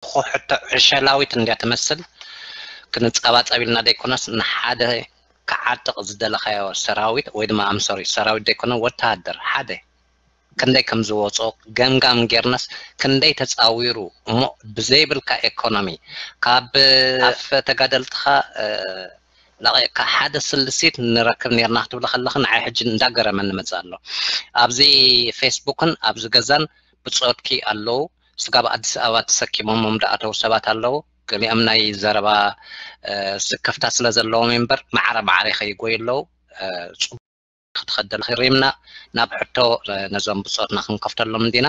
ሕቶ ዕሸላዊት እንድያ ትመስል። ክንጸባጸብ ኢልና ዘይኮነስ፣ ንሓደ ክዓጥቕ ዝደለኻዮ ሰራዊት ወይ ድማ፣ ኣምሶሪ፣ ሰራዊት ዘይኮነ፣ ወተሃደር ሓደ ክንደይ ከም ዝወጾ ገምጋም ጌርናስ፣ ክንደይ ተጻዊሩ እሞ ብዘይብልካ ኤኮኖሚ ካብ ኣፍ ተጋደልትኻ ለቒቕካ ሓደ ስልሲት ንረክብ ኔርና ክትብል ከለኺ፣ ንዓይ ሕጂ እንዳገረመኒ መጽእ ኣሎ። ኣብዚ ፌስቡክን ኣብዚ ገዛን ብጾትኪ ኣለዉ። ስጋብ ኣዲስ ኣበባ ተሰኪሞሞም ዝኣተዉ ሰባት ኣለዉ። ገሊኦም ናይ ዘረባ ስክፍታ ስለ ዘለዎም እምበር፣ ማዕረ ማዕረ ይኸይጎዩ ኣለዉ። ክትኸደል ሪምና ናብ ሕቶ ነዞም ብጾትና ክንከፍተሎም እንዲና።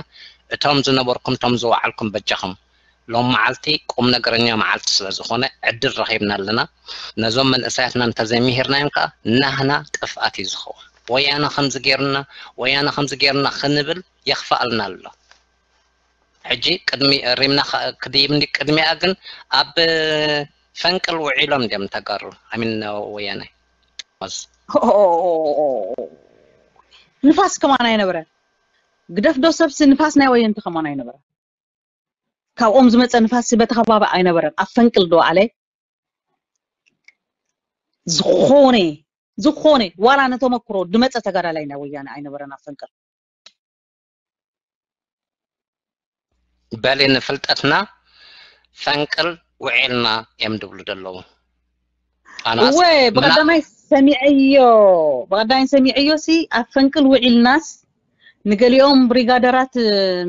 እቶም ዝነበርኩም፣ እቶም ዝወዓልኩም በጃኹም፣ ሎም መዓልቲ ቁም ነገረኛ መዓልቲ ስለ ዝኾነ ዕድል ረኺብና ኣለና። ነዞም መንእሰያትና እንተዘይምሂርናዮም ከኣ ናህና ጥፍኣት እዩ ዝኸውን። ወያነ ከምዚ ጌርና፣ ወያነ ከምዚ ጌርና ክንብል የኽፍኣልና ኣሎ። ሕጂ ቅድሚ ሪምና ክድይብ እንዲ ቅድሚኣ ግን ኣብ ፈንቅል ውዒሎም እንዲም ተጋሩ ኣሚን ወያነ ንፋስ ከማን ኣይነበረን። ግደፍ ዶ ሰብሲ ንፋስ ናይ ወየንቲ ከማን ኣይነበረን። ካብኦም ዝመፀ ንፋስ በቲ ከባቢ ኣይነበረን። ኣብ ፈንቅል ዶ ኣለ ዝኾነ ዝኾነ ዋላ ነተመክሮ ድመፀ ተጋዳላይ ናይ ወያነ ኣይነበረን ኣብ ፈንቅል። በሊ ንፍልጠትና ፈንቅል ውዒልና እዮም ድብሉ ደለዉ። እወ ብቐዳማይ ሰሚዐዮ ብቐዳማይ ሰሚዐዮ ሲ ኣብ ፈንቅል ውዒልናስ ንገሊኦም ብሪጋደራት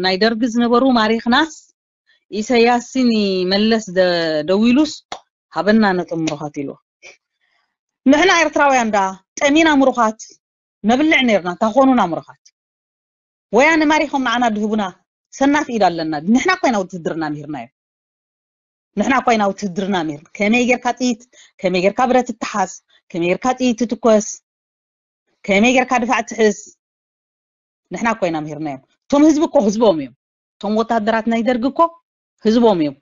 ናይ ደርጊ ዝነበሩ ማሪኽናስ ኢሰያስን መለስ ደዊሉስ ሃበና ነቶም ምሩኻት ኢሉ። ንሕና ኤርትራውያን ዳ ጠሚና ምሩኻት ነብልዕ ነርና ታኾኑና ምሩኻት ወያነ ማሪኾም ንዓና ድህቡና ሰናፍ ኢድ ኣለና። ንሕና ኮይና ውትድርና ሚርናዮ ንሕና ኮይና ውትድርና ሚር ከመይ ጌርካ ጥይት ከመይ ጌርካ ብረት ትሓዝ ከመይ ጌርካ ጥይት ትትኮስ ከመይ ጌርካ ድፋዕ ትሕዝ ንሕና ኮይና ሚርናዮም። እቶም ህዝቢ እኮ ህዝቦም እዮም። እቶም ወታደራት ናይ ደርግ እኮ ህዝቦም እዮም።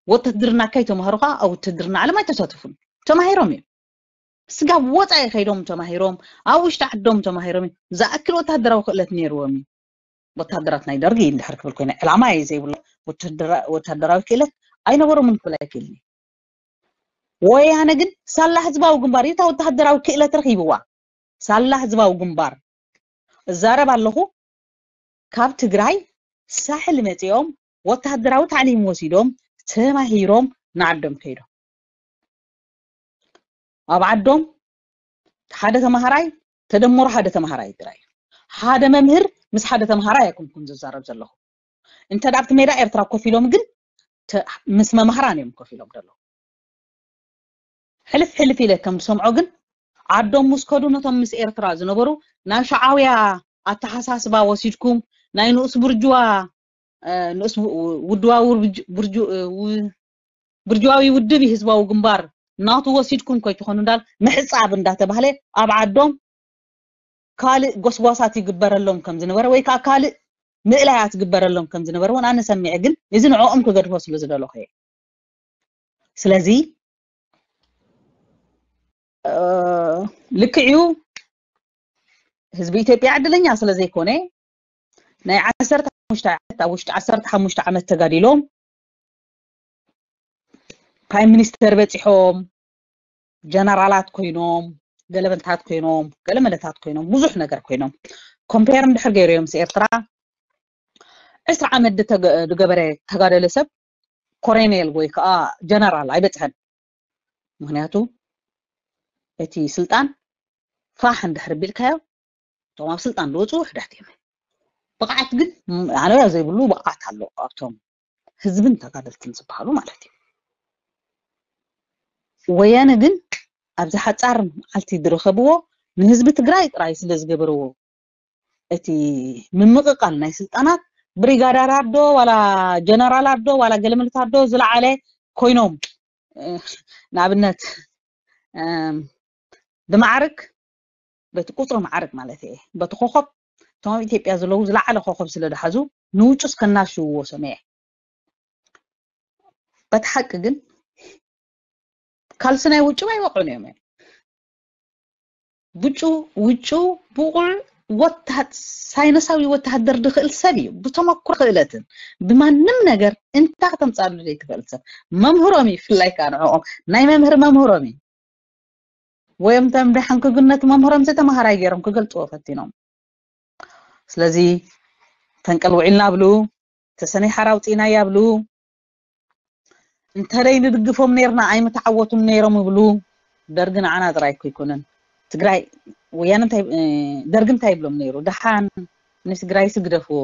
ወተድርና ከይተማሃሩ ከዓ ኣብ ውትድርና ዓለም ኣይተሳተፉን። ተማሂሮም እዮም። ስጋብ ወፃኢ ከይዶም ተማሂሮም ኣብ ውሽጢ ዓዶም ተማሂሮም እዮም። ዝኣክል ወታደራዊ ክእለት ነይርዎም እዩ። ወታደራት ናይ ደርጊ እንድሕር ክብል ኮይነ ዕላማ እየ ዘይብሎ ወታደራዊ ክእለት ኣይነበሮምን ክብል ኣይክእልን። ወያነ ግን ሳላ ህዝባዊ ግንባር እዩ እታ ወታደራዊ ክእለት ረኺብዋ። ሳላ ህዝባዊ ግንባር እዛረብ ኣለኹ። ካብ ትግራይ ሳሕል መፂኦም ወታደራዊ ታዕሊም ወሲዶም ተማሂሮም ንዓዶም ከይዶም ኣብ ዓዶም ሓደ ተማሃራይ ተደምሮ ሓደ ተማሃራይ ጥራይ ሓደ መምህር ምስ ሓደ ተማሃራይ ኣይኮንኩን ዝዛረብ ዘለኹ። እንተ ኣብቲ ሜዳ ኤርትራ ኮፍ ኢሎም ግን ምስ መማህራን እዮም ኮፍ ኢሎም ዘለዉ። ሕልፍ ሕልፍ ኢለ ከም ዝሰምዖ ግን ዓዶም ምስ ከዱ ነቶም ምስ ኤርትራ ዝነበሩ ናብ ሸዓውያ ኣተሓሳስባ ወሲድኩም ናይ ንኡስ ብርጅዋ ንኡስ ውድባዊ ብርጅዋዊ ውድብ ህዝባዊ ግንባር ናቱ ወሲድኩም ከይትኾኑ እንዳል ምሕፃብ እንዳተባህለ ኣብ ዓዶም ካልእ ጎስጓሳት ይግበረሎም ከም ዝነበረ ወይ ከዓ ካልእ ምእላያት ይግበረሎም ከም ዝነበረ እውን ኣነ ሰሚዐ። ግን እዚ ንዕኦም ክገድፎ ስለ ዝደለኹ እየ። ስለዚ ልክዕ እዩ ህዝቢ ኢትዮጵያ ዕድለኛ ስለ ዘይኮነ ናይ ዓሰርተ ሓሙሽተ ዓመት ኣብ ውሽጢ ዓሰርተ ሓሙሽተ ዓመት ተጋዲሎም ፕራይም ሚኒስተር በፂሖም ጀነራላት ኮይኖም ገለመለታት ኮይኖም ገለመለታት ኮይኖም ብዙሕ ነገር ኮይኖም ኮምፔር እንድሕር ገይሮዮም ኤርትራ ዕስራ ዓመት ዝገበረ ተጋደለ ሰብ ኮሬኔል ወይ ከዓ ጀነራል ኣይበፅሐን። ምክንያቱ እቲ ስልጣን ፋሕ እንድሕር ቢልካዮ እቶም ኣብ ስልጣን ዝወፁ ውሕዳት እዮም። ብቕዓት ግን ኣነያ ዘይብሉ ብቕዓት ኣሎ ኣብቶም ህዝብን ተጋደልትን ዝበሃሉ ማለት እዩ። ወያነ ግን ኣብዚ ሓፃር መዓልቲ ዝረኸብዎ ንህዝቢ ትግራይ ጥራይ ስለ ዝገበርዎ እቲ ምምቕቓል ናይ ስልጣናት ብሪጋዳራት ዶ ዋላ ጀነራላት ዶ ዋላ ገለመለታት ዶ ዝለዓለ ኮይኖም ንኣብነት ብማዕርግ በቲ ቁፅሪ ማዕርግ ማለት እየ በቲ ኮኸብ እቶም ኣብ ኢትዮጵያ ዘለዉ ዝለዓለ ኮኸብ ስለ ዝሓዙ ንውጩስ ከናሽውዎ ሰሚዐ። በቲ ሓቂ ግን ካልሲ ናይ ውጭ ኣይወቕዑን እዮም። ብጩ ውጩ ብቑዕ ወታሃ- ሳይንሳዊ ወተሃደር ዝኽእል ሰብ እዩ። ብተመክሮ ክእለትን ብማንም ነገር እንታይ ከተምፃሉ ዘይትኽእል ሰብ። መምህሮም እዩ፣ ብፍላይ ከዓ ንዕኦም ናይ መምህር መምህሮም እዩ። ወዮም ተምዳሕን ክግነቱ መምህሮም ዝተምሃራይ ገይሮም ክገልፅዎ ፈቲኖም። ስለዚ ፈንቅል ውዒልና ብሉ፣ ተሰነይ ሓራ ኣውፂእናያ ብሉ፣ እንተደይ ንድግፎም ነይርና ኣይምተዓወቱን ነይሮም ይብሉ። ደርጊ ንዓና ጥራይ እኮ ኣይኮነን። ትግራይ ወያነ እንታይ ደርጊ እንታይ ይብሎም ነይሩ? ደሓን ንትግራይ ስግደፍዎ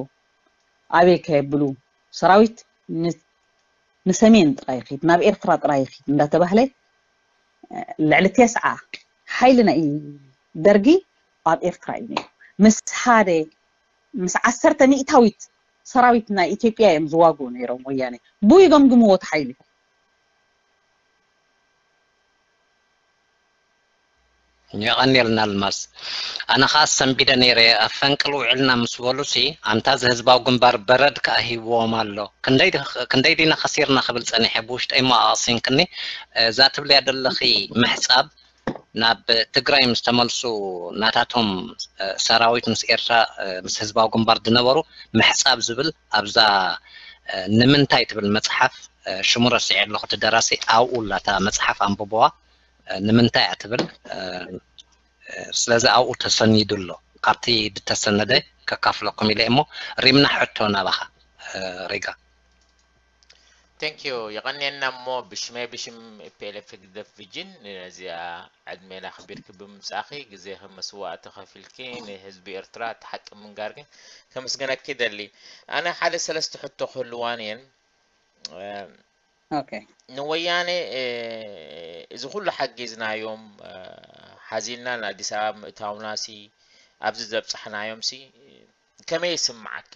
ኣበይ ከየብሉ ሰራዊት ንሰሜን ጥራይ ይኺድ፣ ናብ ኤርትራ ጥራይ ይኺድ እንዳተባህለ ልዕሊ ተስዓ ሓይሊ ናይ ደርጊ ኣብ ኤርትራ እዩ ነይሩ። ምስ ሓደ ምስ ዓሰርተ ሚእታዊት ሰራዊት ናይ ኢትዮጵያ እዮም ዝዋግኡ ነይሮም ወያነ። ብኡ ይገምግምዎ እቲ ሓይሊ። የቐንየልና ኣልማዝ። ኣነ ኸዓ ሰንቢደ ነይረ ኣብ ፈንቅል ውዕልና ምስ በሉሲ ኣንታ እዚ ህዝባዊ ግንባር በረድ ከኣ ሂብዎም ኣሎ። ክንደይ ዲ- ክንደይ ዲና ከሲርና ክብል ጸኒሐ ብውሽጠይ እሞ ኣቕሲንክኒ። እዛ ትብልያ ዘለኺ ምሕጻብ ናብ ትግራይ ምስ ተመልሱ ናታቶም ሰራዊት ምስ ኤርትራ ምስ ህዝባዊ ግንባር ዝነበሩ ምሕጻብ ዝብል ኣብዛ ንምንታይ ትብል መጽሓፍ ሽሙ ረሲዐ ኣለኹ እቲ ደራሲ ኣብኡ ኣላ እታ መጽሓፍ ኣንብብዋ ንምንታይ እያ ትብል ስለዚ ኣብኡ ተሰኒዱ ኣሎ ካብቲ ዝተሰነደ ከካፍለኩም ኢለ እሞ ሪምና ሕቶ ናባኻ ሪጋ Thank you የቐንየና እሞ ብሽመይ ብሽም ፒኤልኤፍ ህግደፍ ቪጅን ነዚኣ ዕድሜና ኣኽቢርኪ ብምምጻእኺ ግዜኺ መስዋእቲ ከፊልኪ ንህዝቢ ኤርትራ እቲ ሓቂ ምንጋርኪ ከመስግነኪ ደሊ ኣነ ሓደ ሰለስተ ሕቶ ክህልዋን እየን okay ንወያነ እዚ ኩሉ ሓጊዝናዮም ሓዚልና ንኣዲስ ኣበባ ምእታውናሲ ኣብዚ ዘብፃሕናዮም ሲ ከመይ ይስምዓኪ?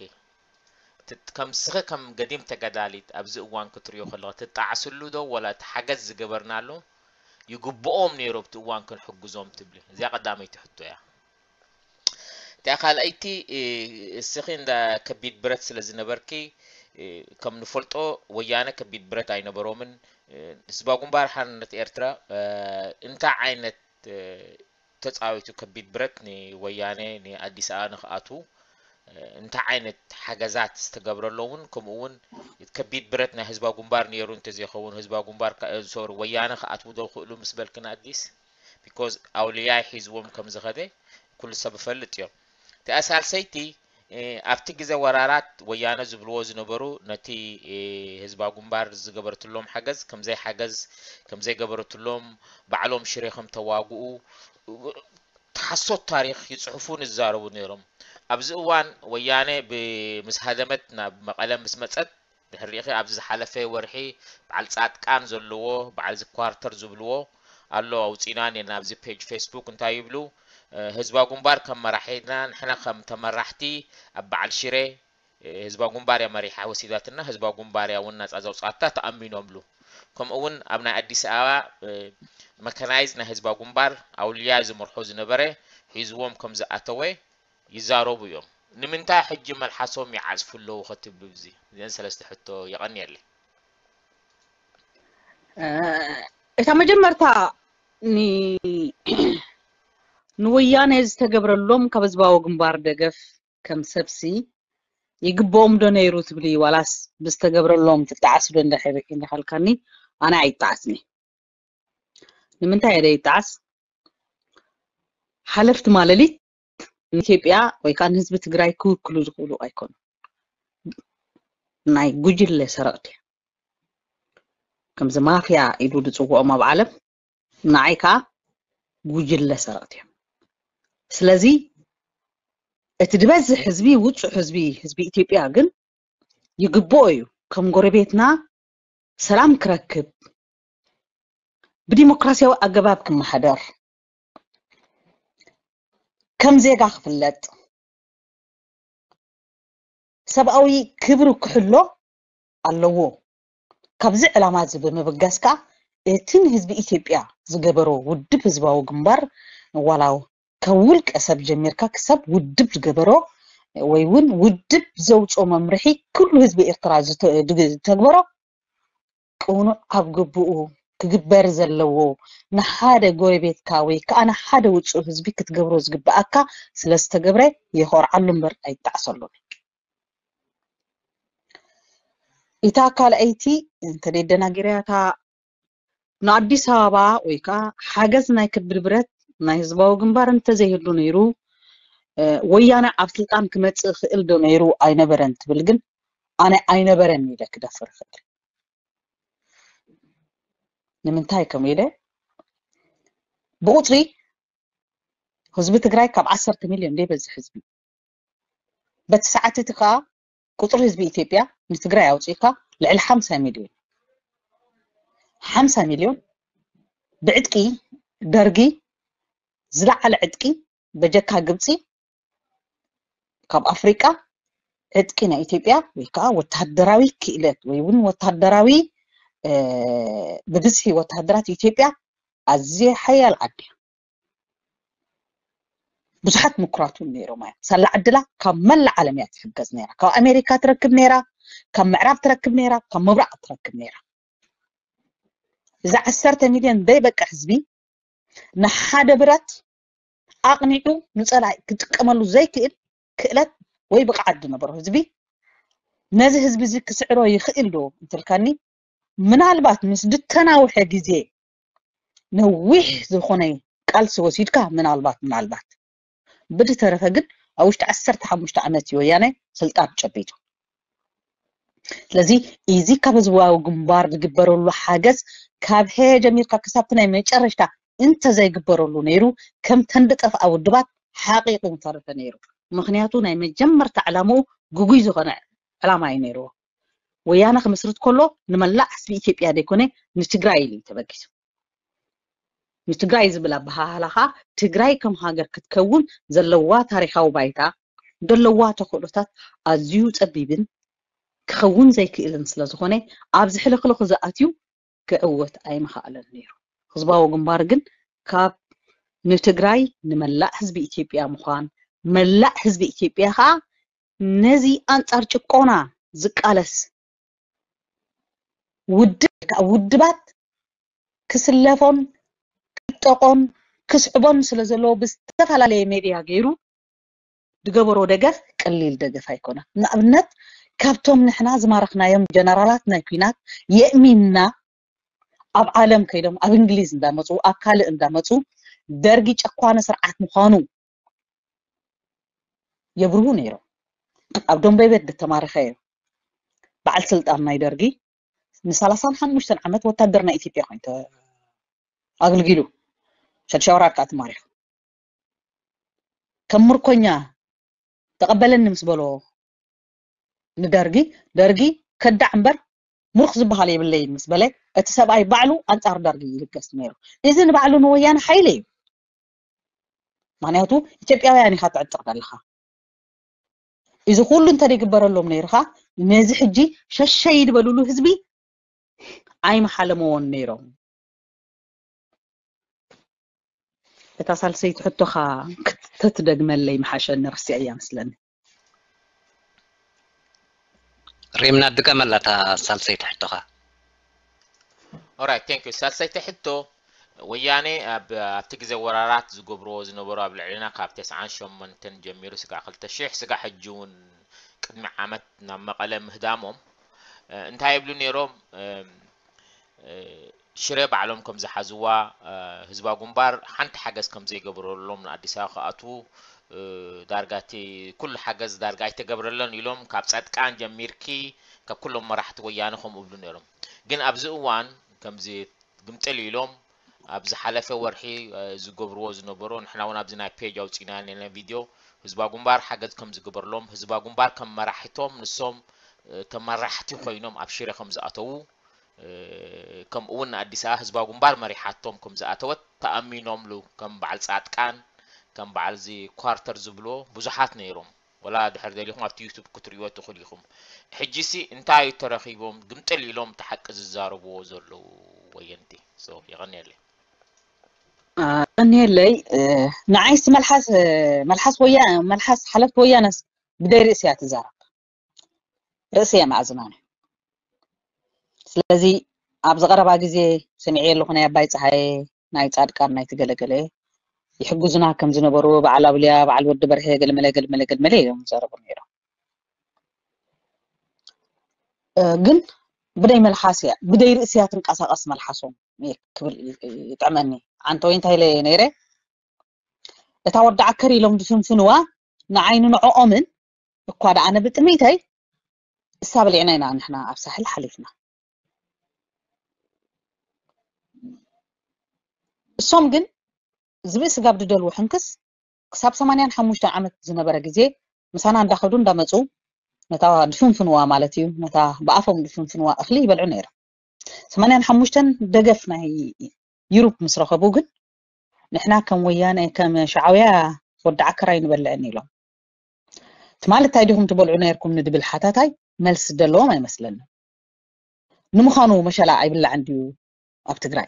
ከም ስኺ ከም ገዲም ተጋዳሊት ኣብዚ እዋን ክትሪኦ ከለኺ ትጣዓስሉ ዶ ወላ እቲ ሓገዝ ዝገበርናሉ ይግብኦም ነይሩ ኣብቲ እዋን ክንሕግዞም ትብሊ? እዚኣ ቀዳመይቲ ሕቶ እያ። እቲኣ ካልኣይቲ እስኺ እንዳ ከቢድ ብረት ስለ ዝነበርኪ ከም ንፈልጦ ወያነ ከቢድ ብረት ኣይነበሮምን። ህዝባዊ ግንባር ሓርነት ኤርትራ እንታይ ዓይነት ተፃዊቱ ከቢድ ብረት ንወያነ ንኣዲስ ኣበባ ንክኣትዉ እንታይ ዓይነት ሓገዛት ዝተገብረሎ እውን ከምኡ እውን ከቢድ ብረት ናይ ህዝባዊ ግንባር ነይሩ እንተዘይኸውን ህዝባዊ ግንባር ሶሪ ወያነ ክኣትዉ ዶ ክእሉ ምስ በልክን ኣዲስ because ኣውልያይ ሒዝዎም ከም ዝኸደ ኩሉ ሰብ ይፈልጥ እዮም እቲኣ ሳልሰይቲ ኣብቲ ግዜ ወራራት ወያነ ዝብልዎ ዝነበሩ ነቲ ህዝባዊ ግንባር ዝገበረትሎም ሓገዝ ከምዘይ ሓገዝ ከምዘይ ገበረትሎም ባዕሎም ሽሬ ከም ተዋግኡ ሓሶት ታሪክ ይፅሕፉን ይዛረቡ ነይሮም ኣብዚ እዋን ወያነ ምስ ሃደመት ናብ መቐለ ምስ መፀት ድሕሪኺ ኣብዚ ዝሓለፈ ወርሒ በዓል ፃድቃን ዘለዎ በዓል ዝኳርተር ዝብልዎ ኣሎ ኣውፂና ኔና ኣብዚ ፔጅ ፌስቡክ እንታይ ይብሉ ህዝባዊ ግንባር ከም መራሒና ንሕና ከም ተመራሕቲ ኣብ በዓል ሽሬ ህዝባዊ ግንባር እያ መሪሓ ወሲዳትና ህዝባዊ ግንባር እያ እውን ናፃ ዘውፃታ ተኣሚኖምሉ ከምኡ እውን ኣብ ናይ ኣዲስ ኣበባ መከናይዝ ናይ ህዝባዊ ግንባር ኣውልያ ዝመርሖ ዝነበረ ሒዝዎም ከም ዝኣተወ ይዛረቡ እዮም ንምንታይ ሕጂ መልሓሶም ይዓፅፉ ኣለዉ ከትብሉ እዚ እዚአን ሰለስተ ሕቶ የቐንየለይ እታ መጀመርታ ንወያነ ዝተገብረሎም ካብ ህዝባዊ ግንባር ደገፍ ከም ሰብሲ ይግብኦም ዶ ነይሩ ትብሊ ዋላስ ብዝተገብረሎም ትጣዓስ ዶ እንዳካልካኒ ኣነ ኣይጣዓስኒ ንምንታይ እየ ዘይጣዓስ ሓለፍቲ ማለሊት ንኢትዮጵያ ወይ ከዓ ንህዝቢ ትግራይ ክውክሉ ዝኽእሉ ኣይኮኑ ናይ ጉጅለ ሰረቕቲ ከምዚ ማፍያ ኢሉ ዝፅውዖም ኣብ ዓለም ንዓይ ከዓ ጉጅለ ሰረቕቲ እዮም ስለዚ እቲ ዝበዝሕ ህዝቢ ውፁዕ ህዝቢ ህዝቢ ኢትዮጵያ ግን ይግብኦ እዩ ከም ጎረቤትና ሰላም ክረክብ ብዲሞክራሲያዊ ኣገባብ ክመሓደር ከም ዜጋ ክፍለጥ ሰብኣዊ ክብሩ ክሕሎ ኣለዎ። ካብዚ ዕላማ እዚ ብምብጋስ ከኣ እቲ ንህዝቢ ኢትዮጵያ ዝገበሮ ውድብ ህዝባዊ ግንባር ዋላ ካብ ውልቀ ሰብ ጀሚርካ ክሳብ ውድብ ዝገበሮ ወይ እውን ውድብ ዘውፅኦ መምርሒ ኩሉ ህዝቢ ኤርትራ ዝተግበሮ ቅኑዕ ኣብ ግብኡ ክግበር ዘለዎ ንሓደ ጎረቤትካ ወይ ከዓ ንሓደ ውፁእ ህዝቢ ክትገብሮ ዝግብኣካ ስለ ዝተገብረ የኾርዓሉ እምበር ኣይጣዕሰሉን። እታ ካልኣይቲ እንተ ደናጊርያ እታ ንኣዲስ ኣበባ ወይ ከዓ ሓገዝ ናይ ከቢድ ብረት ናይ ህዝባዊ ግንባር እንተዘይህሉ ነይሩ ወያነ ኣብ ስልጣን ክመፅእ ክእል ዶ ነይሩ ኣይነበረን ትብል ግን ኣነ ኣይነበረን ኢለ ክደፍር እኽእል። ንምንታይ ከም ኢለ ብቁፅሪ ህዝቢ ትግራይ ካብ ዓሰርተ ሚልዮን ዘይበዝሕ ህዝቢ በቲ ሰዓት እቲ ከዓ ቁፅሪ ህዝቢ ኢትዮጵያ ንትግራይ ኣውፂእካ ልዕሊ ሓምሳ ሚልዮን ሓምሳ ሚልዮን ብዕጥቂ ደርጊ ዝለዓለ ዕጥቂ በጀካ ግብፂ ካብ ኣፍሪቃ ዕጥቂ ናይ ኢትዮጵያ ወይ ከዓ ወታደራዊ ክእለት ወይ እውን ወታደራዊ ብብዝሒ ወታደራት ኢትዮጵያ ኣዝየ ሓያል ዓዲ ብዙሓት ምኩራት እውን ነይሮም እዮም። ሳላ ዕድላ ካብ መላእ ዓለም እያ ትሕገዝ ነይራ። ካብ ኣሜሪካ ትረክብ ነይራ፣ ካብ ምዕራብ ትረክብ ነይራ፣ ካብ ምብራቕ ትረክብ ነይራ። እዚ ዓሰርተ ሚልዮን ዘይበቅዕ ህዝቢ ንሓደ ብረት ኣቕኒዑ ንፀላኢ ክጥቀመሉ ዘይክእል ክእለት ወይ ብቕዓት ዝነበሮ ህዝቢ ነዚ ህዝቢ እዚ ክስዕሮ ይኽእል ዶ እንትልካኒ ምናልባት ምስ ድተናውሐ ግዜ ነዊሕ ዝኾነ ቃልሲ ወሲድካ ምናልባት ምናልባት ብድተረፈ ግን ኣብ ውሽጢ ዓሰርተ ሓሙሽተ ዓመት እዩ ወያነ ስልጣን ጨቢጡ። ስለዚ እዚ ካብ ህዝባዊ ግንባር ዝግበረሉ ሓገዝ ካብ ሀ ጀሚርካ ክሳብቲ ናይ መጨረሽታ እንተዘይግበረሉ ነይሩ ከምተን ዝጠፍኣ ውድባት ሓቂቁ ምተረፈ ነይሩ። ምክንያቱ ናይ መጀመርታ ዕላምኡ ግጉይ ዝኾነ ዕላማ እዩ ነይርዎ። ወያነ ክምስርት ከሎ ንመላእ ህዝቢ ኢትዮጵያ ዘይኮነ ንትግራይ ኢሉ እዩ ተበጊሱ። ንትግራይ ዝብል ኣበሃህላ ከዓ ትግራይ ከም ሃገር ክትከውን ዘለዋ ታሪካዊ ባይታ ዘለዋ ተኽእሎታት ኣዝዩ ፀቢብን ክኸውን ዘይክእልን ስለዝኾነ ኣብዚ ሕልኽልኽ ዝኣትዩ ክዕወት ኣይምኸኣለን ነይሩ። ህዝባዊ ግንባር ግን ካብ ንትግራይ ንመላእ ህዝቢ ኢትዮጵያ ምዃን መላእ ህዝቢ ኢትዮጵያ ከዓ ነዚ ኣንፃር ጭቆና ዝቃለስ ውድብ ውድባት ክስለፎን ክጠቆን ክስዕቦን ስለ ዘለዎ ብዝተፈላለየ ሜድያ ገይሩ ዝገበሮ ደገፍ ቀሊል ደገፍ ኣይኮነን። ንኣብነት ካብቶም ንሕና ዝማረኽናዮም ጀነራላት ናይ ኲናት የእሚንና ኣብ ዓለም ከይዶም ኣብ እንግሊዝ እንዳመፁ ኣብ ካልእ እንዳመፁ ደርጊ ጨኳነ ስርዓት ምዃኑ የብርሁ ነይሮም። ኣብ ደንበይ ቤት ዝተማረኸ እዩ በዓል ስልጣን ናይ ደርጊ ንሰላሳን ሓሙሽተን ዓመት ወታደር ናይ ኢትዮጵያ ኮይኑ ኣገልጊሉ ሸድሻይ ወራር ከዓ ተማሪኹ ከም ምርኮኛ ተቐበለኒ ምስ በሎ ንደርጊ ደርጊ ከዳዕ እምበር ምሩኽ ዝበሃል የብለይን ምስ በለ እቲ ሰብኣይ ባዕሉ ኣንፃር ደርጊ ይልገስ ነይሩ። እዚ ንባዕሉ ንወያነ ሓይሊ እዩ። ምክንያቱ ኢትዮጵያውያን ኢኻ ትዕጥቕ ዘለኻ። እዚ ኩሉ እንተደይግበረሎም ነይርኻ ነዚ ሕጂ ሸሸይ ዝበልሉ ህዝቢ ኣይመሓለመዎን ነይሮም። እታ ሳልሰይቲ ሕቶኻ ተትደግመለይ ምሓሸኒ፣ ረሲዐያ መስለኒ። ሪምና ድገመላ እታ ሳልሰይቲ ሕቶኻ። Alright, thank you። ሳልሰይቲ ሕቶ ወያኔ ኣብ ኣብቲ ግዜ ወራራት ዝገብርዎ ዝነበሩ ኣብ ልዕልና ካብ ተስዓን ሸሞንተን ጀሚሩ ስጋዕ ክልተ ሺሕ ስጋዕ ሕጂ እውን ቅድሚ ዓመት ናብ መቐለ ምህዳሞም እንታይ ይብሉ ነይሮም? ሽረ ባዕሎም ከም ዝሓዝዋ ህዝባዊ ግንባር ሓንቲ ሓገዝ ከም ዘይገበረሎም ንኣዲስ ኣበባ ክኣትዉ ዳርጋ እቲ ኩሉ ሓገዝ ዳርጋ ኣይተገብረለን ኢሎም ካብ ፃድቃን ጀሚርኪ ካብ ኩሎም መራሕቲ ወያነ ከምኡ ይብሉ ነይሮም። ግን ኣብዚ እዋን ከምዚ ግምጥል ኢሎም ኣብ ዝሓለፈ ወርሒ ዝገብርዎ ዝነበሩ ንሕና እውን ኣብዚ ናይ ፔጅ ኣውፂና ነና ቪድዮ ህዝባዊ ግንባር ሓገዝ ከም ዝገበርሎም ህዝባዊ ግንባር ከም መራሕቶም ንሶም ተመራሕቲ ኮይኖም ኣብ ሽረ ከም ዝኣተዉ ከምኡ እውን ንኣዲስ ኣበባ ህዝባዊ ግንባር መሪሓቶም ከም ዝኣተወት ተኣሚኖምሉ ከም በዓል ፃድቃን ከም በዓል እዚ ኳርተር ዝብልዎ ብዙሓት ነይሮም። ወላ ድሕር ደሊኹም ኣብቲ ዩቱብ ክትርእይዎ ትኽእሉ ኢኹም። ሕጂሲ እንታይ እዩ ተረኺቦም ግምጥል ኢሎም እቲ ሓቂ ዝዛረብዎ ዘለዉ ወየንቲ? So የቐንየለይ። ቀንየለይ ንዓይስ መልሓስ መልሓስ ወያ መልሓስ ሓለፍቲ ወያነስ ብደይ ርእሲ እያ ትዛረብ። ርእሲ እያ መኣዝናነ። ስለዚ ኣብዚ ቀረባ ግዜ ሰሚዐ ኣለኹ፣ ናይ ኣባይ ፀሃየ፣ ናይ ፃድቃን፣ ናይ ትገለገለ ይሕግዙና ከም ዝነበሩ በዓል ኣውልያ፣ በዓል ወዲ በርሀ፣ ገለመለ ገለመለ ገለመለ እዮም ዝዛረቡ ነይሮም። እ፣ ግን ብደይ መልሓስ እያ፣ ብደይ ርእሲ እያ ትንቀሳቐስ መልሓሶም እየ ክብል ይ- ይጥዕመኒ። ኣንተ ወይ እንታይ ኢለ ነይረ፣ እታ ወዲ ዓከር ኢሎም ዝፍንፍንዋ ንዓይ ንንዕኦምን እኳ ደኣ ኣነ ብጥሜተይ እሳ በሊዕና ኢና ንሕና ኣብ ሳሕል ሓሊፍና። እሶም ግን ዝብኢ ስጋብ ድደልዎ ሕንክስ ክሳብ ሰማንያን ሓሙሽተን ዓመት ዝነበረ ግዜ ምሳና እንዳኸዱ እንዳመፁ ነታ ድፍንፍንዋ ማለት እዩ፣ ነታ ብኣፎም ድፍንፍንዋ እኽሊ ይበልዑ ነይሮም። ሰማንያን ሓሙሽተን ደገፍ ናይ ዩሩፕ ምስ ረኸቡ ግን ንሕና ከም ወያነ ከም ሻዕውያ ወዲ ዓከር ኣይንበልዕን ኢሎም። ትማሊ እንታይ ዲኹም ትበልዑ ነይርኩም ንድብል ሓታታይ መልሲ ዘለዎም ኣይመስለንን። ንምዃኑ መሸላ ኣይብላዕን ድዩ ኣብ ትግራይ?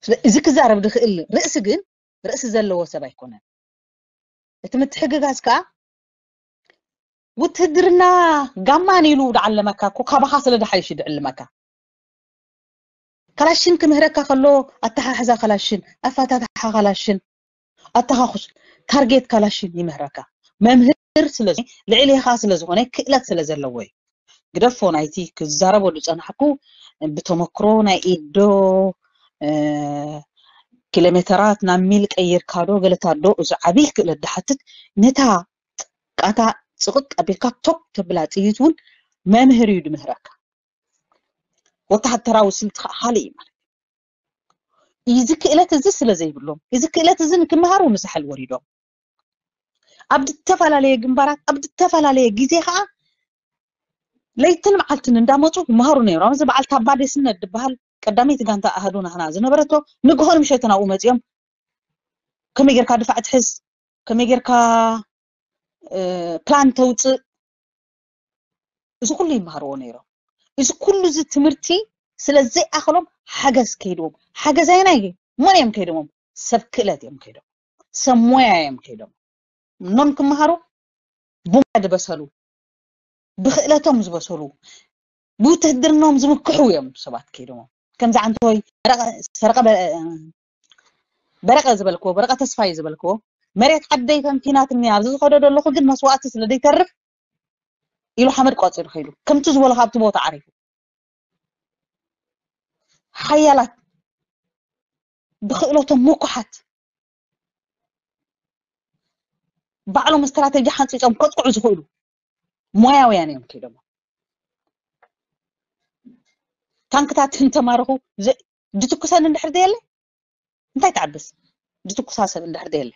ስለ- እዚ ክዛረብ ዝኽእል ርእሲ ግን ርእሲ ዘለዎ ሰብ ኣይኮነን። እቲ ምትሕግጋዝ ከዓ ውትህድርና ጋማን ኢሉ ድዓለመካ እኮ ካባኻ ስለ ድሓይሽ ድዕልመካ። ካላሽን ክምህረካ ከሎ ኣተሓሕዛ ካላሽን፣ ኣፈታትሓ ካላሽን፣ ኣተኻኹስ ታርጌት ካላሽን ይምህረካ። መምህር ስለ ልዕሌኻ ስለ ዝኾነ ክእለት ስለ ዘለዎ እዩ። ግደፎ ናይቲ ክዛረቦ ዝጸናሕኩ ብተመክሮ ናይ ኢድ ዶ እ፣ ኪሎ ሜተራት ናብ ሚል ቀይርካ ዶ ገለታት ዶ፣ እዚ ዓብይ ክእለት ድሓትት። ነታ ቃታ ጽቕጥ ኣቢልካ ቶፕ ተብላ ጥይት እውን መምህር እዩ ድምህረካ። ወተሃደራዊ ስልቲ ከዓ ካልእ እዩ ማለት እዩ። እዚ ክእለት እዚ ስለ ዘይብሎም፣ እዚ ክእለት እዚ ንክመሃሩ ንሳሕል ወሪዶም ኣብ ዝተፈላለየ ግንባራት ኣብ ዝተፈላለየ ግዜ ከዓ ለይትን መዓልትን እንዳመፁ ይመሃሩ ነይሮም። እዚ በዓል ታባ ዴስነት ዝበሃል ቀዳመይቲ ጋንታ ኣሃዱ ናህና ዝነበረቶ ንግሆን ምሸትን ኣብኡ መፂኦም ከመይ ጌርካ ድፋዕ ትሕዝ፣ ከመይ ጌርካ እ፣ ፕላን ተውፅእ፣ እዚ ኩሉ ይመሃርዎ ነይሮም። እዚ ኩሉ እዚ ትምህርቲ ስለ ዘይኣኸሎም ሓገዝ ከይድዎም። ሓገዝ ኣየናይ መን እዮም ከይዶሞም? ሰብ ክእለት እዮም ከይዶም፣ ሰብ ሞያ እዮም ከይዶም። ኖም ክመሃሩ ብሞያ ዝበሰሉ፣ ብክእለቶም ዝበሰሉ፣ ብውትህድርናኦም ዝምክሑ እዮም ሰባት ከይዶሞም። ከምዚ ዓንተወይ በረቐ- ሰረቐ በ- በረቐ ዝበልክዎ፣ በረቐ ተስፋይ ዝበልክዎ፣ መሬት ዓደይ ተንኪናትኒ ኣብዚ ዝኸዶ ዘለኹ ግን መስዋእቲ ስለ ዘይተርፍ ኢሉ ሓመድ ቆፂሩ ከይዱ። ከምቲ ዝበሎ ካብቲ ቦታ ዓሪፉ። ሓያላት፣ ብክእለቶም ምኩሓት፣ ባዕሎም ስትራተጂ ሓንፂፆም ከጥቅዑ ዝኽእሉ ሞያውያን እዮም ከይዶም። ታንክታት እንተማረኹ ዝ- ድትኩሰን እንድሕር ደየለ እንታይ ትዓብስ? ድትኩሳ ሰብ እንድሕር ደየለ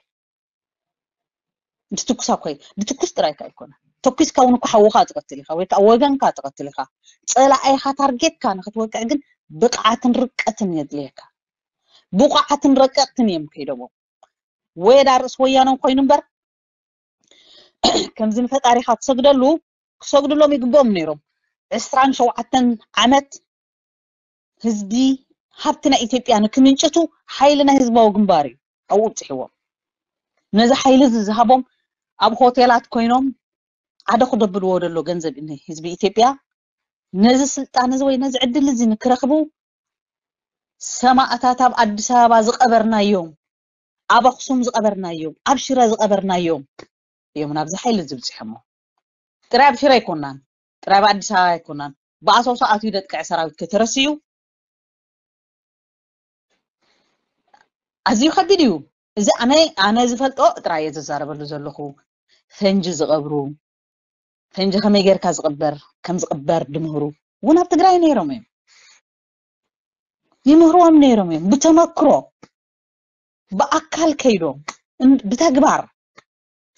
ድትኩሳ ኮይ ድትኩስ ጥራይካ ኣይኮነ። ተኩስካ እውን እኮ ሓውኻ ትቐትል ኢኻ ወይ ከዓ ወገንካ ትቐትል ኢኻ። ፀላኣይኻ ታርጌትካ ንክትወቅዕ ግን ብቕዓትን ርቀትን የድልየካ። ብቑዓትን ረቀቅትን እዮም ከይዶም። ወይ ዳ ርእስ ወያነ ኮይኑ እምበር ከምዚ ንፈጣሪኻ ትሰግደሉ ክሰግድሎም ይግብኦም ነይሮም። ዕስራን ሸውዓተን ዓመት ህዝቢ ሃብቲ ናይ ኢትዮጵያ ንክምንጭቱ ሓይሊ ናይ ህዝባዊ ግንባር እዩ ኣብኡ ኣብፅሕዎም። ነዚ ሓይሊ እዚ ዝሃቦም ኣብ ሆቴላት ኮይኖም ዓደ ክደብልዎ ደሎ ገንዘብ እዩ ህዝቢ ኢትዮጵያ ነዚ ስልጣን እዚ ወይ ነዚ ዕድል እዚ ንክረኽቡ ሰማእታት ኣብ ኣዲስ ኣበባ ዝቐበርናዮም፣ ኣብ ኣኽሱም ዝቐበርናዮም፣ ኣብ ሽረ ዝቐበርናዮም እዮም ናብዚ ሓይሊ እዚ ብፅሖሞ። ጥራይ ኣብ ሽረ ኣይኮናን፣ ጥራይ ኣብ ኣዲስ ኣበባ ኣይኮናን፣ ብኣሶሳ ኣትዩ ደጥቅዐ ሰራዊት ከተረስዩ ኣዝዩ ከቢድ እዩ። እዚ ኣነ ኣነ ዝፈልጦ ጥራይ እየ ዝዛረበሉ ዘለኹ። ፈንጂ ዝቐብሩ፣ ፈንጂ ከመይ ጌርካ ዝቕበር ከም ዝቕበር ድምህሩ እውን ኣብ ትግራይ ነይሮም እዮም። ይምህርዎም ነይሮም እዮም ብተመክሮ ብኣካል ከይዶም እን- ብተግባር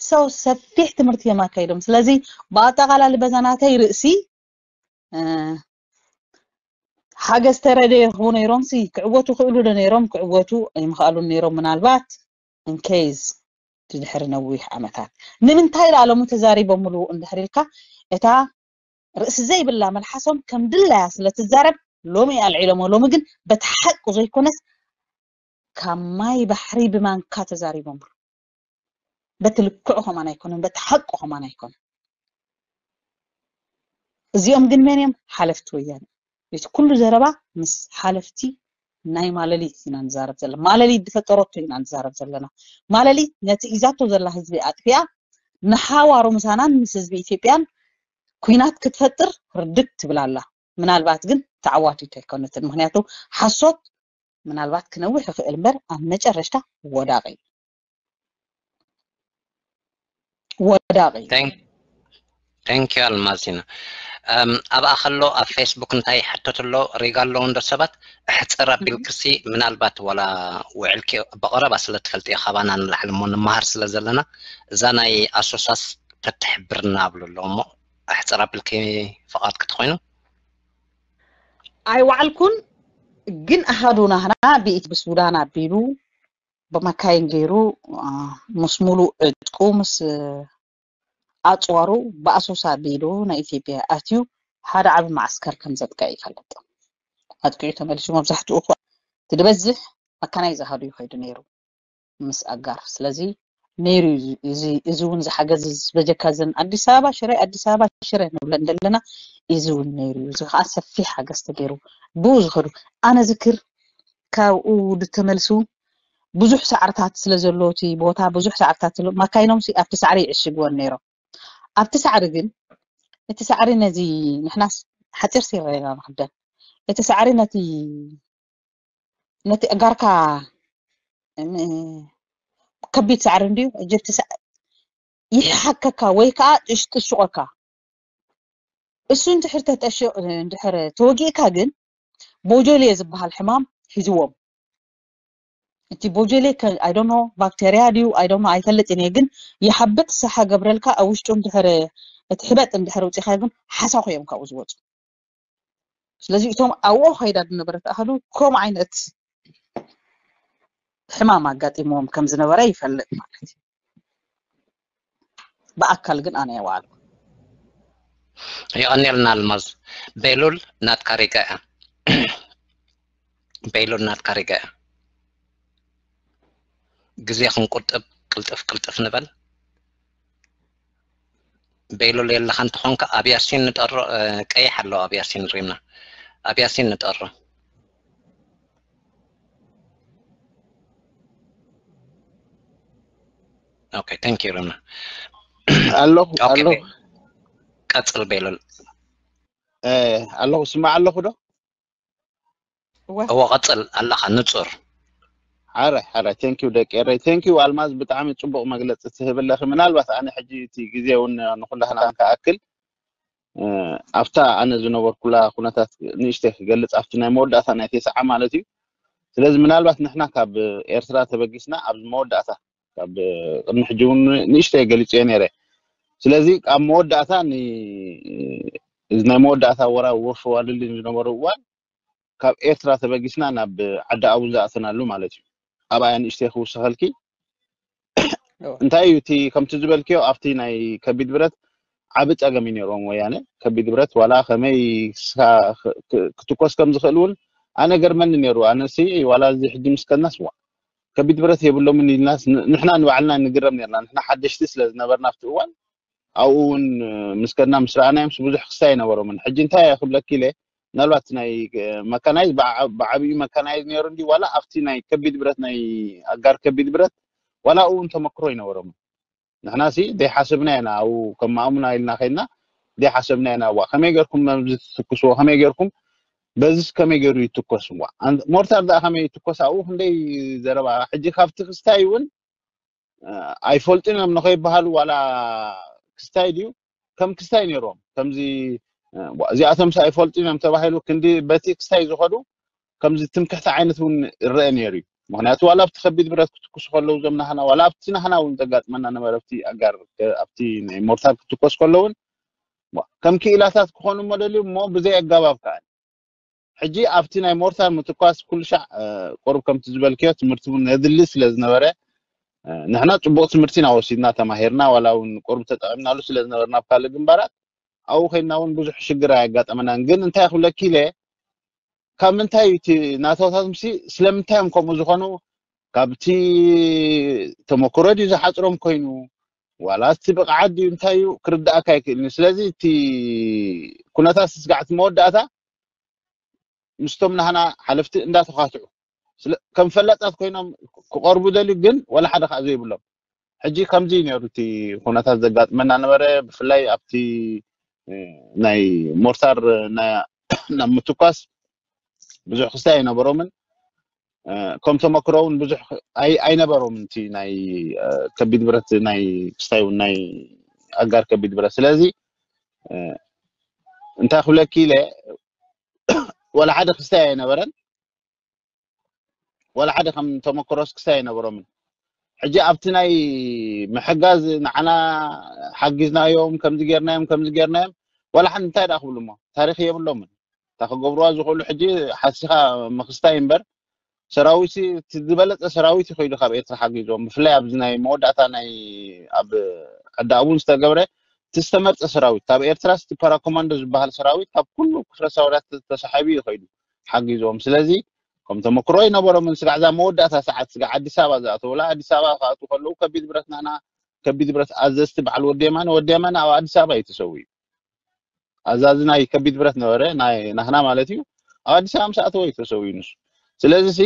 ሰው ሰፊሕ ትምህርቲ እዮም ኣካይዶም። ስለዚ ብኣጠቓላሊ በዛ ናተይ ርእሲ እ፣ ሓገዝ ተረደ ይረኽቡ ነይሮም ሲ ክዕወቱ ክእሉ ዶ ነይሮም? ክዕወቱ ኣይምኽኣሉን ነይሮም ምናልባት እንኬዝ ድድሕሪ ነዊሕ ዓመታት። ንምንታይ ዳኣ ሎሚ ተዛሪቦምሉ እንድሕር ኢልካ እታ ርእሲ ዘይብላ መልሓሶም ከም ድላያ ስለ ትዛረብ ሎሚ ኣልዒሎሞ። ሎሚ ግን በቲ ሓቁ ዘይኮነስ ካብ ማይ ባሕሪ ብማንካ ተዛሪቦምሉ። በቲ ልክዑ ከማን ኣይኮነን፣ በቲ ሓቁ ከማን ኣይኮነን። እዚኦም ግን መን እዮም? ሓለፍቲ ወያነ። እቲ ኩሉ ዘረባ ምስ ሓለፍቲ ናይ ማለሊት ኢና ንዛረብ ዘለና። ማለሊት ዝፈጠረቶ ኢና ንዛረብ ዘለና። ማለሊት ነቲ ሒዛቶ ዘላ ህዝቢ ኣጥፊኣ ንሓዋሩ ምሳናን ምስ ህዝቢ ኢትዮጵያን ኩናት ክትፈጥር ርድግ ትብል ኣላ። ምናልባት ግን ተዓዋቲት ኣይኮነትን። ምክንያቱ ሓሶት ምናልባት ክነውሕ ይኽእል እምበር ኣብ መጨረሽታ ወዳቂ እዩ። ወዳቂ እዩ። Thank you ኣልማዚና። ኣብኣ ከሎ ኣብ ፌስቡክ እንታይ ይሕተት ኣሎ ሪጋ ኣለዉ እንዶ ሰባት? እሕፅር ኣቢልክሲ ምናልባት ዋላ ውዕልኪ ብቐረባ ስለ ትፈልጥዮ ካባና ንላዕሊ እሞ ንመሃር ስለ ዘለና እዛ ናይ ኣሶሳስ ተትሕብርና ኣብሉ ኣሎ እሞ እሕፅር ኣቢልኪ ፍቓድ ክትኮይኑ። ኣይወዓልኩን ግን ኣሃዱ ናህና ብኢት ብሱዳን ኣቢሉ ብመካይን ገይሩ ምስ ሙሉ ዕጥቁ ምስ ኣፅዋሩ ብኣሶሳ ኣቢሉ ናይ ኢትዮጵያ ኣትዩ ሓደ ዓቢ ማዕስከር ከም ዘጥቅዐ ይፈልጥ። ኣጥቂዑ ተመሊሱ መብዛሕትኡ እኳ እቲ ዝበዝሕ መካናይዝ ኣሃዱ ይኸይዱ ነይሩ ምስ ኣጋር። ስለዚ ነይሩ እዩ እዚ እውን ዝሓገዝ ዝበጀካ ዘን ኣዲስ ኣበባ ሽረ ኣዲስ ኣበባ ሽረ ንብለን ዘለና እዚ እውን ነይሩ እዩ። እዚ ከዓ ሰፊሕ ሓገዝ ተገይሩ ብኡ ዝኸዱ ኣነ ዝክር ካብኡ ዝተመልሱ ብዙሕ ሳዕርታት ስለ ዘሎ እቲ ቦታ ብዙሕ ሳዕርታት ስለ ማካይኖም ሲ ኣብቲ ሳዕሪ ይዕሽግወን ነይሮም። ኣብቲ ሳዕሪ ግን እቲ ሳዕሪ ነዚ ንሕናስ ሓፂር ሲረ ኢና ንኽደን እቲ ሳዕሪ ነቲ ነቲ ኣጋርካ ከቢድ ሳዕሪ እንድዩ እጅብቲ ይሓከካ ወይ ከዓ ጥሽጥሽቆካ እሱ እንድሕር ተጠሽቕ እንድሕር ተወጊእካ ግን ቦጆሌ ዝበሃል ሕማም ሒዝዎም። እቲ ቦጆሌ I don't know ባክቴርያ ድዩ I don't know ኣይፈልጥን እየ፣ ግን ይሓብጥ ሰሓ ገብረልካ ኣብ ውሽጡ እንድሕር እቲ ሕበጥ እንድሕር ውፂኻ ግን ሓሳኹ እዮም ካብኡ ዝወፁ። ስለዚ እቶም ኣብኡ ከይዳ ዝነበረት ኣህዱ ከምኡ ዓይነት ሕማም ኣጋጢምዎም ከም ዝነበረ ይፈልጥ ማለት እዩ። ብኣካል ግን ኣነ የዋሉ የቐንየልና ኣልማዝ። ቤሉል ናትካ ሪጋ እያ። ቤሉል ናትካ ሪጋ እያ። ግዜ ክንቁጥብ ቅልጥፍ ቅልጥፍ ንበል። ቤሉል የለኻ እንተኾንካ ኣብ ያሲን ንጠሮ። ቀይሕ ኣሎ ኣብ ያሲን ሪምና ኣብ ያሲን ንጠሮ። Okay, thank you ሪምና። ኣለኹ ኣለኹ። ቀጽል ቤሉል። ኣለኹ ስማዕ ኣለኹ ዶ? እወ ቀጽል ኣለኻ ንጹር። ሓረ ሓረ thank you ደቂ ኤረይ thank you ኣልማዝ ብጣዕሚ ጽቡቕ መግለጺ ትህብ ኣለኺ። ምናልባት ኣነ ሕጂ እቲ ግዜ እውን ንኹላህና ከኣክል ኣብታ ኣነ ዝነበርኩላ ኩነታት ንእሽተይ ክገልጽ ኣብቲ ናይ መወዳእታ ናይ ቴስዓ ማለት እዩ። ስለዚ ምናልባት ንሕና ካብ ኤርትራ ተበጊስና ኣብዚ መወዳእታ ካብ ቅድሚ ሕጂ እውን ንእሽተይ ገሊጽዮ ነይረ። ስለዚ ኣብ መወዳእታ እዚ ናይ መወዳእታ ወራዊ ወፍሪ ዋልልኝ ዝነበረ እዋን ካብ ኤርትራ ተበጊስና ናብ ዓዲ ኣቡን ዝኣተናሉ ማለት እዩ። ኣብኣ ንእሽተይ ክውስኸልኪ እንታይ እዩ እቲ ከምቲ ዝበልክዮ ኣብቲ ናይ ከቢድ ብረት ዓቢ ጸገም እዩ ነይሮም ወያነ ከቢድ ብረት ዋላ ከመይ ክትኮስ ከም ዝኽእል እውን ኣነ ገርመኒ ነይሩ። ኣነሲ ዋላ እዚ ሕጂ ምስ ከድናስ ዋ ከቢድ ብረት የብሎምን ኢልናስ ንሕና ንባዕልና ንግረም ነርና። ንሕና ሓደሽቲ ስለ ዝነበርና ኣብቲ እዋን ኣብኡ እውን ምስ ከድና ምስ ረኣናዮምስ ብዙሕ ክስታይ ኣይነበሮምን። ሕጂ እንታይ እየ ክብለኪ ኢለ ምናልባት ናይ መካናይዝ ብዓብዩ መካናይዝ ነይሩ እንዲ ዋላ ኣብቲ ናይ ከቢድ ብረት ናይ ኣጋር ከቢድ ብረት ዋላ ኣብኡ እውን ተመክሮ ኣይነበሮምን። ንሕና ሲ ዘይሓሰብና ኢና ኣብኡ ከም ማእሙና ኢልና ከይድና ዘይሓሰብና ኢና እዋ ከመይ ገርኩም መዚ ትትኩስዎ ከመይ ገርኩም በዚስ ከመይ ገይሩ ይትኮስ እዋ ሞርታር ደኣ ከመይ ይትኮስ ኣብኡ ክንደይ ዘረባ ሕጂ ካብቲ ክስታይ እውን ኣይፈልጡን እዮም ንኸይበሃሉ ዋላ ክስታይ ድዩ ከም ክስታይ ነይሮም ከምዚ እዚኣቶም ሳ ኣይፈልጡን እዮም ተባሂሉ ክንዲ በቲ ክስታይ ዝኸዱ ከምዚ ትምክሕቲ ዓይነት እውን ይረአ ነይሩ እዩ። ምክንያቱ ዋላ ኣብቲ ከቢድ ብረት ክትኩሱ ከለዉ እዞም ናህና ዋላ ኣብቲ ናህና እውን ዘጋጥመና ነበረ ኣብቲ ኣጋር ኣብቲ ናይ ሞርታር ክትኮስ ከለውን ከም ክኢላታት ክኾኑ እሞ ደልዩ እሞ ብዘይ ኣጋባብ ከዓ ሕጂ ኣብቲ ናይ ሞርታር ምትኳስ ኩሉ ሻዕ ቁሩብ ከምቲ ዝበልክዮ ትምህርቲ እውን ነድሊ ስለ ዝነበረ ንሕና ፅቡቅ ትምህርቲ ኢና ወሲድና ተማሂርና ዋላ እውን ቁሩብ ተጠቂምናሉ ስለ ዝነበርና ኣብ ካልእ ግንባራት ኣብኡ ኮይንና እውን ብዙሕ ሽግር ኣየጋጠመናን ግን እንታይ ክብለኪ ኢለ ካብ ምንታይ እዩ እቲ ናቶታት ምሲ ስለምንታይ እዮም ከምኡ ዝኾኑ ካብቲ ተመክሮ ድዩ ዝሓፅሮም ኮይኑ ዋላ እቲ ብቕዓት ድዩ እንታይ እዩ ክርዳእካ ኣይክእልን እዩ ስለዚ እቲ ኩነታት ስጋዕቲ መወዳእታ ምስቶም ናህና ሓለፍቲ እንዳተኻትዑ ስለ ከም ፈላጣት ኮይኖም ክቐርቡ ደልዩ፣ ግን ወላ ሓደ ከዓ ዘይብሎም። ሕጂ ከምዚ እዩ ነይሩ እቲ ኩነታት ዘጋጥመና ነበረ። ብፍላይ ኣብቲ እ፣ ናይ ሞርታር ናይ ናብ ምትኳስ ብዙሕ ክስታይ ኣይነበሮምን። እ፣ ከም ተመክሮ እውን ብዙሕ ኣይ- ኣይነበሮምን። እቲ ናይ እ፣ ከቢድ ብረት ናይ ክስታይ እውን ናይ ኣጋር ከቢድ ብረት። ስለዚ እ፣ እንታይ ክብለኪ ኢለ፣ ወላ ሓደ ክስታይ ኣይነበረን። ወላ ሓደ ከም ተመክሮስ ክስታይ ኣይነበሮምን። ሕጂ ኣብቲ ናይ ምሕጋዝ ንዓና ሓጊዝናዮም፣ ከምዚ ጌርናዮም፣ ከምዚ ጌርናዮም፣ ወላ ሓንቲ እንታይ ደኣ ክብሉ እሞ ታሪኽ የብሎምን። እታ ክገብርዋ ዝኽእሉ ሕጂ ሓሲኻ ምኽስታይ እምበር፣ ሰራዊት እቲ ዝበለጸ ሰራዊት ይኸይዱ ካብ ኤርትራ ሓጊዞም። ብፍላይ ኣብዚ ናይ መወዳእታ ናይ ኣብ ዕዳቡን ዝተገብረ እቲ ዝተመርጸ ሰራዊት፣ ካብ ኤርትራ እቲ ፓራኮማንዶ ዝበሃል ሰራዊት ካብ ኩሉ ክፍለ ሰውራት ተሳሒቡ ይኸይዱ ሓጊዞም። ስለዚ ከም ተመክሮ ይነበሮምን። ስጋዕ እዛ መወዳእታ ሰዓት ስጋዕ ኣዲስ ኣበባ ዝኣተውላ፣ ኣዲስ ኣበባ ክኣትዉ ከለዉ ከቢድ ብረት ናና ከቢድ ብረት ኣዘዝቲ በዓል ወዲ የማነ፣ ወዲ የማነ ኣብ ኣዲስ ኣበባ እዩ ተሰዊኡ። ኣዛዚ ናይ ከቢድ ብረት ነበረ፣ ናይ ናህና ማለት እዩ። ኣብ ኣዲስ ኣበባ ምስ ኣተወ እዩ ተሰዊኡ ንሱ። ስለዚ ሲ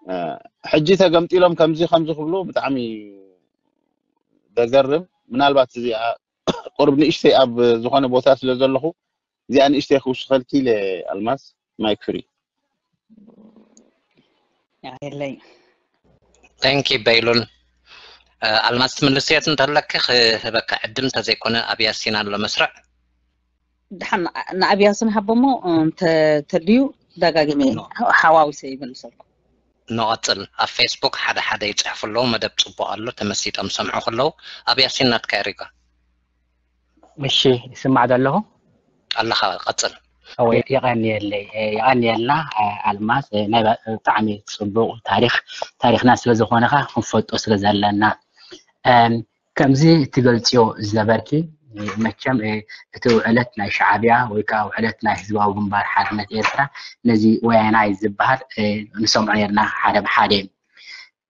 እ፣ ሕጂ ተገምጢሎም ከምዚ ከምዚ ክብሉ ብጣዕሚ ደገርም። ምናልባት እዚኣ ቁርብ ንእሽተይ ኣብ ዝኾነ ቦታ ስለ ዘለኹ እዚኣ ንእሽተይ ክውስኸልኪ ኢለ። ኣልማዝ፣ ማይክ ፍሪ። የለይ። Thank you በይሉል። እ፣ ኣልማዝ ትምልስየት እንተለኪ ክህበካ ዕድል፣ እንተዘይኮነ ኣብ ያሲን ኣሎ መስርዕ። ድሓን ንኣብ ያሲን ሃቦሞ እንተ ተድዩ ደጋጊመ ሓዋዊሰ ይመልሰልኩ። ንቐጽል። ኣብ ፌስቡክ ሓደ ሓደ ይጽሕፉ ኣለዉ፣ መደብ ጽቡቕ ኣሎ፣ ተመሲጦም ሰምዑ ከለዉ። ኣብ ያሲን ናትካ የሪጋ። እሺ፣ ይስማዕ ዶ ኣለኹ? ኣለኻ፣ ቀጽል። እወ፣ የቐንየለይ፣ እ፣ የቐንየልና፣ እ፣ ኣልማዝ፣ እ፣ ናይ ባ-፣ ብጣዕሚ ጽቡቕ ታሪኽ፣ ታሪኽና ስለ ዝኾነ ኸኣ ክንፈልጦ ስለ ዘለና። እም፣ ከምዚ ትገልጽዮ ዝነበርኪ፣ እ፣ መቸም፣ እ፣ እቲ ውዕለት ናይ ሻዕብያ ወይ ከኣ ውዕለት ናይ ህዝባዊ ግንባር ሓርነት ኤርትራ ነዚ ወያናይ ዝበሃል፣ እ፣ ንሰምዖ ነርና ሓደ ብሓደ።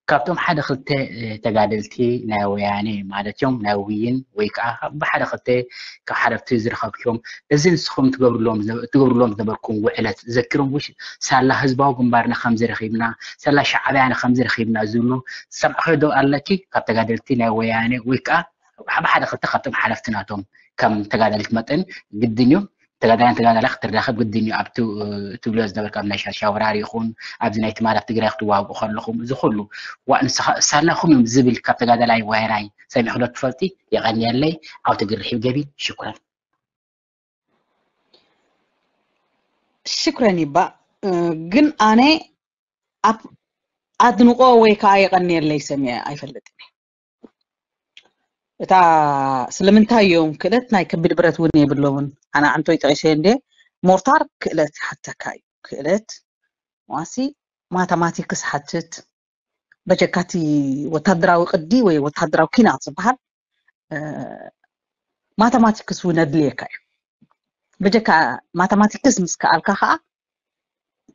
ካብቶም ሓደ ክልተ፣ እ፣ ተጋደልቲ ናይ ወያኔ ማለት እዮም፣ ናይ ውይን ወይ ከዓ ብሓደ ክልተ ካብ ሓለፍቲ ዝረኸብክዮም፣ እዚ ንስኹም ትገብርሎም ዝነ-፣ ትገብርሎም ዝነበርኩም ውዕለት ዘኪሮም ውሽ-፣ ሳላ ህዝባዊ ግንባርና ከምዚ ረኺብና፣ ሳላ ሻዕብያና ከምዚ ረኺብና ዝብሉ ዝሰምዕኽዮ ዶ ኣለኪ? ካብ ተጋደልቲ ናይ ወያኔ ወይ ከዓ ብሓደ ክልተ ካብቶም ሓለፍቲ ናቶም ከም ተጋዳሊት መጠን ግድን እዩ። ተጋዳላይን ተጋዳላይ ክትራኸብ ግድን እዩ። ኣብቲ፣ እ፣ ትብልዮ ዝነበርካ ኣብ ናይ ሻሻ ወራር ይኹን ኣብዚ ናይ ትማል ኣብ ትግራይ ክትዋግኡ ከለኹም እዚ ኩሉ ዋእ ንስኻ ሳላኹም እዮም ዝብል ካብ ተጋዳላይ ዋይራይ ሰሚዕኺ ዶ ትፈልጢ? የቐንየለይ። ዓውቲ ግርሒው ገቢ። ሽኩረን። ሽኩረን ይባእ። እ፣ ግን ኣነ ኣብ ኣድንቆ ወይ ከዓ የቐንየለይ ሰሚዐ ኣይፈልጥን እየ። እታ ስለምንታይ እዮም ክእለት ናይ ከቢድ ብረት እውን የብሎምን። ኣነ ኣንቶይ ጠቂሰ እንደ ሞርታር ክእለት ይሓተካ እዩ። ክእለት ዋሲ ማተማቲክስ ሓትት በጀካቲ ወታደራዊ ቅዲ ወይ ወታደራዊ ኪናት ዝበሃል እ፣ ማተማቲክስ እውን ኣድልየካ እዩ። በጀካ ማተማቲክስ ምስ ከኣልካ ከዓ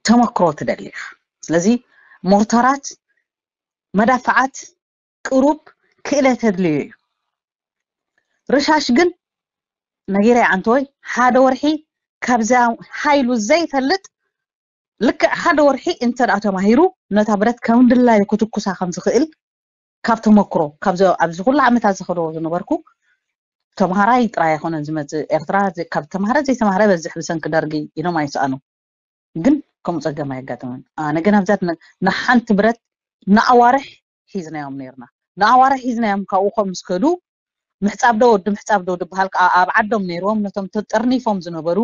ተመክሮ ትደሊ ኢኻ። ስለዚ ሞርታራት፣ መዳፍዓት ቅሩብ ክእለት ኣድልዮ እዩ። ርሻሽ ግን ነጊረ ኣንቶይ ሓደ ወርሒ ካብዛ ሃይሉ ዘይፈልጥ ልክዕ ሓደ ወርሒ እንተ ደኣ ተማሂሩ ነታ ብረት ከም ድላዩ ክትኩሳ ከም ዝኽእል ካብ ተመክሮ ካብዚ ኣብዚ ኩሉ ዓመታት ዝኸዶ ዝነበርኩ ተምሃራይ ጥራይ ኣይኮነን ዝመጽእ ኤርትራ ዘ- ካብ ተምሃረ ዘይተምሃረ በዝሕ ብሰንኪ ደርጊ ኢሎም ኣይሰኣኑ ግን ከምኡ ጸገም ኣየጋጠመን ኣነ ግን ኣብዛ ን- ንሓንቲ ብረት ንኣዋርሕ ሒዝናዮም ነርና ንኣዋርሕ ሒዝናዮም ካብኡ ከም ምስ ከዱ ምሕጻብ ዶ ወዲ ምሕጻብ ዶ ዝበሃል ከዓ ኣብ ዓዶም ነይርዎም ነቶም ተጠርኒፎም ዝነበሩ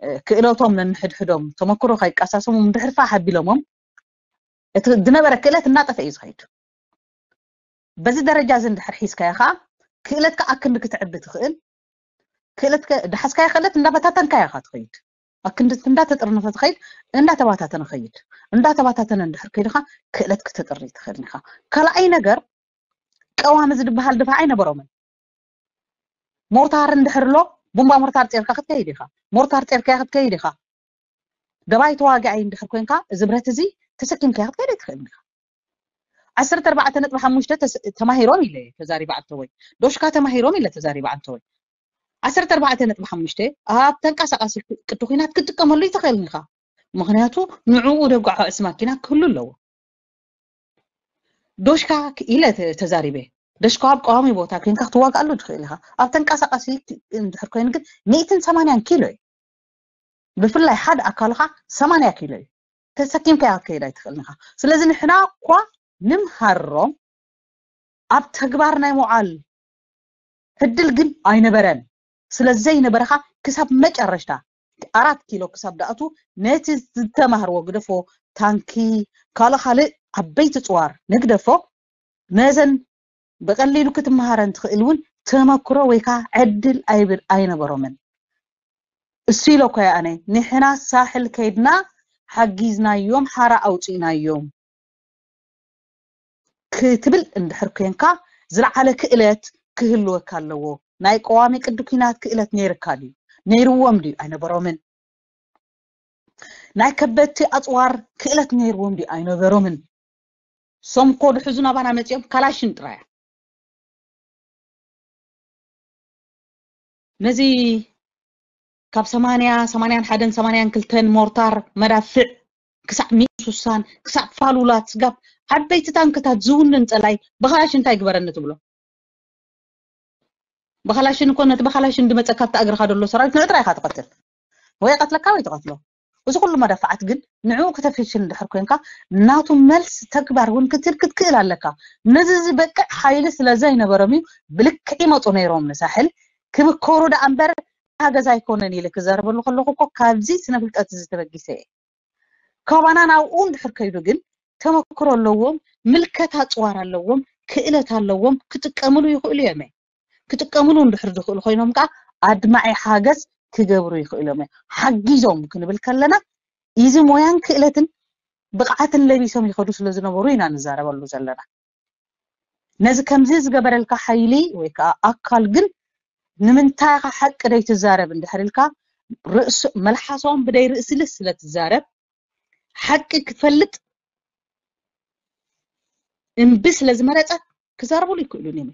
እ፣ ክእለቶም ነንሕድሕዶም ተመክሮ ከይቀሳሰሙ ድሕሪ ፋሕ ኣቢሎሞም እቲ ዝነበረ ክእለት እናጠፈ እዩ ዝኸይድ በዚ ደረጃ እዚ እንድሕር ሒዝካዮ ከዓ ክእለትካ ኣክንዲ ክትዕቢ ትኽእል ክእለትካ ድሓዝካዮ ክእለት እንዳበታተንካዮ ኢኻ ትኸይድ ኣክንዲ እንዳተጠርነፈ ትኸይድ እንዳተባታተነ ኸይድ እንዳተባታተነ እንድሕር ከይድኻ ክእለት ክተጥሪ ትኽእል ኢኻ ካልኣይ ነገር ቀዋሚ ዝድበሃል ድፋዕ ኣይነበሮምን ሞርታር እንድሕር ኣሎ ቡምባ ሞርታር ጼርካ ክትከይድ ኢኻ ሞርታር ጼርካዮ ክትከይድ ኢኻ ደባይ ተዋጋኣይ እንድሕር ኮንካ እዚ ብረት እዚ ተሰኪምካዮ ክትከይድ ኣይትኽእልን ኢኻ ዓሰርተ ኣርባዕተ ነጥቢ ሓሙሽተ ተስ- ተማሂሮም ኢለ ተዛሪባ ኣንተወይ ዶሽካ ተማሂሮም ኢለ ተዛሪባ ኣንተወይ ዓሰርተ ኣርባዕተ ነጥቢ ሓሙሽተ ኣብ ተንቀሳቃሲ ቅዲ ኩናት ክትጥቀመሉ ኣይትኽእልን ኢኻ ምኽንያቱ ንዕኡ ደጓዓ ዕስ ማኪና ክህሉ ኣለዎ። ዶሽካ ኢለ ተዛሪበ። ዶሽካ ኣብ ቀዋሚ ቦታ ኮይንካ ክትዋጋኣሉ ትኽእል ኢኻ። ኣብ ተንቀሳቃሲ እንድሕር ኮይኑ ግን ሚእትን ሰማንያን ኪሎ እዩ። ብፍላይ ሓደ ኣካልኻ ሰማንያ ኪሎ እዩ። ተሰኪምካዮ ክትከይድ ኣይትኽእልን ኢኻ። ስለዚ ንሕና እኳ ንምሃሮም ኣብ ተግባር ናይ ምውዓል ዕድል ግን ኣይነበረን። ስለ ዘይነበረኻ ክሳብ መጨረሽታ ኣራት ኪሎ ክሳብ ደኣቱ ነቲ ዝተማህርዎ ግደፎ፣ ታንኪ፣ ካልእ ካልእ ዓበይቲ ጽዋር ንግደፎ፣ ነዘን ብቐሊሉ ክትመሃረን ትኽእል እውን ተመክሮ ወይ ከዓ ዕድል ኣይብል ኣይነበሮምን። እሱ ኢለ እኮ እየ ኣነ፣ ንሕና ሳሕል ከይድና ሓጊዝናዮም፣ ሓራ ኣውፂእናዮም ክትብል እንድሕር ኮንካ ዝለዓለ ክእለት ክህልወካ ኣለዎ። ናይ ቀዋሚ ቅዲ ኲናት ክእለት ነይርካ ድዩ? ነይርዎም ድዩ? ኣይነበሮምን። ናይ ከበድቲ ኣፅዋር ክእለት ነይርዎም ድዩ? ኣይነበሮምን። ሶም ኮ ድሕዙ ናባና መፂኦም ካላሽን ጥራያ። ነዚ ካብ ሰማንያ፣ ሰማንያን ሓደን፣ ሰማንያን ክልተን ሞርታር መዳፍዕ ክሳብ ሚእቲ ስሳን ክሳብ ፋሉላት ስጋብ ዓበይቲ ታንክታት ዝውንን ፀላይ ብኻላሽ እንታይ ግበረኒ ትብሎ? ብኻላሽን እኮ ነቲ ብኻላሽን ድመፀካ ኣብቲ እግርኻ ዘሎ ሰራዊት ንዕጥራ ኢኻ ትቐትል። ወይ ቀትለካ ወይ ትቐትሎ። እዚ ኩሉ መዳፍዓት ግን ንዕኡ ከተፍሽል እንድሕር ኮንካ ናቱ መልስ ተግባር እውን ክትል ክትክእል ኣለካ። ነዚ ዝበቅዕ ሓይሊ ስለ ዘይነበሮም እዩ ብልክዕ ይመፁ ነይሮም ንሳሕል ክምከሩ ደኣ እምበር ሓገዝ ኣይኮነን ኢለ ክዛረበሉ ከለኹ እኮ ካብዚ ስነ ፍልጠት እዚ ተበጊሰ እየ። ካባና ናብኡ እንድሕር ከይዱ ግን ተመክሮ ኣለዎም፣ ምልከታ ኣፅዋር ኣለዎም፣ ክእለት ኣለዎም፣ ክጥቀምሉ ይኽእሉ እዮም። ክጥቀምሉ እንድሕር ዝኽእሉ ኮይኖም ከዓ ኣድማዒ ሓገዝ ክገብሩ ይኽእሉ እዮም። ሓጊዞም ክንብል ከለና እዚ ሞያን ክእለትን ብቕዓትን ለቢሶም ይኸዱ ስለ ዝነበሩ ኢና ንዛረበሉ ዘለና። ነዚ ከምዚ ዝገበረልካ ሓይሊ ወይ ከዓ ኣካል ግን ንምንታይ ኢኻ ሓቂ ደይትዛረብ እንድሕር ኢልካ ርእሱ መልሓሶም ብደይ ርእሲ ልስ ስለ ትዛረብ ሓቂ ክፈልጥ እምቢ ስለ ዝመረጸ ክዛረቡሉ ይክእሉ እዮም።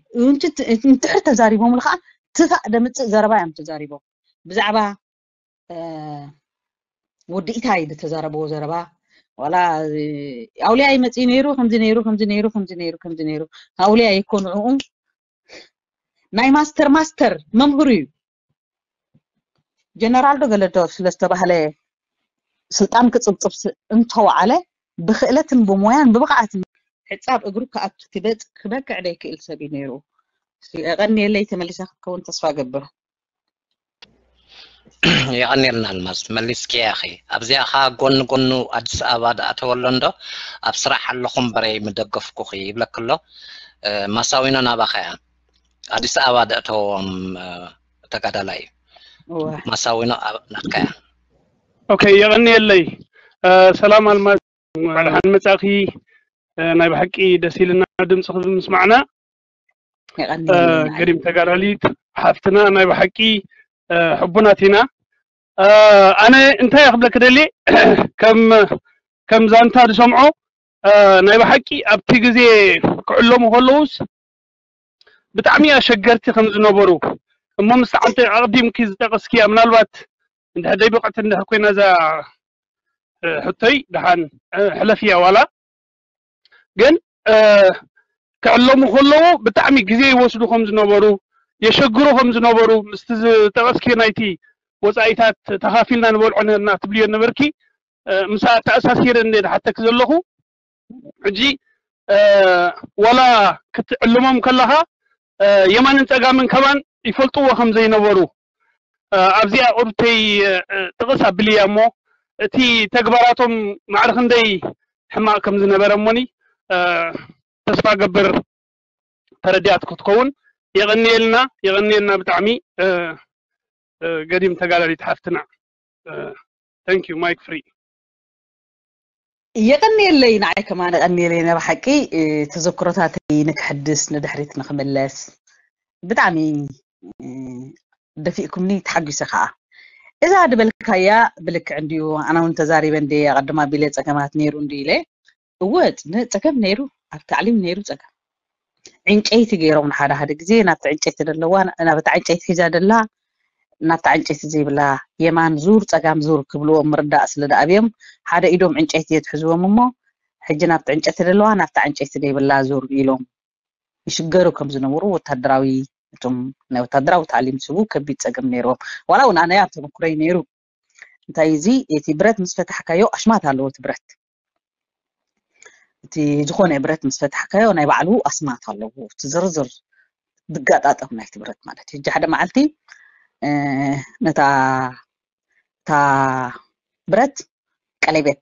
እንድሕር ተዛሪቦምሉ ከዓ ትፋእ ደምፅእ ዘረባ እዮም ተዛሪቦም። ብዛዕባ ወዲ ኢታይ ዝተዛረብዎ ዘረባ ዋላ ኣውሊያ ይመፅእ ነይሩ ከምዚ ነይሩ ከምዚ ነይሩ ከምዚ ነይሩ ከምዚ ነይሩ ኣውሊያ ይኮ ንዕኡ ናይ ማስተር ማስተር መምህሩ እዩ። ጀነራል ዶ ገለዶ ስለ ዝተባህለ ስልጣን ክፅብፅብ እንተወዓለ ብክእለትን ብሞያን ብብቕዓትን ሕፃብ እግሩ ክኣቱ ክበቅዕ ደይክእል ሰብ እዩ ነይሩ። የቐንየለይ ተመሊሳ ክትከውን ተስፋ ገብር። የቐንየልና ኣልማዝ መሊስኪያ ኢኺ። ኣብዚኣ ኸዓ ጎኒ ጎኑ ኣዲስ ኣበባ ድኣተወሎ እንዶ ኣብ ስራሕ ኣለኹ እምበረይ ምደገፍኩኺ ይብለኪ ኣሎ። ማሳዊኖ ናባኻ እያ። ኣዲስ ኣበባ ድእተዎም ተጋዳላይ እዩ። ማሳዊኖ ናትካ እያ። ኦኬ፣ የቐንየለይ። ሰላም ኣልማዝ፣ እንኳዕ ደሓን መጻእኺ። ናይ ብሓቂ ደስ ኢልና ድምፅኺ ብምስማዕና። ገዲም ተጋዳሊት ሓፍትና ናይ ብሓቂ ሕቡናት ኢና። ኣነ እንታይ ክብለኪ ደልየ ከም ከም ዛንታ ዝሰምዖ ናይ ብሓቂ ኣብቲ ግዜ ክዕለሙ ከለውስ ብጣዕሚ ኣሸገርቲ ከም ዝነበሩ እሞ ምስ ዓንተ ኣቕዲምኪ ዝጠቐስኪያ ምናልባት እንድሕር ደይ ብቕዕቲ እንድሕር ኮይና እዛ ሕቶይ ደሓን ሕለፍያ ዋላ ግን ክዕለሙ ከለዉ ብጣዕሚ ግዜ ይወስዱ ከም ዝነበሩ የሸግሩ ከም ዝነበሩ ምስቲ ዝጠቐስኪ ናይቲ ወፃኢታት ተኻፊልና ንበልዖ ነርና ትብልዮ ነበርኪ ምስኣ ተኣሳሲረ እንደ ዝሓተክ ዘለኹ ሕጂ ዋላ ክትዕልሞም ከለኻ የማንን ፀጋምን ከማን ይፈልጥዎ ከም ዘይነበሩ ኣብዚኣ ቁርብተይ ጥቕስ ኣብልያ እሞ እቲ ተግባራቶም ማዕረ ክንደይ ሕማቕ ከም ዝነበረ እሞኒ ተስፋ ገብር ተረዲኣት ክትከውን የቐንየልና የቐንየልና ብጣዕሚ ገዲም ተጋዳሊት ሓፍትና thank you mic free የቐንየለይ ንዓይ ከማን የቐንየለይ ናይ ብሓቂ ተዘክሮታተይ ንክሕድስ ንድሕሪት ንክምለስ ብጣዕሚ ደፊእኩምኒ ተሓጒሰ ከዓ እዛ ድበልካያ ብልክዕ እንድዩ ኣነ እውን ተዛሪበ እንደ ኣቐድማ ቢለ ፀገማት ነይሩ እንድዩ ኢለ እወ ፀገም ነይሩ ኣብ ታዕሊም ነይሩ ፀገም ዕንጨይቲ ገይሮም ንሓደ ሓደ ግዜ ናብቲ ዕንጨይቲ ዘለዋ ናብቲ ዕንጨይቲ ሒዛ ደላ ናብታ ዕንጨይቲ ዘይብላ የማን ዙር ጸጋም ዙር ክብልዎም ምርዳእ ስለ ደኣብዮም ሓደ ኢዶም ዕንጨይቲ የትሕዝዎም እሞ ሕጂ ናብቲ ዕንጨይቲ ዘለዋ ናብታ ዕንጨይቲ ዘይብላ ዙር ኢሎም ይሽገሩ ከም ዝነበሩ ወታደራዊ እቶም ናይ ወታደራዊ ታዕሊም ዝህቡ ከቢድ ጸገም ነይርዎም። ዋላ እውን ኣነ ኣብ ተመክሮይ ነይሩ። እንታይ እዚ እቲ ብረት ምስ ፈታሕካዮ ኣሽማት ኣለዎ እቲ ብረት እቲ ዝኾነ ብረት ምስ ፈታሕካዮ ናይ ባዕሉ ኣስማት ኣለዎ። እቲ ዝርዝር ዝጋጣጠም ናይቲ ብረት ማለት እዩ። ሕጂ ሓደ መዓልቲ ነታ እታ ብረት ቀለቤት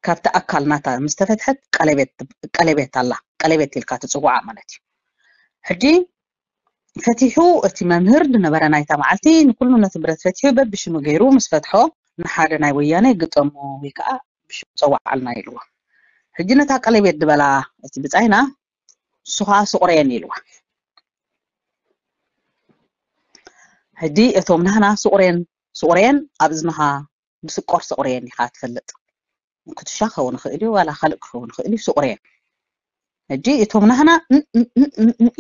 ካብቲ ኣካል ናታ ምስ ተፈትሐት ቀለቤት ኣላ። ቀለቤት ኢልካ ትፅውዓ ማለት እዩ። ሕጂ ፈቲሑ እቲ መምህር ዝነበረ ናይታ መዓልቲ ንኩሉ ነቲ ብረት ፈቲሑ በብሽሙ ገይሩ ምስ ፈትሖ ንሓደ ናይ ወያነ ግጠሞ ወይ ከዓ ብሽሙ ፀዋዓልና ኢልዎ። ሕጂ ነታ ቀለቤት ዝበላ እቲ ብፃይና ንሱ ከዓ ስቑሬን ኢልዋ። ሕጂ እቶም ናህና ስቑሬን ስቑሬን ኣብ እዝንኻ ብስቆር ስቑሬን ኢኻ ትፈልጥ። ኩትሻ ክኸውን ይኽእል እዩ ዋላ ካልእ ክኸውን ይኽእል እዩ ስቑሬን። ሕጂ እቶም ናህና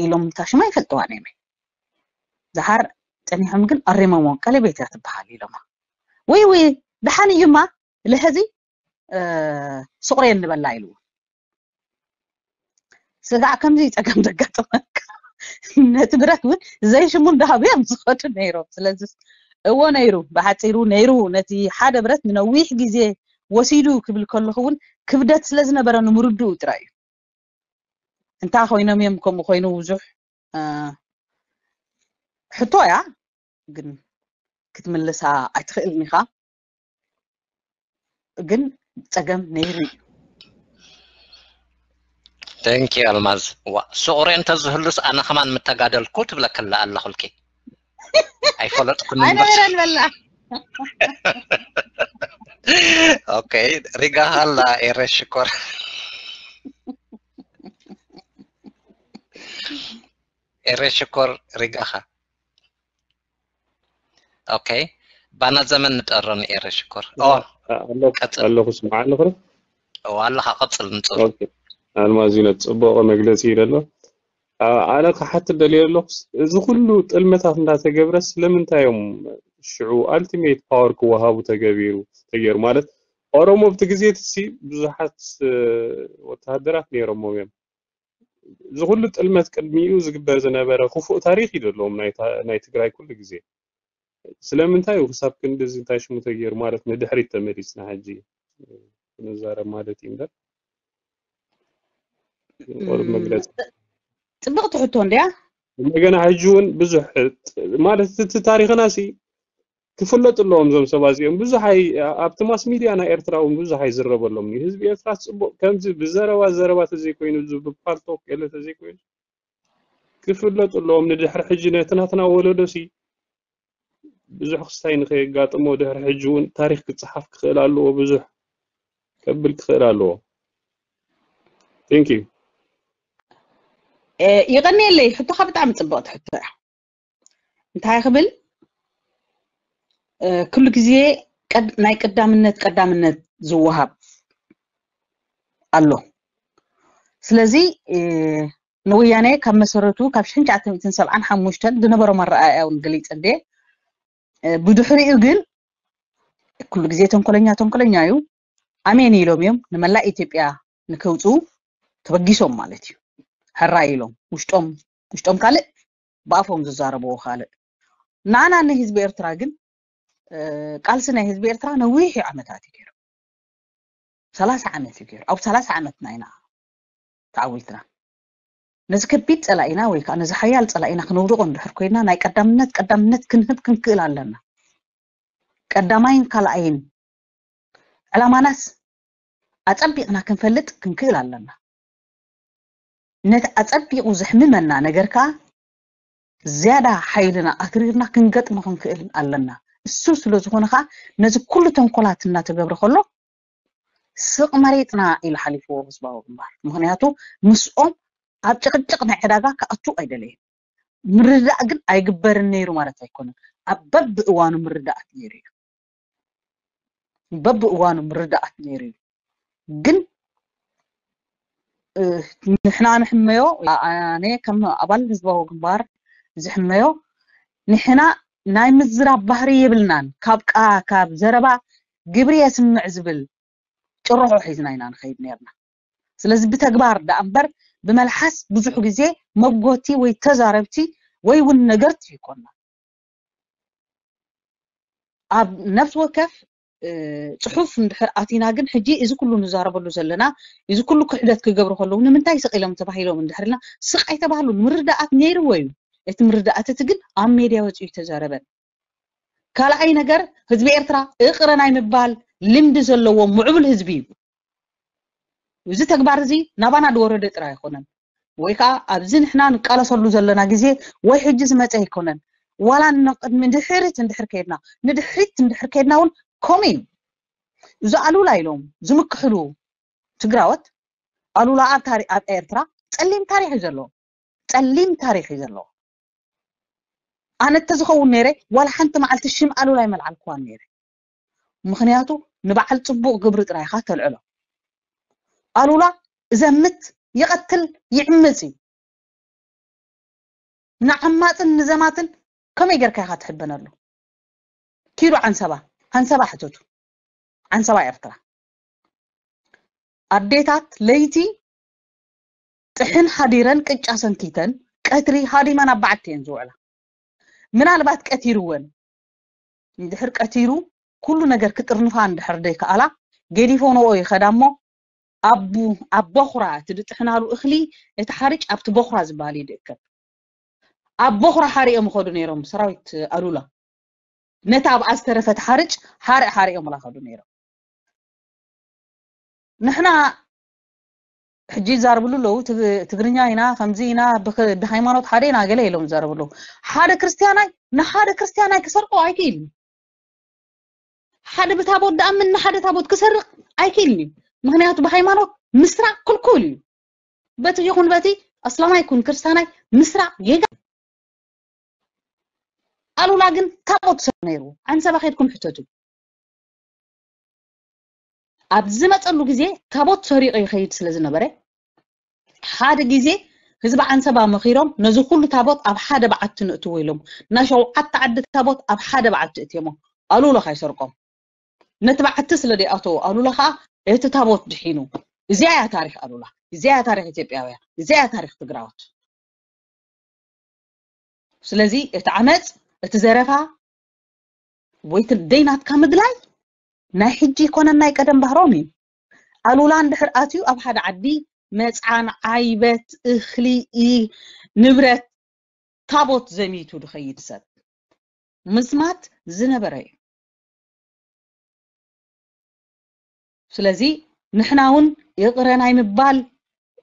ኢሎም እታ ሽማ ይፈልጥዋ ነይመ ዝሓር ፀኒሖም ግን ኣሪሞሞ ቀለቤት እያ ትበሃል ኢሎማ። ወይ ወይ ደሓን እዩማ ለሀዚ ስቑሬን ንበላ ኢልዎ። ስጋዕ ከምዚ ጸገም ዘጋጥመካ ነቲ ብረት እውን ዘይሽሙ እንዳሃቡ እዮም ዝኸዱ ነይሮም። ስለዚ እዎ ነይሩ፣ ብሓፂሩ ነይሩ። ነቲ ሓደ ብረት ንነዊሕ ግዜ ወሲዱ ክብል ከለኹ እውን ክብደት ስለ ዝነበረ ንምርድኡ ጥራይ እዩ። እንታይ ኮይኖም እዮም ከምኡ ኮይኑ ብዙሕ ሕቶ እያ፣ ግን ክትምልሳ ኣይትኽእልን ኢኻ። ግን ጸገም ነይሩ እዩ። Thank you ኣልማዝ። ዋ ስቑሬ እንተዝህሉስ ኣነ ከማን ምተጋደልኩ ትብለክላ ኣለኹልኪ። ኣይፈለጥኩን ኣይነበረን በላ። ኦኬ ሪጋ ኣላ ኤረ ሽኮር ኤረ ሽኮር ሪጋኻ ኦኬ ባና ዘመን ንጠሮኒ ኤረ ሽኮር ኣለኹ ስምዓ ኣለኹ ኣለኻ ቀፅል ንፅሩ ኣልማዚነ ፅቡቕ መግለፂ ኢለ ኣሎ። ኣነ ክሓትት ደልየ ኣለኹ፣ እዚ ኩሉ ጥልመታት እንዳተገብረ ስለምንታይ እዮም ሽዑ ኣልቲሜት ፓወር ክወሃቡ ተገቢሩ ተገይሩ ማለት ኦሮሞ ኣብቲ ግዜ እቲ ብዙሓት ወተሃደራት ነይሮሞም እዮም። እዚ ኩሉ ጥልመት ቅድሚኡ ዝግበር ዝነበረ ክፉእ ታሪኽ እዩ ዘለዎም ናይ ትግራይ ኩሉ ግዜ። ስለምንታይ እዩ ክሳብ ክንድዚ እንታይ ሽሙ ተገይሩ ማለት ንድሕሪት ተመሊስና ሕጂ ክንዛረብ ማለት እዩ እምበር ቁሩብ መግለፂ ፅብቕቲ ሕቶ እንድያ። እንደገና ሕጂ እውን ብዙሕ ማለት እቲ ታሪኽና ሲ ክፍለጡ ኣለዎም እዞም ሰባት እዚኦም። ብዙሕ ኣይ ኣብቲ ማስ ሚድያ ናይ ኤርትራ እውን ብዙሕ ኣይዝረበሎም እዩ። ህዝቢ ኤርትራ ፅቡቕ ከምዚ ብዘረባ ዘረባ ተዘይኮይኑ እዚ ብፓልቶክ ገለ ተዘይኮይኑ ክፍለጡ ኣለዎም። ንድሕሪ ሕጂ ነቲ ናትና ወለዶ ሲ ብዙሕ ክስታይ ንኸየጋጥሞ ድሕሪ ሕጂ እውን ታሪኽ ክፀሓፍ ክኽእል ኣለዎ። ብዙሕ ከብል ክኽእል ኣለዎ። Thank you። ይቐንየለይ። ሕቶኻ ብጣዕሚ ፅብቕቲ ሕቶ እያ። እንታይ ክብል ኩሉ ግዜ ናይ ቀዳምነት ቀዳምነት ዝወሃብ ኣሎ። ስለዚ ንወያነ ካብ መሰረቱ ካብ ሽሕን ትሽዓተ ሚእትን ሰብዓን ሓሙሽተን ዝነበሮም ኣረኣእያ እውን ገሊፀ እንደ ብድሕሪኡ ግን ኩሉ ግዜ ተንኮለኛ ተንኮለኛ እዩ። ኣሜን ኢሎም እዮም ንመላእ ኢትዮጵያ ንከውፅኡ ተበጊሶም ማለት እዩ። ሕራይ ኢሎም ውሽጦም ውሽጦም ካልእ ብኣፎም ዝዛረብዎ ካልእ። ንዓና ንህዝቢ ኤርትራ ግን ቃልሲ ናይ ህዝቢ ኤርትራ ነዊሕ እዩ ዓመታት እዩ ገይሩ። ሰላሳ ዓመት እዩ ገይሩ። ኣብ ሰላሳ ዓመትና ኢና ተዓዊትና። ነዚ ከቢድ ፀላኢና ወይ ከዓ ነዚ ሓያል ፀላኢና ክነውድቆ እንድሕር ኮይና ናይ ቀዳምነት ቀዳምነት ክንህብ ክንክእል ኣለና። ቀዳማይን ካልኣይን ዕላማናስ ኣፀቢቕና ክንፈልጥ ክንክእል ኣለና። ነቲ ኣፀቢቑ ዘሕምመና ነገር ከዓ ዝያዳ ሓይልና ኣትሪርና ክንገጥሞ ክንክእል ኣለና። እሱ ስለ ዝኾነ ከዓ ነዚ ኩሉ ተንኮላት እናተገብረ ከሎ ስቕ መሬጥና ኢሉ ሓሊፍዎ ህዝባዊ ግንባር። ምክንያቱ ምስኦም ኣብ ጭቕጭቕ ናይ ዕዳጋ ክኣቱ ኣይደለየን። ምርዳእ ግን ኣይግበርን ነይሩ ማለት ኣይኮነን። ኣብ በብእዋኑ ምርዳኣት ነይሩ እዩ። በብእዋኑ ምርዳኣት ነይሩ እዩ። ግን ንሕና ንሕመዮ ኣነ ከም ኣባል ህዝባዊ ግንባር ዝሕመዮ ንሕና ናይ ምዝራብ ባህሪ የብልናን። ካብ ቃ ካብ ዘረባ ግብሪ የስምዕ ዝብል ጭርሖ ሒዝና ኢና ንኸይድ ነርና። ስለዚ ብተግባር ደኣ እምበር ብመልሓስ ብዙሕ ግዜ መጎቲ ወይ ተዛረብቲ ወይ እውን ነገርቲ ይኮና። ኣብ ነፍሲ ወከፍ ጽሑፍ እንድሕር ኣቲና ግን ሕጂ እዚ ኩሉ ንዛረበሉ ዘለና እዚ ኩሉ ክሕደት ክገብሩ ከለዉ ንምንታይ ስቕ ኢሎም ተባሂሎም እንድሕር ኢልና ስቕ ኣይተባህሉን። ምርዳኣት ነይርዎ እዩ። እቲ ምርዳኣት እቲ ግን ኣብ ሜድያ ወፂኡ ተዛረበን። ካልኣይ ነገር ህዝቢ ኤርትራ እቕረ ናይ ምባል ልምዲ ዘለዎ ምዕቡል ህዝቢ እዩ። እዚ ተግባር እዚ ናባና ዝወረደ ጥራይ ኣይኮነን። ወይ ከዓ ኣብዚ ንሕና ንቃለሰሉ ዘለና ግዜ ወይ ሕጂ ዝመፀ ኣይኮነን። ዋላ ንቅድሚ ድሕሪት እንድሕር ከይድና ንድሕሪት እንድሕር ከይድና እውን ከምኡ እዩ። እዚ ኣሉላ ኢሎም ዝምክሕሉ ትግራወት ኣሉላ ኣብ ታሪ ኣብ ኤርትራ ፀሊም ታሪክ እዩ ዘለዎ። ፀሊም ታሪክ እዩ ዘለዎ። ኣነ እንተዝኸውን ነይረ ዋላ ሓንቲ መዓልቲ ሽም ኣሉላ ኣይመልዓልክዋን ነይረ። ምክንያቱ ንበዓል ፅቡቅ ግብሪ ጥራይ ኢኻ ተልዕሎ። ኣሉላ እዘምት ይቐትል ይዕምፅ እዩ። ንዓማፅን ንዘማትን ከመይ ጌርካ ኢኻ ትሕበነሉ? ኪዱ ዓንሰባ ዓንሰባ ሕተቱ። ዓንሰባ ኤርትራ ኣዴታት ለይቲ ጥሕን ሓዲረን ቅጫ ሰንኪተን ቀትሪ ሃዲመን ኣብ በዓቲ እየን ዝውዕላ። ምናልባት ቀቲርወን እንድሕር ቀቲሩ ኩሉ ነገር ክጥርንፋ እንድሕር ደይከኣላ ገዲፎንኦ ይኸዳ እሞ ኣብ ኣብ ቦኽራ እቲ ዝጥሕናሉ እኽሊ እቲ ሓርጭ ኣብቲ ቦኽራ ዝበሃል እዩ ዝእከብ። ኣብ ቦኽራ ሓሪኦም ይኸዱ ነይሮም ሰራዊት ኣሉላ። ነታ ኣብኣ ዝተረፈት ሓርጭ ሓርእ ሓሪኦምላ ከዱ ነይሮም። ንሕና ሕጂ ይዛረብሉ ኣለዉ ትግ- ትግርኛ ኢና ከምዚ ኢና ብክ- ብሃይማኖት ሓደ ኢና ገለ ኢሎም ይዛረብሉ። ሓደ ክርስትያናይ ንሓደ ክርስትያናይ ክሰርቆ ኣይክእልን። ሓደ ብታቦት ደኣምን ንሓደ ታቦት ክሰርቕ ኣይክእልን እዩ። ምክንያቱ ብሃይማኖት ምስራቕ ክልኩል እዩ። በቲ ይኹን በቲ ኣስላማይ ይኩን ክርስታናይ ምስራቕ ጌጋ። ኣሉላ ግን ታቦት ሰ ነይሩ። ዓንሰባ ከድኩም ሕተቱ። ኣብ ዝመፀሉ ግዜ ታቦት ሰሪቑ ይኸይድ ስለ ዝነበረ ሓደ ግዜ ህዝቢ ዓንሰባ መኺሮም ነዚ ኩሉ ታቦት ኣብ ሓደ በዓቲ ንእትዎ ኢሎም ናይ ሸውዓተ ዓዲ ታቦት ኣብ ሓደ በዓቲ እትዮሞ ኣሉላ ካይሰርቆም ነቲ በዓቲ ስለ ደይኣተዎ ኣሉላ ከዓ እቲ ታቦት ድሒኑ። እዚኣ እያ ታሪክ ኣሉላ፣ እዚኣ እያ ታሪክ ኢትዮጵያውያን፣ እዚኣ እያ ታሪክ ትግራዎት። ስለዚ እቲ ዓመፅ እቲ ዘረፋ ወይ እቲ ደይናትካ ምድላይ ናይ ሕጂ ይኮነን ናይ ቀደም ባህሮም እዩ። ኣሉላ እንድሕር ኣትዩ ኣብ ሓደ ዓዲ መፅዓን ዓይበት እኽሊ ንብረት ታቦት ዘሚቱ ድኸይድ ሰብ ምዝማት ዝነበረ እዩ። ስለዚ ንሕና እውን ይቕረ ናይ ምባል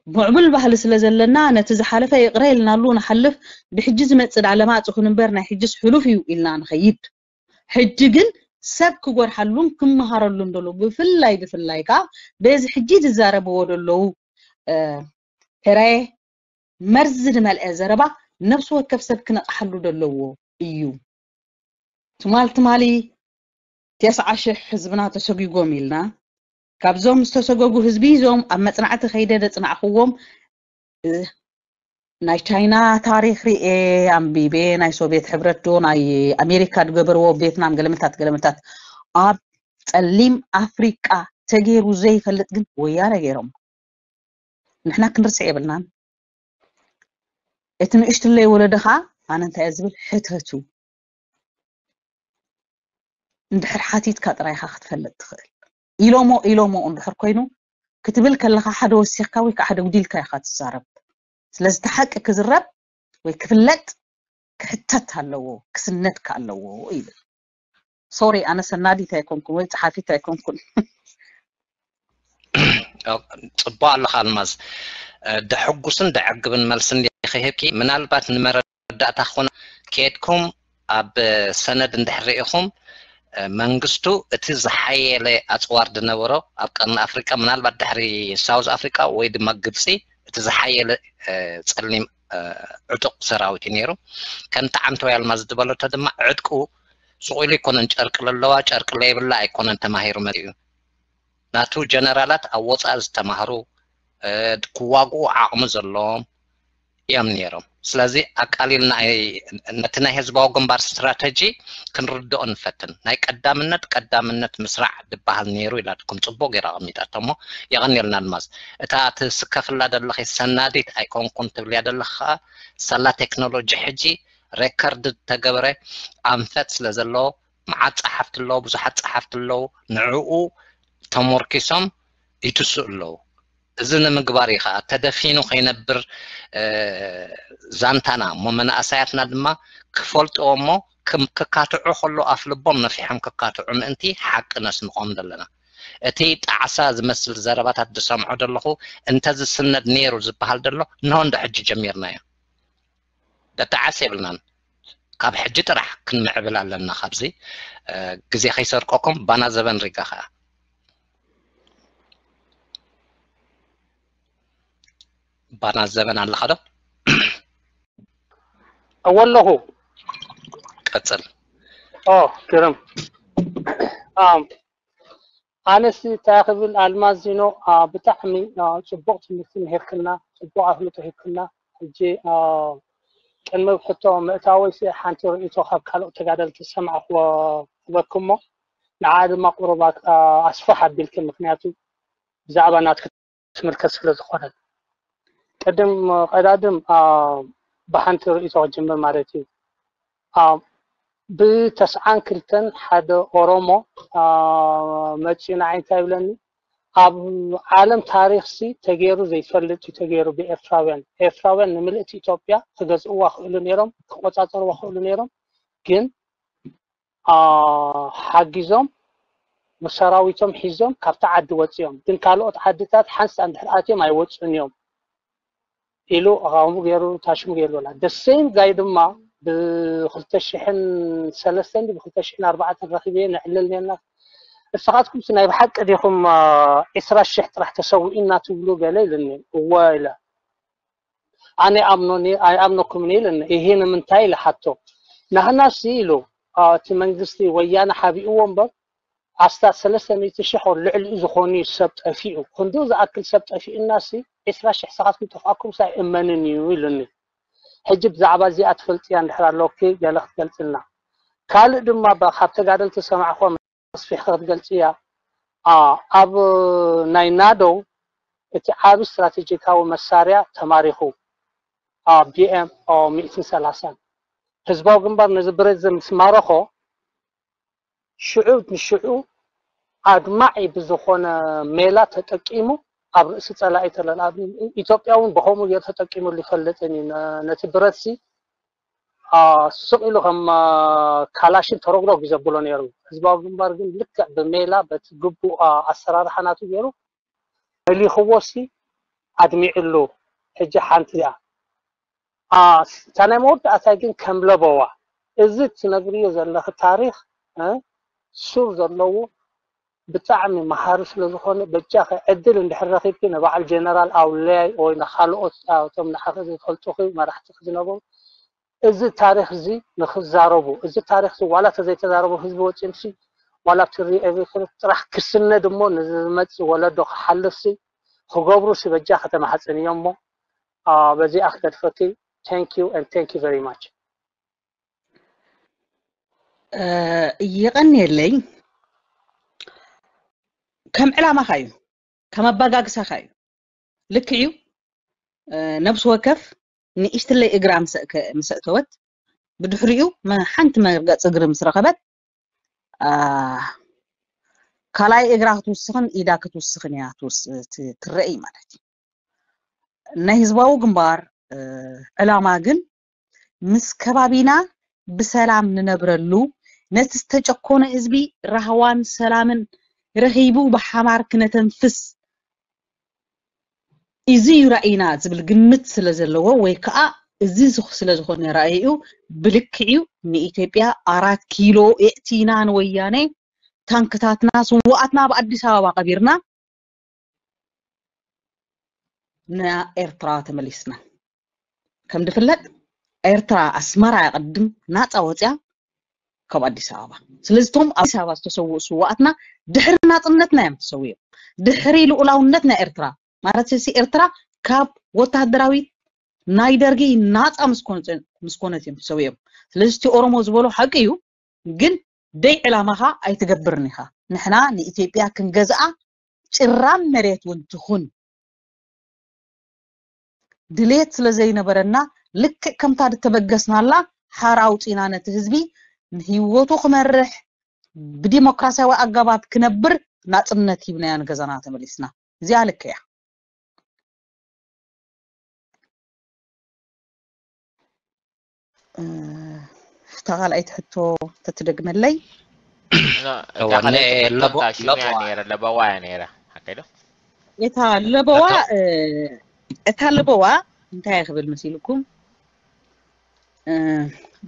ምዕቡል ባህሊ ስለ ዘለና ነቲ ዝሓለፈ ይቕረ ኢልናሉ ንሓልፍ። ብሕጂ ዝመፅእ ዳኣ ለማፅ ይኹን እምበር ናይ ሕጅስ ሕሉፍ እዩ ኢልና ንኸይድ። ሕጂ ግን ሰብ ክጎርሓሉን ክመሃረሉን ደሎ ብፍላይ ብፍላይ ከዓ በዚ ሕጂ ዝዛረብዎ ደለዉ ሕራየ መርዚ ዝመልአ ዘረባ ነፍሲ ወከፍ ሰብ ክነቕሓሉ ደለዎ እዩ። ትማል ትማሊ ተስዓ ሽሕ ህዝብና ተሰጒጎም ኢልና ካብዞም ዝተሰገጉ ህዝቢ እዞም ኣብ መፅናዕቲ ከይደ ደፅናዕክዎም ናይ ቻይና ታሪክ ርኤ ኣንቢቤ ናይ ሶቪየት ሕብረት ዶ ናይ ኣሜሪካ ዝገበርዎ ቬትናም ገለመታት ገለመታት ኣብ ፀሊም ኣፍሪቃ ተገይሩ ዘይፈልጥ ግን ወያነ ገይሮም። ንሕና ክንርስዕ የብልናን። እቲ ንእሽትለይ ወለዶ ከዓ ኣነ እንታይ እየ ዝብል ሕተቱ። እንድሕር ሓቲትካ ጥራይ ኢኻ ክትፈልጥ ትኽእል። ኢሎሞ ኢሎሞ እንድሕር ኮይኑ ክትብል ከለኻ ሓደ ወሲኽካ ወይ ከዓ ሓደ ጉዲልካ ኢኻ ትዛረብ። ስለዚ እቲ ሓቂ ክዝረብ ወይ ክፍለጥ ክሕተት ኣለዎ፣ ክስነድካ ኣለዎ ይብል። ሶሪ ኣነ ሰናዲት ኣይኮንኩን ወይ ፀሓፊት ኣይኮንኩን። ፅቡቅ ኣለካ ኣልማዝ። ደሕጉስን ደዕግብን መልሲ እንዲኺ ሂብኪ። ምናልባት ንመረዳእታ ክኾና ከድኩም ኣብ ሰነድ እንድሕር ርኢኹም መንግስቱ እቲ ዝሓየለ ኣፅዋር ዝነበሮ ኣብ ቀርኒ ኣፍሪቃ ምናልባት ድሕሪ ሳውዝ ኣፍሪቃ ወይ ድማ ግብፂ እቲ ዝሓየለ ፀሊም ዕጡቕ ሰራዊት እዩ ነይሩ። ከምቲ ዓንተወይ ኣልማዝ ዝበለቶ ድማ ዕጥቁ ስቕ ኢሉ ኣይኮነን ጨርቂ ለለዋ ጨርቂ ለየብላ ኣይኮነን ተማሂሩ መፂኡ። ናቱ ጀነራላት ኣብ ወፃኢ ዝተማህሩ ክዋግኡ ዓቕሚ ዘለዎም እዮም ነይሮም። ስለዚ ኣቃሊልና ነቲ ናይ ህዝባዊ ግንባር ስትራተጂ ክንርድኦ ንፈትን። ናይ ቀዳምነት ቀዳምነት ምስራዕ ዝበሃል ነይሩ ኢላትኩም ጽቡቅ ገይራ ኣቐሚጣቶ። እሞ የቐንየልና ኣልማዝ። እታ ትስከፍላ ዘለኺ ሰናዲት ኣይኮንኩን ትብልያ ዘለኺ ከኣ ሳላ ቴክኖሎጂ ሕጂ ሬከርድ ዝተገበረ ኣንፈት ስለ ዘለዎ መዓት ጸሓፍቲ ኣለዉ፣ ብዙሓት ጸሓፍቲ ኣለዉ። ንዕኡ ተሞርኪሶም ይትስኡ ኣለዉ። እዚ ንምግባር እዩ ከዓ ተደፊኑ ከይነብር ዛንታና እሞ መናእሰያትና ድማ ክፈልጥዎ እሞ ክካትዑ ከሎ ኣፍ ልቦም ነፊሖም ክካትዑ ምእንቲ ሓቂ ነስንቆም ዘለና። እቲ ጣዕሳ ዝመስል ዘረባታት ዝሰምዖ ዘለኹ እንተዝስነድ ነይሩ ዝበሃል ዘሎ እንሆ እንዶ ሕጂ ጀሚርናዮ። ደተዓስ የብልናን። ካብ ሕጂ ጥራሕ ክንምዕብል ኣለና። ካብዚ ግዜ ከይሰርቀኩም ባና ዘበን ሪጋ ከዓ ባና ዘበን ኣለኻ ዶ? እወ ኣለኹ። ቀጽል። ኦ ግርም። ኣነስ እንታይ ክብል ኣልማዚኖ ብጣዕሚ ጽቡቕ ትምህርቲ ምሂርክና፣ ጽቡቕ ኣፍልጦ ሂብክና። ሕጂ ቅድሚ ሕቶ ምእታወይ ሓንቲ ርእይቶ ካብ ካልኦት ተጋደልቲ ዝሰማዕክዎ ክህበክሞ ንዓ ድማ ቁሩብ ኣስፍሕ ኣቢልክ፣ ምክንያቱ ብዛዕባ ናትክ ትምልከት ስለ ዝኾነ ቅድም ቀዳድም ብሓንቲ ርእይቶ ክጅምር ማለት እዩ። ብተስዓን ክልተን ሓደ ኦሮሞ መፂኡ ንዓይ እንታይ ይብለኒ፣ ኣብ ዓለም ታሪክ ሲ ተገይሩ ዘይፈልጥ እዩ ተገይሩ ብኤርትራውያን። ኤርትራውያን ንምልእቲ ኢትዮጵያ ክገዝእዋ ክእሉ ነይሮም፣ ክቆፃፀርዋ ክእሉ ነይሮም፣ ግን ሓጊዞም ብሰራዊቶም ሒዞም ካብቲ ዓዲ ወፂኦም፣ ግን ካልኦት ዓድታት ሓንሳ እንድሕር ኣትዮም ኣይወፁን እዮም ኢሉ ከምኡ ገይሩ ታሽሙ ገይሩ። ላ ደሴም ጋይ ድማ ብክልተ ሽሕን ሰለስተን ብክልተ ሽሕን ኣርባዕተን ረኪበ ነዕልል ነና። እስኻትኩም ናይ ብሓቂ ዲኹም ዒስራ ሽሕ ጥራሕ ተሰዊእና ትብሉ ገለ ኢልኒ። እወ ኢለ ኣነ ኣምኖኒ ኣይኣምነኩም ኢልኒ። ይሄ ንምንታይ ኢለ ሓቶ። ናህናሲ ኢሉ እቲ መንግስቲ ወያነ ሓቢእዎ እምበር ኣስታት ሰለስተ ሚእቲ ሽሕ ልዕሊኡ ዝኾኑ እዩ ሰብ ጠፊኡ። ክንዱ ዝኣክል ሰብ ጠፊኡናሲ ዒስራ ሽሕ ሰኻትኩም ጠፍኣኩም ሳይ እመንን እዩ ኢሉኒ። ሕጂ ብዛዕባ እዚኣ ትፈልጥያ እንድሕር ኣለኪ ገለ ክትገልፅልና። ካልእ ድማ ካብ ተጋደልቲ ሰማዕኮ ኣስፊሕካ ክትገልፅያ ኣብ ናይ ናዶ እቲ ዓቢ ስትራቴጂካዊ መሳርያ ተማሪኹ ኣብ ቢኤም ሚእትን ሰላሳን ህዝባዊ ግንባር ነዚ ብረት ምስ ማረኾ ሽዑ ንሽዑ ኣድማዒ ብዝኾነ ሜላ ተጠቂሙ ኣብ ርእሲ ፀላኢ ተለላ ኢትዮጵያ እውን ብኸምኡ ገይሩ ተጠቂሙሉ ይፈልጥን እዩ። ነቲ ብረትሲ ስቕ ኢሉ ከም ካላሽን ተረጉረጉ ዘብሎ ነይሩ። ህዝባዊ ግንባር ግን ልክዕ ብሜላ በቲ ግቡእ ኣሰራርሓ ናቱ ገይሩ መሊኽዎ ሲ ኣድሚዕሉ። ሕጂ ሓንቲ እያ እታ ናይ መወዳእታይ ግን ከም ለበዋ እዚ ትነግርዮ ዘለኺ ታሪኽ ሱር ዘለዎ ብጣዕሚ መሃሪ ስለ ዝኾነ በጃኺ ዕድል እንድሕር ረኺብኪ ንበዓል ጀነራል ኣውለያይ ወይ ንኻልኦት እቶም ንዓኺ ዝፈልጡኺ መራሕትኺ ዝነበሩ እዚ ታሪኽ እዚ ንኽዛረቡ፣ እዚ ታሪኽ እዚ ዋላ ተዘይተዛረቡ ህዝቢ ወፂኡምሲ ዋላ ኣብቲ ሪኤቪክን ጥራሕ ክስነድ እሞ ንዝመፅእ ወለዶ ክሓልፍሲ ክገብሩሲ በጃ ከተማሓፅን እዮም እሞ በዚኣ ክገድፈኪ። Thank you and thank you very much። ይቐንየለይ። ከም ዕላማኻ እዩ፣ ከም ኣባጋግሳኻ እዩ። ልክዕ እዩ። ነብሲ ወከፍ ንእሽትለይ እግራ ምስ ኣእተወት ብድሕሪኡ ሓንቲ መርገፂ እግሪ ምስ ረኸበት ካልኣይ እግራ ክትውስኽን ኢዳ ክትውስኽን እያ ትረአይ ማለት እዩ። ናይ ህዝባዊ ግንባር ዕላማ ግን ምስ ከባቢና ብሰላም ንነብረሉ፣ ነቲ ዝተጨኮነ ህዝቢ ራህዋን ሰላምን ረኺቡ ብሓማር ክነተንፍስ እዚ እዩ ራእይና ዝብል ግምት ስለ ዘለዎ ወይ ከዓ እዚ ስለ ዝኾነ ራእይኡ ብልክዕዩ ንኢትዮጵያ ኣራት ኪሎ የእቲና ንወያነ ታንክታትና ስዋኣትና ኣብ ኣዲስ ኣበባ ቀቢርና ንኤርትራ ተመሊስና። ከም ዝፍለጥ ኤርትራ ኣስመራ እያ ቅድም ናፃ ወፅያ ካብ ኣዲስ ኣበባ። ስለዚ እቶም ኣብ ኣዲስ ኣበባ ዝተሰውኡ ስዋኣትና ድሕሪ ናፅነትና እዮም ተሰዊኦም። ድሕሪ ልኡላውነት ናይ ኤርትራ ማለት ሲ ኤርትራ ካብ ወታደራዊት ናይ ደርጊ ናፃ ምስ ኮነ- ምስ ኮነት እዮም ሰውዮም። ስለዚ እቲ ኦሮሞ ዝበሎ ሓቂ እዩ፣ ግን ደይ ዕላማኻ ኣይትገብርን ኢኻ። ንሕና ንኢትዮጵያ ክንገዝኣ ጭራም መሬት እውን ትኹን ድሌት ስለ ዘይነበረና፣ ልክዕ ከምታ ዝተበገስናላ ሓራ ኣውፂና ነቲ ህዝቢ ንህይወቱ ክመርሕ ብዲሞክራሲያዊ ኣገባብ ክነብር ናፅነት ሂብናዮ ንገዛና ተመሊስና። እዚኣ ልክዕ እያ። እታ ካልኣይቲ ሕቶ ተትደግመለይ። እታ ካልኣይቲ ሕቶ እንታይ ሽሙ እያ ነይራ? ለበዋ እያ ነይራ። ሓቀይ ዶ? እታ ለበዋ እታ ለበዋ እንታይ እያ ክብል መሲልኩም?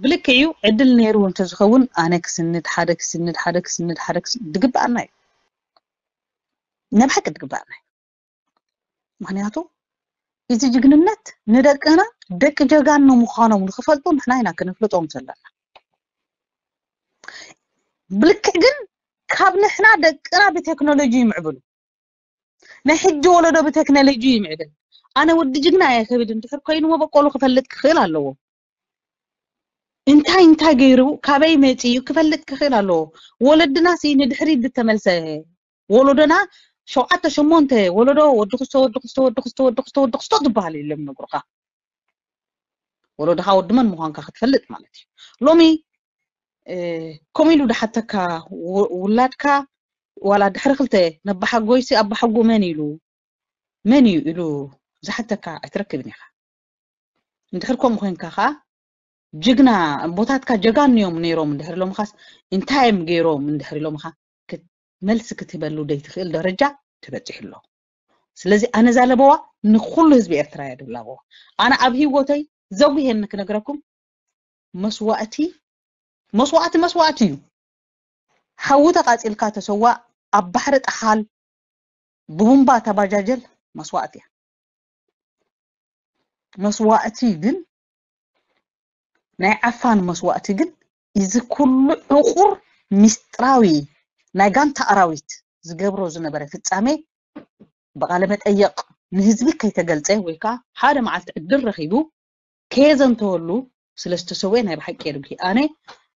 ብልክዕ እዩ። ዕድል ነይሩ እንተዝኸውን ኣነ ክስንድ፣ ሓደ ክስንድ፣ ሓደ ክስንድ፣ ሓደ ክስንድ ድግብኣና እዩ። ናይ ብሓቂ ድግብኣና እዩ። ምክንያቱ እዚ ጅግንነት ንደቅና ደቂ ጀጋኑ ምዃኖም ንክፈልጡ ንሕና ኢና ክነፍልጦም ዘለና። ብልክዕ ግን ካብ ንሕና ደቅና ብቴክኖሎጂ ይምዕብሉ፣ ናይ ሕጂ ወለዶ ብቴክኖሎጂ ይምዕብል። ኣነ ወዲ ጅግና እየ ክብል እንድሕር ኮይኑ መበቆሉ ክፈልጥ ክኽእል ኣለዎ። እንታይ እንታይ ገይሩ ካበይ መፂኡ ክፈልጥ ክኽእል ኣለዎ። ወለድና ሲ ንድሕሪት ዝተመልሰ ወለዶና ሸውዓተ ሸሞንተ ወለዶ ወዲ ክስቶ ወዲ ክስቶ ወዲ ክስቶ ወዲ ክስቶ ወዲ ክስቶ ዝበሃል የሎም ነግሩኻ። ወለዶኻ ወዲ መን ምዃንካ ክትፈልጥ ማለት እዩ። ሎሚ ከምኡ ኢሉ ድሓተካ ውላድካ ዋላ ድሕሪ ክልተ ነባሓጎይሲ ኣባሓጎ መን ኢሉ መን እዩ ኢሉ ዝሓተካ ኣይትረክብን ኢኻ። እንድሕር ከምኡ ኮይንካ ከዓ ጅግና ኣቦታትካ ጀጋኑ እዮም ነይሮም እንድሕር ኢሎምኻስ እንታይ እዮም ገይሮም እንድሕር ኢሎምኻ መልሲ ክትህበሉ ዘይትኽእል ደረጃ ተበፂሑ ኣሎ። ስለዚ ኣነ እዛ ለበዋ ንኩሉ ህዝቢ ኤርትራ እያ ድብል ኣለዋ። ኣነ ኣብ ህይወተይ ዘጉሄኒ ክነግረኩም መስዋእቲ መስዋእቲ መስዋእቲ እዩ። ሓዊ ተቃፂልካ ተሰዋእ፣ ኣብ ባሕሪ ጠሓል፣ ብቡምባ ተባጃጀል መስዋእቲ እያ። መስዋእቲ ግን ናይ ዓፋን መስዋእቲ ግን እዚ ኩሉ ዕቁር ሚስጥራዊ ናይ ጋንታ ኣራዊት ዝገብሮ ዝነበረ ፍጻሜ ብቃለ መጠየቕ ንህዝቢ ከይተገልጸ ወይ ከዓ ሓደ መዓልቲ ዕድል ረኺቡ ከየዘንተወሉ ስለ ዝተሰወየ ናይ ብሓቂ የድጉ። ኣነ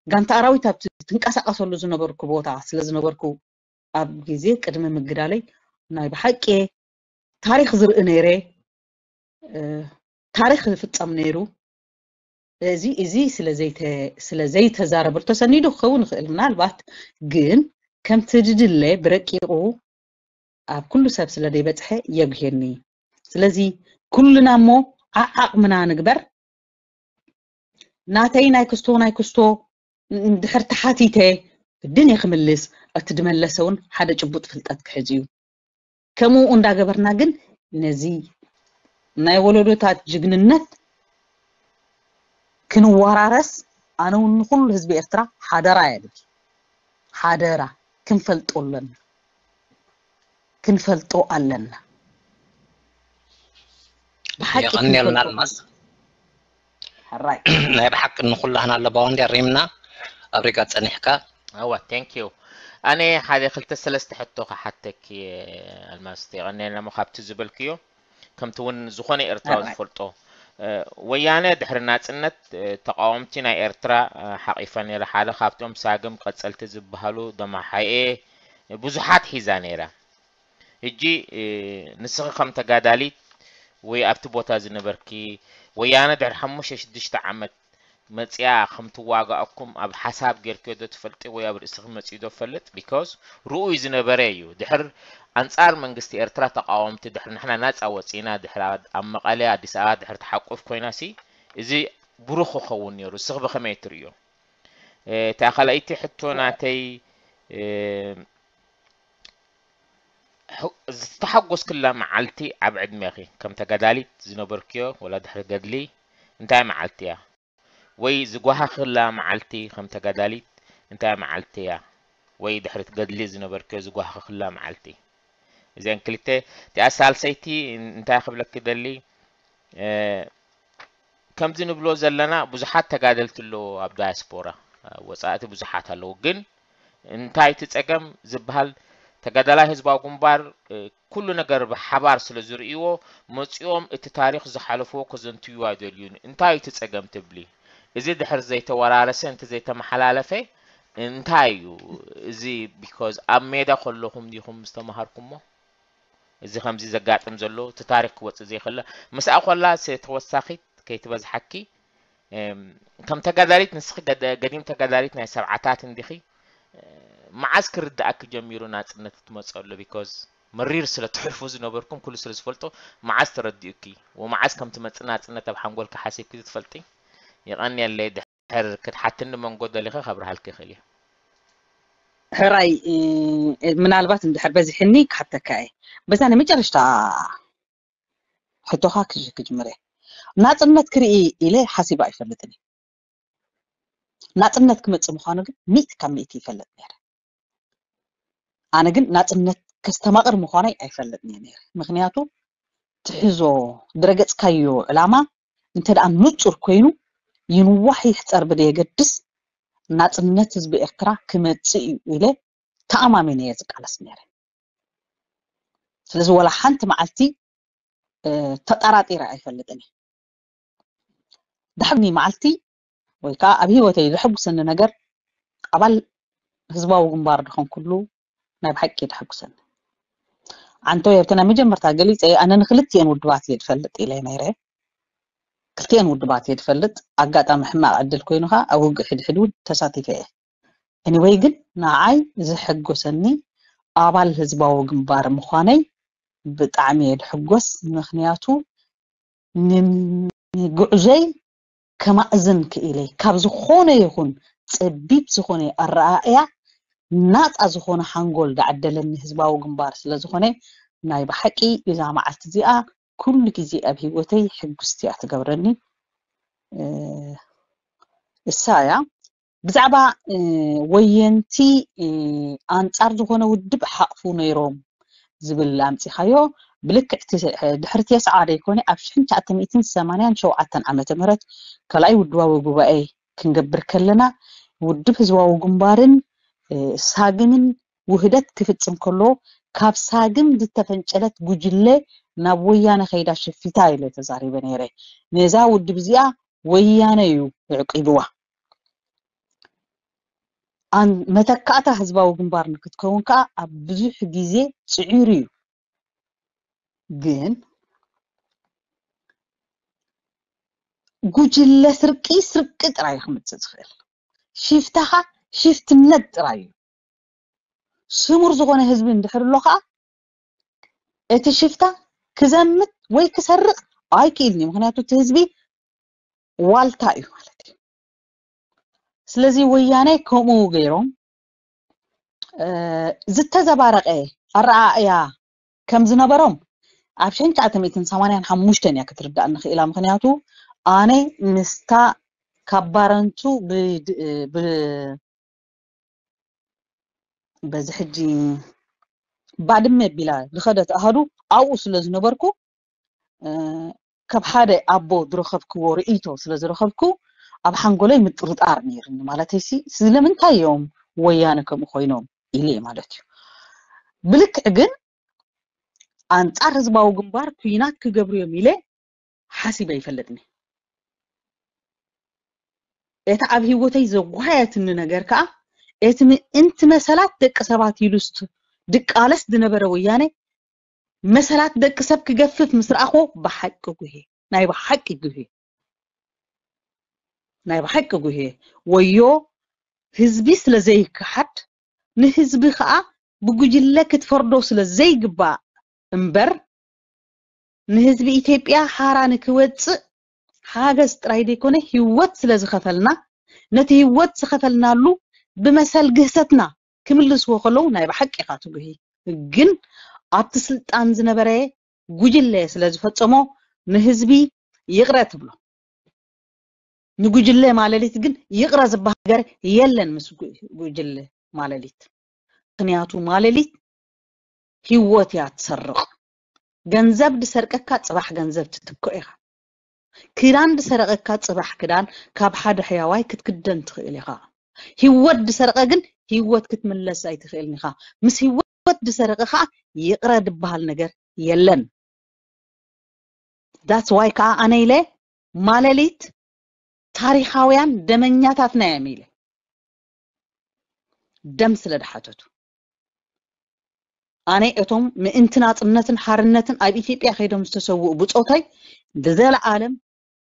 ጋንታ ኣራዊት ኣብ ትንቀሳቀሰሉ ዝነበርኩ ቦታ ስለ ዝነበርኩ ኣብ ግዜ ቅድሚ ምግዳለይ ናይ ብሓቂ ታሪክ ዝርኢ ነይረ። ታሪክ ዝፍጸም ነይሩ። እዚ እዚ ስለ ዘይተዛረበሉ ተሰኒዱ ክኸውን ይኽእል ምናልባት፣ ግን ከምቲ ድድለ ብረቂቁ ኣብ ኩሉ ሰብ ስለ ዘይበጽሐ የጉሄኒ። ስለዚ ኩልና እሞ ዓዓቕምና ንግበር። ናተይ ናይ ክስቶ ናይ ክስቶ እንድሕር ተሓቲተ ግድን እየ ክምልስ። እቲ ድመለሰ እውን ሓደ ጭቡጥ ፍልጠት ክሕዝ እዩ። ከምኡ እንዳገበርና ግን ነዚ ናይ ወለዶታት ጅግንነት ክንወራረስ ኣነ እውን ንኩሉ ህዝቢ ኤርትራ ሓደራ እየ ድብል። ሓደራ ክንፈልጦ ኣለና። ክንፈልጦ ኣለና። ብሓቂ የቐንየልና ክንፈልጦ ኣልማዝ። ሕራይ ናይ ብሓቂ ንኩላህና ኣለባዋ እንዲ ኣሪምና ኣብ ሪጋ ጸኒሕካ። እዋ thank you። ኣነ ሓደ ክልተ ሰለስተ ሕቶ ክሓተኪ ኣልማዝ፣ የቐንየልና እሞ ካብቲ ዝበልክዮ ከምቲ እውን ዝኾነ ኤርትራዊ ሕራይ ዝፈልጦ ወያነ ድሕሪ ናጽነት ተቃወምቲ ናይ ኤርትራ ሓቂፋ ነይራ። ሓደ ካብቶም ሳግም ቀጸልቲ ዝበሃሉ ደማሓኤ ብዙሓት ሒዛ ነይራ። ሕጂ ንስኺ ከም ተጋዳሊት ወይ ኣብቲ ቦታ ዝነበርኪ ወያነ ድሕሪ ሓሙሽተ ሽዱሽተ ዓመት መጽያ ከም ትዋጋኣኩም ኣብ ሓሳብ ጌርክዮ ዶ ትፈልጢ ወይ ኣብ ርእስኺ መጽዩ ዶ ትፈልጥ? Because ርኡይ ዝነበረ እዩ። ድሕር ኣንጻር መንግስቲ ኤርትራ ተቃወምቲ ድሕሪ ንሕና ናጻ ወጺና ድሕሪ ኣብ መቐለ ኣዲስ ኣበባ ድሕሪ ተሓቁፍ ኮይና ሲ እዚ ብሩኽ ክኸውን ነይሩ። እስኺ ብኸመይ ትርእዮ? እታ ካልኣይቲ ሕቶ ናተይ ዝተሓጎስክላ መዓልቲ ኣብ ዕድሜኺ ከም ተጋዳሊት ዝነበርክዮ ወላ ድሕሪ ገድሊ እንታይ መዓልቲ እያ? ወይ ዝጓሃኽላ መዓልቲ ከም ተጋዳሊት እንታይ መዓልቲ እያ? ወይ ድሕሪ ገድሊ ዝነበርክዮ ዝጓሃኽላ መዓልቲ? እዚአን ክልተ። እቲኣ ሳልሰይቲ እንታይ ክብለኪ ደሊ ከምዚ ንብሎ ዘለና ብዙሓት ተጋደልቲ ኣለዉ ኣብ ዳያስፖራ ወፃእቲ ብዙሓት ኣለዉ፣ ግን እንታይ እቲ ፀገም ዝበሃል ተጋዳላይ ህዝባዊ ግንባር ኩሉ ነገር ብሓባር ስለ ዝርእይዎ መፂኦም እቲ ታሪኽ ዝሓለፍዎ ከዘንትዩ ኣይደልዩን። እንታይ እዩ እቲ ፀገም ትብሊ? እዚ ድሕር ዘይተወራረሰ እንተ ዘይተመሓላለፈ እንታይ እዩ እዚ? ቢኮዝ ኣብ ሜዳ ከለኹም ዲኹም ዝተምሃርኩሞ እዚ ከምዚ ዘጋጥም ዘሎ እቲ ታሪኽ ክወፅእ ዘይክእል ምስኣ ኮላ ተወሳኺት ከይትበዝሓኪ ከም ተጋዳሊት ንስኺ ገዲም ተጋዳሊት ናይ ሰብዓታት እንዲኺ። መዓዝ ክርዳእኪ ጀሚሩ ናፅነት ትመፀሉ? ቢኮዝ መሪር ስለ ትሕልፉ ዝነበርኩም ኩሉ ስለ ዝፈልጦ መዓዝ ተረዲኡኪ ወመዓዝ ከም ትመፅእ ናፅነት ኣብ ሓንጎልኪ ሓሲብኪ ትፈልጢ? ይቐንየለይ። ድሕር ክትሓትኒ መንጎ ደሊኸ ከብርሃልኪ ይኽእል እየ። ሕራይ ምናልባት እንድሕር በዚሕኒ ክሓተካ እየ። በዛ ናይ መጨረሽታ ሕቶኻ ክጅ ክጅምር እየ። ናፅነት ክርኢ ኢለ ሓሲበ ኣይፈልጥን እየ። ናፅነት ክመፅእ ምዃኑ ግን ሚእቲ ካብ ሚእቲ ይፈልጥ ነይረ። ኣነ ግን ናፅነት ከስተማቕር ምዃነይ ኣይፈልጥን እየ ነይረ። ምክንያቱ ትሕዞ ድረገፅካዮ ዕላማ እንተ ደኣ ንፁር ኮይኑ ይንዋሕ ይሕፀር ብደየገድስ ናፅነት ህዝቢ ኤርትራ ክመፅእ እዩ ኢለ ተኣማሚነ እየ ዝቃለስ ነይረ። ስለዚ ወላ ሓንቲ መዓልቲ ተጠራጢረ ኣይፈልጥን እየ። ዳሕኒ መዓልቲ ወይ ከዓ ኣብ ህይወተይ ዘሐጉሰኒ ነገር ኣባል ህዝባዊ ግንባር ድኾንኩሉ ናይ ብሓቂ ደሐጉሰኒ። ዓንቶ የብቲ ናይ መጀመርታ ገሊፀ ኣነ ንክልቲኤን ውድባት እየ ድፈልጥ ኢለ ነይረ። ክልቲኤን ውድባት እየ ድፈልጥ። ኣጋጣሚ ሕማቕ ዕድል ኮይኑ ከዓ ኣብ ውግእ ሕድሕድ እውን ተሳቲፈ እየ። ኤኒወይ ግን ንዓይ ዘሐጎሰኒ ኣባል ህዝባዊ ግንባር ምዃነይ ብጣዕሚ እየ ድሕጎስ። ምክንያቱ ንጉዕዞይ ከማእዝን ክኢለይ ካብ ዝኾነ ይኹን ፀቢብ ዝኾነ ኣረኣእያ ናፃ ዝኾነ ሓንጎል ዳዓደለኒ ህዝባዊ ግንባር ስለ ዝኾነ ናይ ብሓቂ እዛ መዓልቲ እዚኣ ኩሉ ግዜ ኣብ ህይወተይ ሕጉስቲ እያ ትገብረኒ። እሳ እያ ብዛዕባ ወየንቲ ኣንፃር ዝኾነ ውድብ ሓቕፉ ነይሮም ዝብል ኣምፂኻዮ። ብልክዕ ድሕሪ ቴስዓ ደይኮነ ኣብ ሽሕን ትሽዓተ ሚእትን ሰማንያን ሸውዓተን ዓመተ ምህረት ካልኣይ ውድባዊ ጉባኤ ክንገብር ከለና ውድብ ህዝባዊ ግንባርን ሳግምን ውህደት ክፍፅም ከሎ ካብ ሳግም ዝተፈንጨለት ጉጅለ ናብ ወያነ ከይዳ ሽፊታ ኢለ ተዛሪበ ነይረ። ነዛ ውድብ እዚኣ ወያነ እዩ ኣዕቂብዋ። መተካእታ ህዝባዊ ግንባር ንክትከውን ከዓ ኣብ ብዙሕ ግዜ ፅዒሩ እዩ። ግን ጉጅለ ስርቂ ስርቂ ጥራይ ክምፅእ ዝኽእል ሽፍታኻ ሽፍትነት ጥራይ እዩ። ስሙር ዝኾነ ህዝቢ እንድሕር ኣሎ ከዓ እቲ ሽፍታ ክዘምት ወይ ክሰርቕ ኣይክእልን እዩ። ምክንያቱ እቲ ህዝቢ ዋልታ እዩ ማለት እዩ። ስለዚ ወያነ ከምኡ ገይሮም ዝተዘባረቐ ኣረኣእያ ከም ዝነበሮም ኣብ ሽሕን ትሽዓተ ሚእትን ሰማንያን ሓሙሽተን እያ ክትርዳእኒ ክኢላ። ምክንያቱ ኣነ ምስታ ካብ ባረንቱ በዚ ሕጂ ባድመ ቢላ ዝኸደት ኣሃዱ ኣብኡ ስለ ዝነበርኩ ካብ ሓደ ኣቦ ዝረኸብክዎ ርእይቶ ስለ ዝረኸብኩ ኣብ ሓንጎለይ ምጥርጣር ነይርኒ። ማለተይሲ ስለምንታይ እዮም ወያነ ከምኡ ኮይኖም ኢለ ማለት እዩ። ብልክዕ ግን ኣንፃር ህዝባዊ ግንባር ኩናት ክገብሩ እዮም ኢለ ሓሲበ ይፈልጥኒ። እቲ ኣብ ህይወተይ ዘጓየትኒ ነገር ከዓ እቲ ምእንቲ መሰላት ደቂ ሰባት ኢሉ ድቃለስ ዝነበረ ወያነ መሰላት ደቂ ሰብ ክገፍፍ ምስ ረኣኹ ብሓቂ ጉሄ ናይ ብሓቂ ጉሄ ናይ ብሓቂ ጉሄ ወዮ ህዝቢ ስለ ዘይከሓድ ንህዝቢ ከዓ ብጉጅለ ክትፈርዶ ስለ ዘይግባእ እምበር ንህዝቢ ኢትዮጵያ ሓራ ንክወፅእ ሓገዝ ጥራይ ዘይኮነ ህይወት ስለ ዝኸፈልና ነቲ ህይወት ዝኸፈልናሉ ብመሰል ግህሰትና ክምልስዎ ከለዉ ናይ ብሓቂ ኢኻ ትጉሂ። ግን ኣብቲ ስልጣን ዝነበረ ጉጅለ ስለ ዝፈፀሞ ንህዝቢ ይቕረ ትብሎ። ንጉጅለ ማለሊት ግን ይቕረ ዝበሃል ነገር የለን ምስ ጉጅለ ማለሊት። ምክንያቱ ማለሊት ህይወት እያ ትሰርቕ። ገንዘብ ዝሰርቀካ ፅባሕ ገንዘብ ትትክኦ ኢኻ። ክዳን ዝሰረቀካ ፅባሕ ክዳን ካብ ሓደ ሕያዋይ ክትክደን ትኽእል ኢኻ። ህይወት ዝሰረቀ ግን ህይወት ክትምለስ ኣይትኽእልን ኢኻ። ምስ ህይወት ዝሰረቐ ከዓ ይቕረ ዝበሃል ነገር የለን። That's why ከዓ ኣነ ኢለ ማለሊት ታሪኻውያን ደመኛታትና እዮም ኢለ ደም ስለ ድሓተቱ ኣነ እቶም ምእንቲ ናፅነትን ሓርነትን ኣብ ኢትዮጵያ ከይዶም ዝተሰውኡ ብፆተይ ብዘለዓለም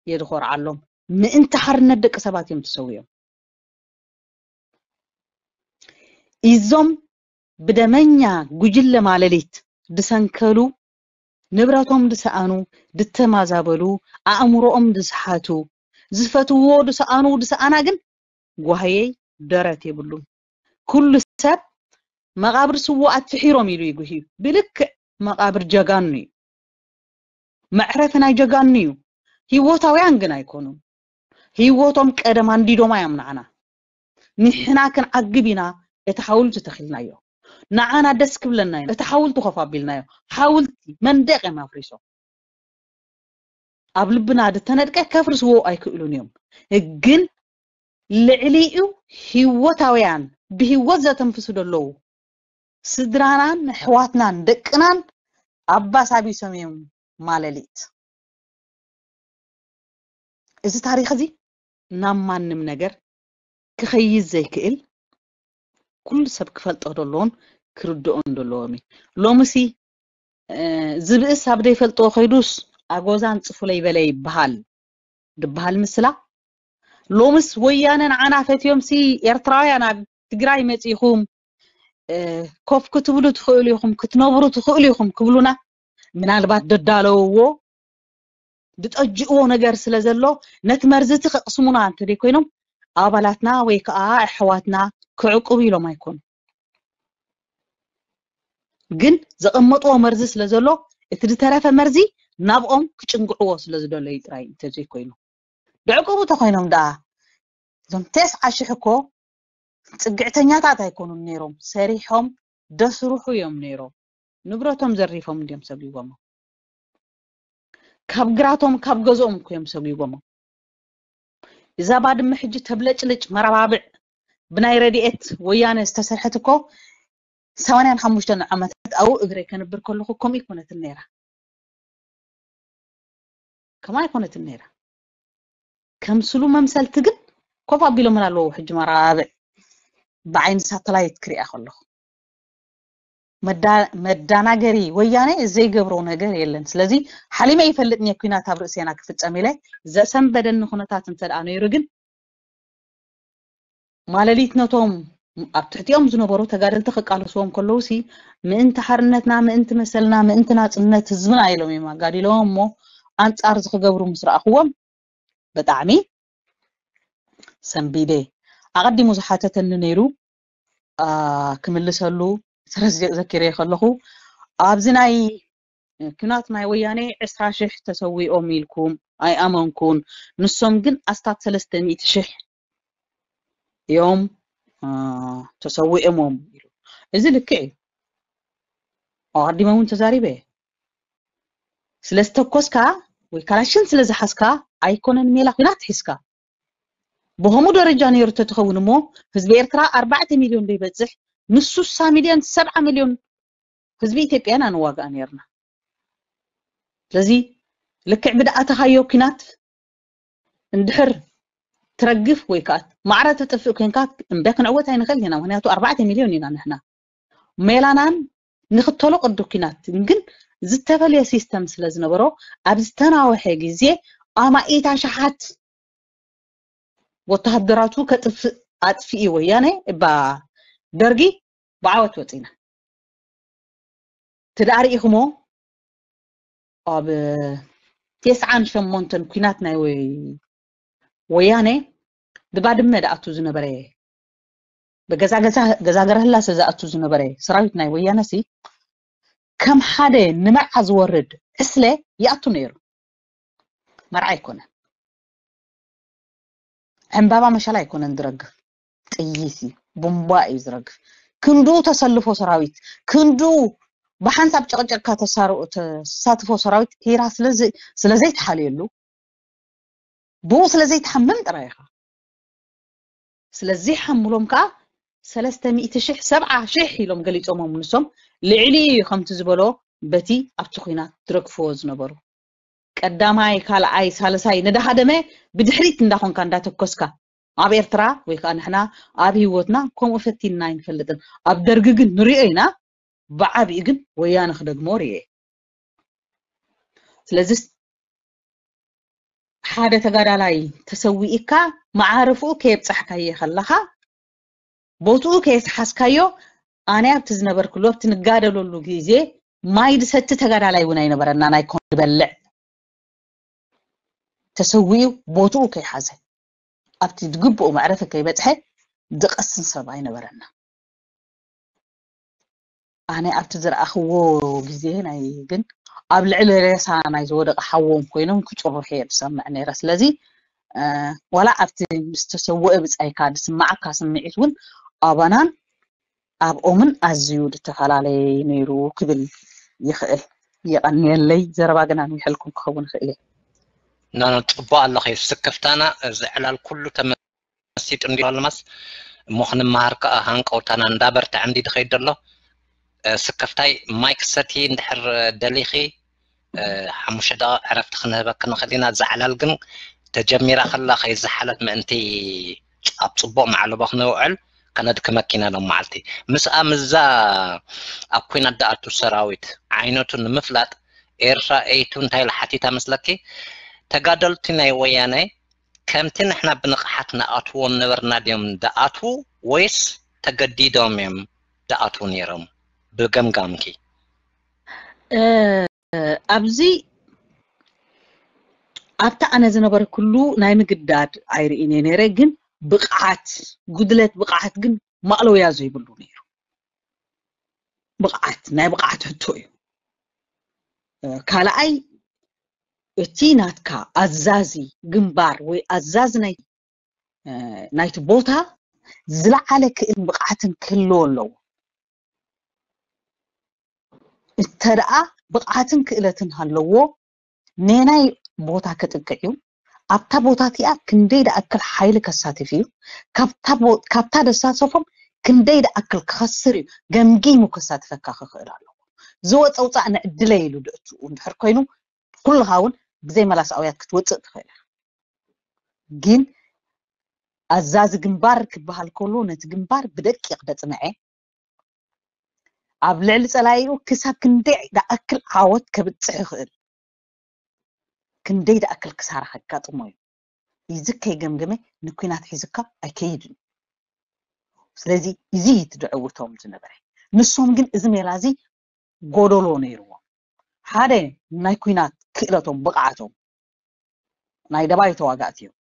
የድኾርዓሎም። ምእንቲ ሓርነት ደቂ ሰባት እዮም ተሰዊኦም። እዞም ብደመኛ ጉጅለ ማለሊት ድሰንከሉ፣ ንብረቶም ድሰኣኑ፣ ድተማዛበሉ፣ ኣእምሮኦም ድስሓቱ፣ ዝፈትዎ ድሰኣኑ ድሰኣና ግን ጓህየይ ደረት የብሉን። ኩሉ ሰብ መቓብር ስዉኣት ፍሒሮም ኢሉ ይጉህዩ። ብልክዕ መቓብር ጀጋኑ እዩ። መዕረፊ ናይ ጀጋኑ እዩ። ህይወታውያን ግን ኣይኮኑን። ህይወቶም ቀደም ኣንዲዶማ እዮም ንዓና። ንሕና ክንዓግብ ኢና እቲ ሓውልቲ ተኺልናዮ። ንዓና ደስ ክብለና እዩ። እቲ ሓውልቲ ኮፍ ኣቢልናዮ። ሓውልቲ መንደቕ እዮም ኣፍሪሶም። ኣብ ልብና ዝተነድቀ ከፍርስዎ ኣይክእሉን እዮም። ግን ልዕሊኡ ህይወታውያን ብህይወት ዘተንፍሱ ዘለዉ ስድራናን ኣሕዋትናን ደቅናን ኣባሳቢሶም እዮም ማለሊት። እዚ ታሪኽ እዚ ናብ ማንም ነገር ክኸይድ ዘይክእል ኩሉ ሰብ ክፈልጦ ዘለዎን ክርድኦን ዘለዎም እዩ። ሎምሲ ዝብእስ ኣብ ዘይፈልጥዎ ከይዱስ ኣጎዛን ፅፉለይ በለ ይበሃል ድበሃል ምስላ። ሎምስ ወያነ ንዓና ፈትዮም ሲ ኤርትራውያን ኣብ ትግራይ መፂኹም ኮፍ ክትብሉ ትኽእሉ ኢኹም ክትነብሩ ትኽእሉ ኢኹም ክብሉና ምናልባት ደዳለውዎ ድጠጅእዎ ነገር ስለ ዘሎ ነቲ መርዚ እቲ ከቕስሙና እንተደይ ኮይኖም ኣባላትና ወይ ከዓ ኣሕዋትና ክዕቁቡ ኢሎም ኣይኮኑ። ግን ዘቐመጥዎ መርዚ ስለ ዘሎ እቲ ዝተረፈ መርዚ ናብኦም ክጭንግዕዎ ስለ ዝደለዩ ጥራይ እንተዘይኮይኑ ድዕቁቡ ተኮይኖም ደኣ እዞም ተስዓ ሽሕ እኮ ፅግዕተኛታት ኣይኮኑን ነይሮም። ሰሪሖም ደስርሑ እዮም ነይሮም። ንብረቶም ዘሪፎም እንዲዮም ሰጒጎሞም። ካብ ግራቶም ካብ ገዝኦም እኮ እዮም ሰጒጎሞም። እዛ ባድመ ሕጂ ተብለጭልጭ መረባብዕ ብናይ ረድኤት ወያነ ዝተሰርሐት እኮ ሰማንያን ሓሙሽተን ዓመታት ኣብኡ እግረይ ከንብር ከለኹ ከምኡ ኣይኮነትን ነይራ። ከምኡ ኣይኮነትን ነይራ። ከም ስሉ መምሰልቲ ግን ኮፍ ኣቢሎምና ኣለዉ። ሕጂ መራብዕ ብዓይኒ ሳተላይት ክሪኣ ከለኹ መዳናገሪ ወያነ ዘይገብሮ ነገር የለን። ስለዚ ሓሊመ ይፈልጥ እየ ኩናት ኣብ ርእሴና ክፍፀም ኢለ ዘሰንበደኒ ኩነታት እንተ ደኣ ነይሩ ግን ማለሊት ነቶም ኣብ ትሕቲኦም ዝነበሩ ተጋደልቲ ክቃለስዎም ከለዉ ሲ ምእንቲ ሓርነትና ምእንቲ መሰልና ምእንቲ ናፅነት ህዝብና ኢሎም እዮም ኣጋዲሎም እሞ ኣንፃር ዝክገብሩ ምስ ረኣኽዎም ብጣዕሚ ሰንቢደ። ኣቐዲሙ ዝሓተተኒ ነይሩ ክምልሰሉ ስረስ ዘኪረ ከለኹ ኣብዚ ናይ ኩናት ናይ ወያኔ ዕስራ ሽሕ ተሰዊኦም ኢልኩም ኣይኣመንኩን። ንሶም ግን ኣስታት ሰለስተ ሚእቲ ሽሕ እዮም ተሰዊኦሞም ኢሉ። እዚ ልክዕ እዩ። ኣቐዲመ እውን ተዛሪበ እየ። ስለ ዝተኮስካ ወይ ካላሽን ስለ ዝሓዝካ ኣይኮነን ሜላ ኩናት ሒዝካ። ብኸምኡ ደረጃ ነይሩ ተትኸውን እሞ ህዝቢ ኤርትራ ኣርባዕተ ሚልዮን ዘይበፅሕ ምስ ሱሳ ሚልዮን ሰብዓ ሚልዮን ህዝቢ ኢትዮጵያ ኢና ንዋጋእ ነይርና። ስለዚ ልክዕ ብድኣተኻዮ ኲናት እንድሕር ትረግፍ ወይ ከዓ ማዕረ ትጥፍእ ኮይንካ እምበ ክንዕወት ኣይንኽእል ኢና። ምክንያቱ ኣርባዕተ ሚልዮን ኢና ንሕና። ሜላናን ንክተሎ ቅዱ ኲናት ግን ዝተፈለየ ሲስተም ስለ ዝነበሮ ኣብ ዝተናወሐ ግዜ ኣማኢት ኣሽሓት ወተሃደራቱ ከጥፍእ ኣጥፊኡ ወያነ እባ ደርጊ ብዓወት ወፂና። ትዳእ ርኢኹሞ ኣብ ተስዓን ሸሞንተን ኲናት ናይ ወያነ ብባድመ ድኣቱ ዝነበረ ብገዛ ገዛ ገዛ ገረህላሰ ዝኣቱ ዝነበረ ሰራዊት ናይ ወያነ ሲ ከም ሓደ ንመርዓ ዝወርድ ዕስለ ይኣቱ ነይሩ። መርዓ ኣይኮነን። ዕምባባ መሻል ኣይኮነን ዝረግፍ፣ ጥይት እዩ፣ ቡምባ እዩ ዝረግፍ። ክንድኡ ተሰልፎ ሰራዊት፣ ክንድኡ ብሓንሳብ ጨቕጨቕካ ተሳትፎ ሰራዊት ሂራ ስለ ዘይተሓልየሉ ብኡ ስለ ዘይትሓምም ጥራይ ኢኻ። ስለ ዘይሓምሎም ከዓ ሰለስተ ሚእቲ ሽሕ ሰብዓ ሽሕ ኢሎም ገሊፆሞም ንሶም ልዕሊ እዩ ከምቲ ዝበሎ በቲ ኣብቲ ኲናት ዝረግፍዎ ዝነበሩ ቀዳማይ፣ ካልኣይ፣ ሳልሳይ ንዳሃደመ ብድሕሪት እንዳኾንካ እንዳተኮስካ ኣብ ኤርትራ ወይ ከዓ ንሕና ኣብ ህይወትና ከምኡ ፈቲንና ኣይንፈልጥን። ኣብ ደርጊ ግን ንሪኦ ኢና፣ ብዓቢኡ ግን ወያነ ክደግሞ ርኤ። ስለዚ ሓደ ተጋዳላይ ተሰዊእካ መዓርፍኡ ከየብጻሕካዮ ከለኻ ቦትኡ ከየስሓዝካዮ ኣነ ኣብቲ ዝነበርኩሉ ኣብቲ ንጋደለሉ ግዜ ማይ ዝሰቲ ተጋዳላይ እውን ኣይነበረና ናይ ኮን ዝበልዕ ተሰዊኡ ቦትኡ ከይሓዘ ኣብቲ ዝግብኡ መዕረፊ ከይበፅሐ ዝቐስን ሰብ ኣይነበረና። ኣነ ኣብቲ ዝረኣኽዎ ግዜ ናይ ግን ኣብ ልዕሊ ሬሳ ናይ ዝወደቐ ሓዎም ኮይኖም ክጭርሑ እየ ዝሰምዕ ነይረ። ስለዚ ዋላ ኣብቲ ምስ ተሰወአ ብጻይካ ዝስማዓካ ስምዒት እውን ኣባናን ኣብኦምን ኣዝዩ ዝተፈላለየ ነይሩ ክብል ይኽእል። የቐንየለይ። ዘረባ ግን ኣንዊሐልኩም ክኸውን ይኽእል እየ። ኖ ኖ፣ ጽቡቕ ኣለኺ። ስክፍታና እዚ ዕላል ኩሉ ተመሲጡ እንዲ ኣልማስ እሞ ክንመሃር ከኣ ሃንቀውታና እንዳበርትዐ እንዲ ድኸይድ ዘሎ። ስክፍታይ ማይክ ሰቲ እንድሕር ደሊኺ ሓሙሽተ ደቂቕ ዕረፍቲ ክንህበኪ ንኽእል ኢና። እዛ ዕላል ግን ተጀሚራ ከላ ከይዝሓለት ምእንቲ ኣብ ጽቡቕ መዓለቦ ክነውዕል ከነድክመኪ ኢና ሎም መዓልቲ። ምስኣ ምስዛ ኣብ ኲናት ዝኣቱ ሰራዊት ዓይነቱ ንምፍላጥ ኤርትራ ኤይቱ እንታይ ኢላ ሓቲታ መስለኪ? ተጋደልቲ ናይ ወያነ ከምቲ ንሕና ብንቕሓት ንኣትዎም ነበርና ድዮም ድኣትዉ ወይስ ተገዲዶም እዮም ድኣትዉ ነይሮም ብገምጋምኪ? ኣብዚ ኣብቲ ኣነ ዝነበርኩሉ ናይ ምግዳድ ኣይርእን እየ ነይረ፣ ግን ብቕዓት ጉድለት ብቕዓት ግን ማእለውያ ዘይብሉ ነይሩ። ብቕዓት ናይ ብቕዓት ሕቶ እዩ። ካልኣይ እቲ ናትካ ኣዛዚ ግንባር ወይ ኣዛዚ ናይ ናይቲ ቦታ ዝለዓለ ክእልን ብቕዓትን ክህልዎ ኣለዎ። እንተ ደኣ ብቕዓትን ክእለትን ሃለዎ ነናይ ቦታ ክጥቅዕ እዩ። ኣብታ ቦታ እቲኣ ክንደይ ደኣክል ሓይሊ ከሳትፍ እዩ፣ ካብታ ደሳተፎም ክንደይ ደኣክል ክኸስር እዩ ገምጊሙ ከሳትፈካ ክኽእል ኣለዎ። ዝወፀ ውፃእ ንዕድለይ ኢሉ ድእትኡ እንድሕር ኮይኑ ኩልኻ እውን ብዘይ መላስ ኣውያት ክትወፅእ ትኽእል ኢኻ። ግን ኣዛዚ ግንባር ክበሃል ከሎ ነቲ ግንባር ብደቂቕ ደፅንዐ ኣብ ልዕሊ ፀላኢኡ ክሳብ ክንደይ ደኣክል ዓወት ከብፅሕ ይኽእል፣ ክንደይ ደኣክል ክሳራ ከጋጥሞ እዩ። እዚ ከይገምገመ ንኲናት ሒዝካ ኣይከይድን። ስለዚ እዚ እዩ እቲ ድዕውቶም ዝነበረ። ንሶም ግን እዚ ሜላ እዚ ጎደሎ ነይርዎም። ሓደ ናይ ኲናት ክእለቶም ብቕዓቶም ናይ ደባይ ተዋጋእቲ እዮም።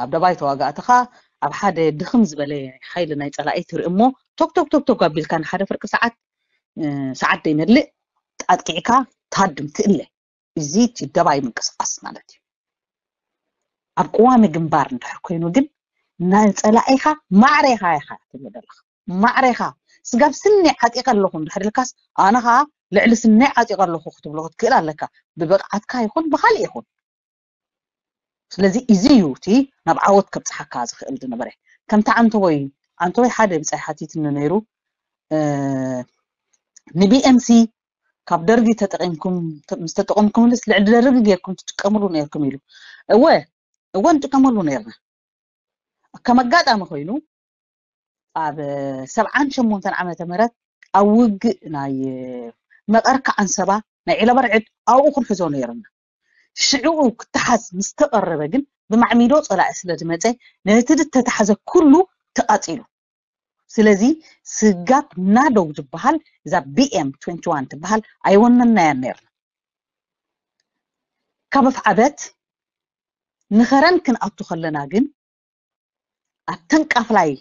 ኣብ ደባይ ተዋጋእቲ ኸኣ ኣብ ሓደ ድኽም ዝበለ ሓይሊ ናይ ጸላኢ ትርኢ እሞ ቶክ ቶክ ቶክ ቶክ ኣቢልካ ንሓደ ፍርቂ ሰዓት ሰዓት ዘይመልእ ኣጥቂዕካ ትሃድም ትእለ። እዚ እቲ ደባይ ምንቅስቃስ ማለት እዩ። ኣብ ቅዋሚ ግንባር እንድሕር ኮይኑ ግን ናይ ጸላኢኻ ማዕረ ኢኻ ኢኻ ትብሎ ዘለኻ ማዕረ ኢኻ። ስጋብ ስኒ ዓጢቐ ኣለኹ እንድሕር ኢልካስ ኣነ ኸኣ ልዕሊ ስኒ ዓጢቐ ኣለኹ ክትብሎ ክትክእል ኣለካ፣ ብብቕዓትካ ይኹን ብኻልእ ይኹን። ስለዚ እዚ እዩ እቲ ናብ ዓወት ከብፅሓካ ዝኽእል ዝነበረ። ከምቲ ዓንተቦይ ዓንተቦይ ሓደ ብጻይ ሓቲትኒ ነይሩ ንቢኤምሲ ካብ ደርጊ ተጠቂምኩም ምስ ተጠቀምኩምልስ ልዕሊ ደርጊ ጌርኩም ትጥቀምሉ ነይርኩም ኢሉ። እወ እወ ንጥቀመሉ ነይርና። ከም ኣጋጣሚ ኮይኑ ኣብ ሰብዓን ሸሞንተን ዓመተ ምህረት ኣብ ውግእ ናይ መቐርካ ዓንሰባ ናይ ዒለበርዕድ ኣብኡ ክንሕዞ ነይርና። ሽዕኡ ክተሓዝ ምስ ተቐረበ ግን ብማዕሚዶ ጸላኢ ስለ ዝመጸ ነቲ ዝተታሕዘ ኩሉ ተቓጺሉ። ስለዚ ስጋብ ናደው ዝበሃል እዛ ቢኤም ትወንቲ ዋን ትበሃል ኣይወነናያን ነይርና። ካብ ኣፍዓበት ንኸረን ክንኣቱ ከለና ግን ኣብተን ቃፍላይ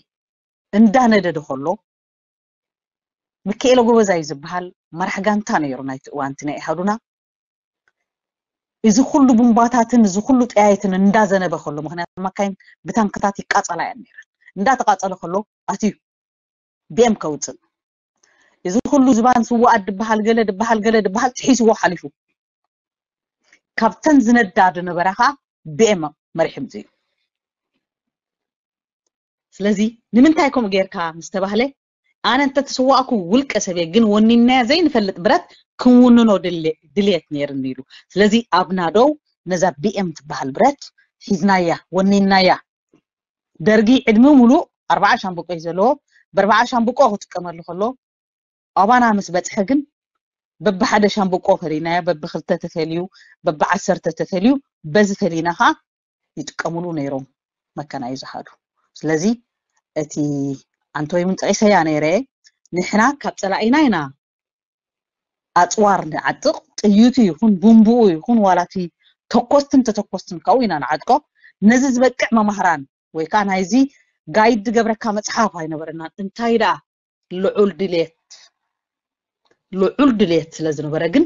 እንዳነደደ ከሎ ምክኤለ ጎበዛይ ዝበሃል መራሕ ጋንታ ነይሩ ናይቲ እዋንቲ ናይ ኢሃዱና። እዚ ኩሉ ቡምባታትን እዚ ኩሉ ጠያይትን እንዳዘነበ ከሎ ምክንያቱ መካይን ብታንክታት ይቃጸላ እየን ነይረን እንዳተቃጸለ ከሎ ኣትዩ ቢኤም ከውፅእ እዚ ኩሉ ዝባን ስዋኣት ድበሃል ገለ ድበሃል ገለ ድበሃል ጥሒስዎ ሓሊፉ ካብተን ዝነዳ ዝነበራ ከዓ ቢኤም መሪሑ ምፅኡ። ስለዚ ንምንታይ ከምኡ ጌርካ ምስ ተባህለ ኣነ እንተተሰዋእኩ ውልቀ ሰብየ ግን ወኒናያ ዘይንፈልጥ ብረት ክንውንኖ ድልየት ነይርኒ ኢሉ። ስለዚ ኣብ ናደው ነዛ ቢኤም ትበሃል ብረት ሒዝናያ፣ ወኒናያ። ደርጊ ዕድሚኡ ሙሉእ ኣርባዓ ሻምብቆ እዩ ዘለዎ። ብኣርባዓ ሻምብቆ ክጥቀመሉ ከሎ ኣባና ምስ በፅሐ ግን በብሓደ ሻምብቆ ፈሊናዮ፣ በብክልተ ተፈልዩ፣ በብዓሰርተ ተፈልዩ፣ በዚ ፈሊና ከዓ ይጥቀምሉ ነይሮም መካናይዝድ ኣሃዱ። ስለዚ እቲ ኣንተ ወይ ምን ጠቂሰያ ነይረ፣ ንሕና ካብ ፀላኢና ኢና ኣፅዋር ንዓጥቕ፣ ጥይቱ ይኹን ቡምብኡ ይኹን ዋላ እቲ ተኮስትን ተተኮስትን ካብኡ ኢና ንዓጥቆ። ነዚ ዝበቅዕ መማህራን ወይ ከዓ ናይዚ ጋይድ ዝገብረካ መፅሓፍ ኣይነበረናን። እንታይ ደኣ ልዑል ድሌት ልዑል ድሌት ስለ ዝነበረ ግን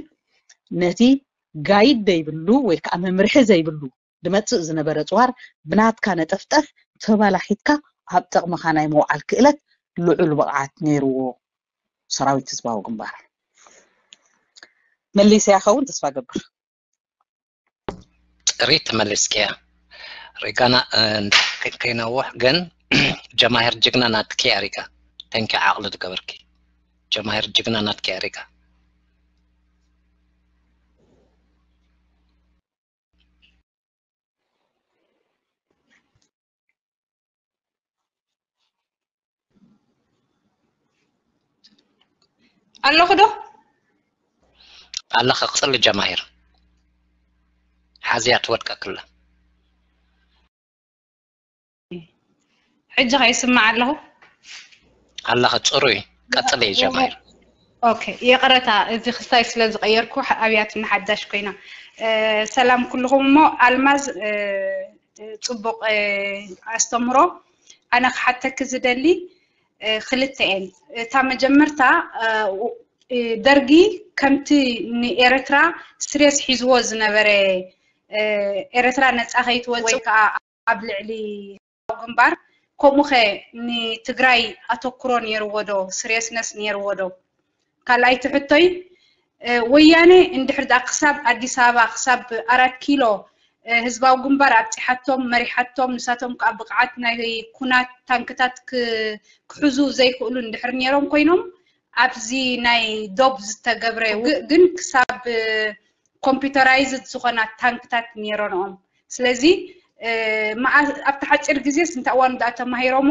ነቲ ጋይድ ዘይብሉ ወይ ከዓ መምርሒ ዘይብሉ ዝመፅእ ዝነበረ ፅዋር ብናትካ ነጠፍጠፍ ተባላሒትካ ኣብ ጥቕምኻ ናይ ምውዓል ክእለት ልዑል ብቕዓት ነይርዎ ሰራዊት ህዝባዊ ግንባር። መሊሰያ ኸውን ተስፋ ገብር። ጥሪት ተመሊስኪያ ሪጋና። ከይነውሕ ግን ጀማሂር ጅግና ናትኪ ኣሪጋ። ተንኪ ዓቕሊ ዝገበርኪ ጀማሂር ጅግና ናትኪ ኣሪጋ። ኣለኹ ዶ? ኣለኸ። ቅፅሊ ጀማሂር ሓዝያ ትወድቀክላ። ሕጂ ከ ይስማዕ ኣለኹ? ኣለኸ። ፅሩይ ቀፅሊ ጀማሂር። ኦኬ፣ ይቕረታ፣ እዚ ክስታይ ስለ ዝቐየርኩ ኣብያት ንሓዳሽ ኮይና። ሰላም ኩልኹም። እሞ ኣልማዝ፣ ፅቡቕ ኣስተምሮ። ኣነ ክሓተኪ ዝደሊ ክልተ እየን። እታ መጀመርታ፣ ደርጊ ከምቲ ንኤርትራ ስሬስ ሒዝዎ ዝነበረ፣ ኤርትራ ነፃ ከይትወፅእ ወይ ከዓ ኣብ ልዕሊ ግንባር፣ ከምኡ ኸ ንትግራይ ኣተኩሮ ነይርዎ ዶ? ስሬስነስ ነይርዎ ዶ? ካልኣይቲ ሕቶይ፣ ወያነ እንድሕር ደኣ ክሳብ ኣዲስ ኣበባ፣ ክሳብ ኣራት ኪሎ ህዝባዊ ግንባር ኣብፂሓቶም፣ መሪሓቶም፣ ንሳቶም ከዓ ብቕዓት ናይ ኩናት ታንክታት ክሕዙ ዘይክእሉ እንድሕር ነይሮም ኮይኖም፣ ኣብዚ ናይ ዶብ ዝተገብረ ግን ክሳብ ኮምፒውተራይዝድ ዝኾና ታንክታት ነይረንኦም። ስለዚ ኣብቲ ሓፂር ግዜስ እንታይ እዋን ደኣ ተማሂሮሞ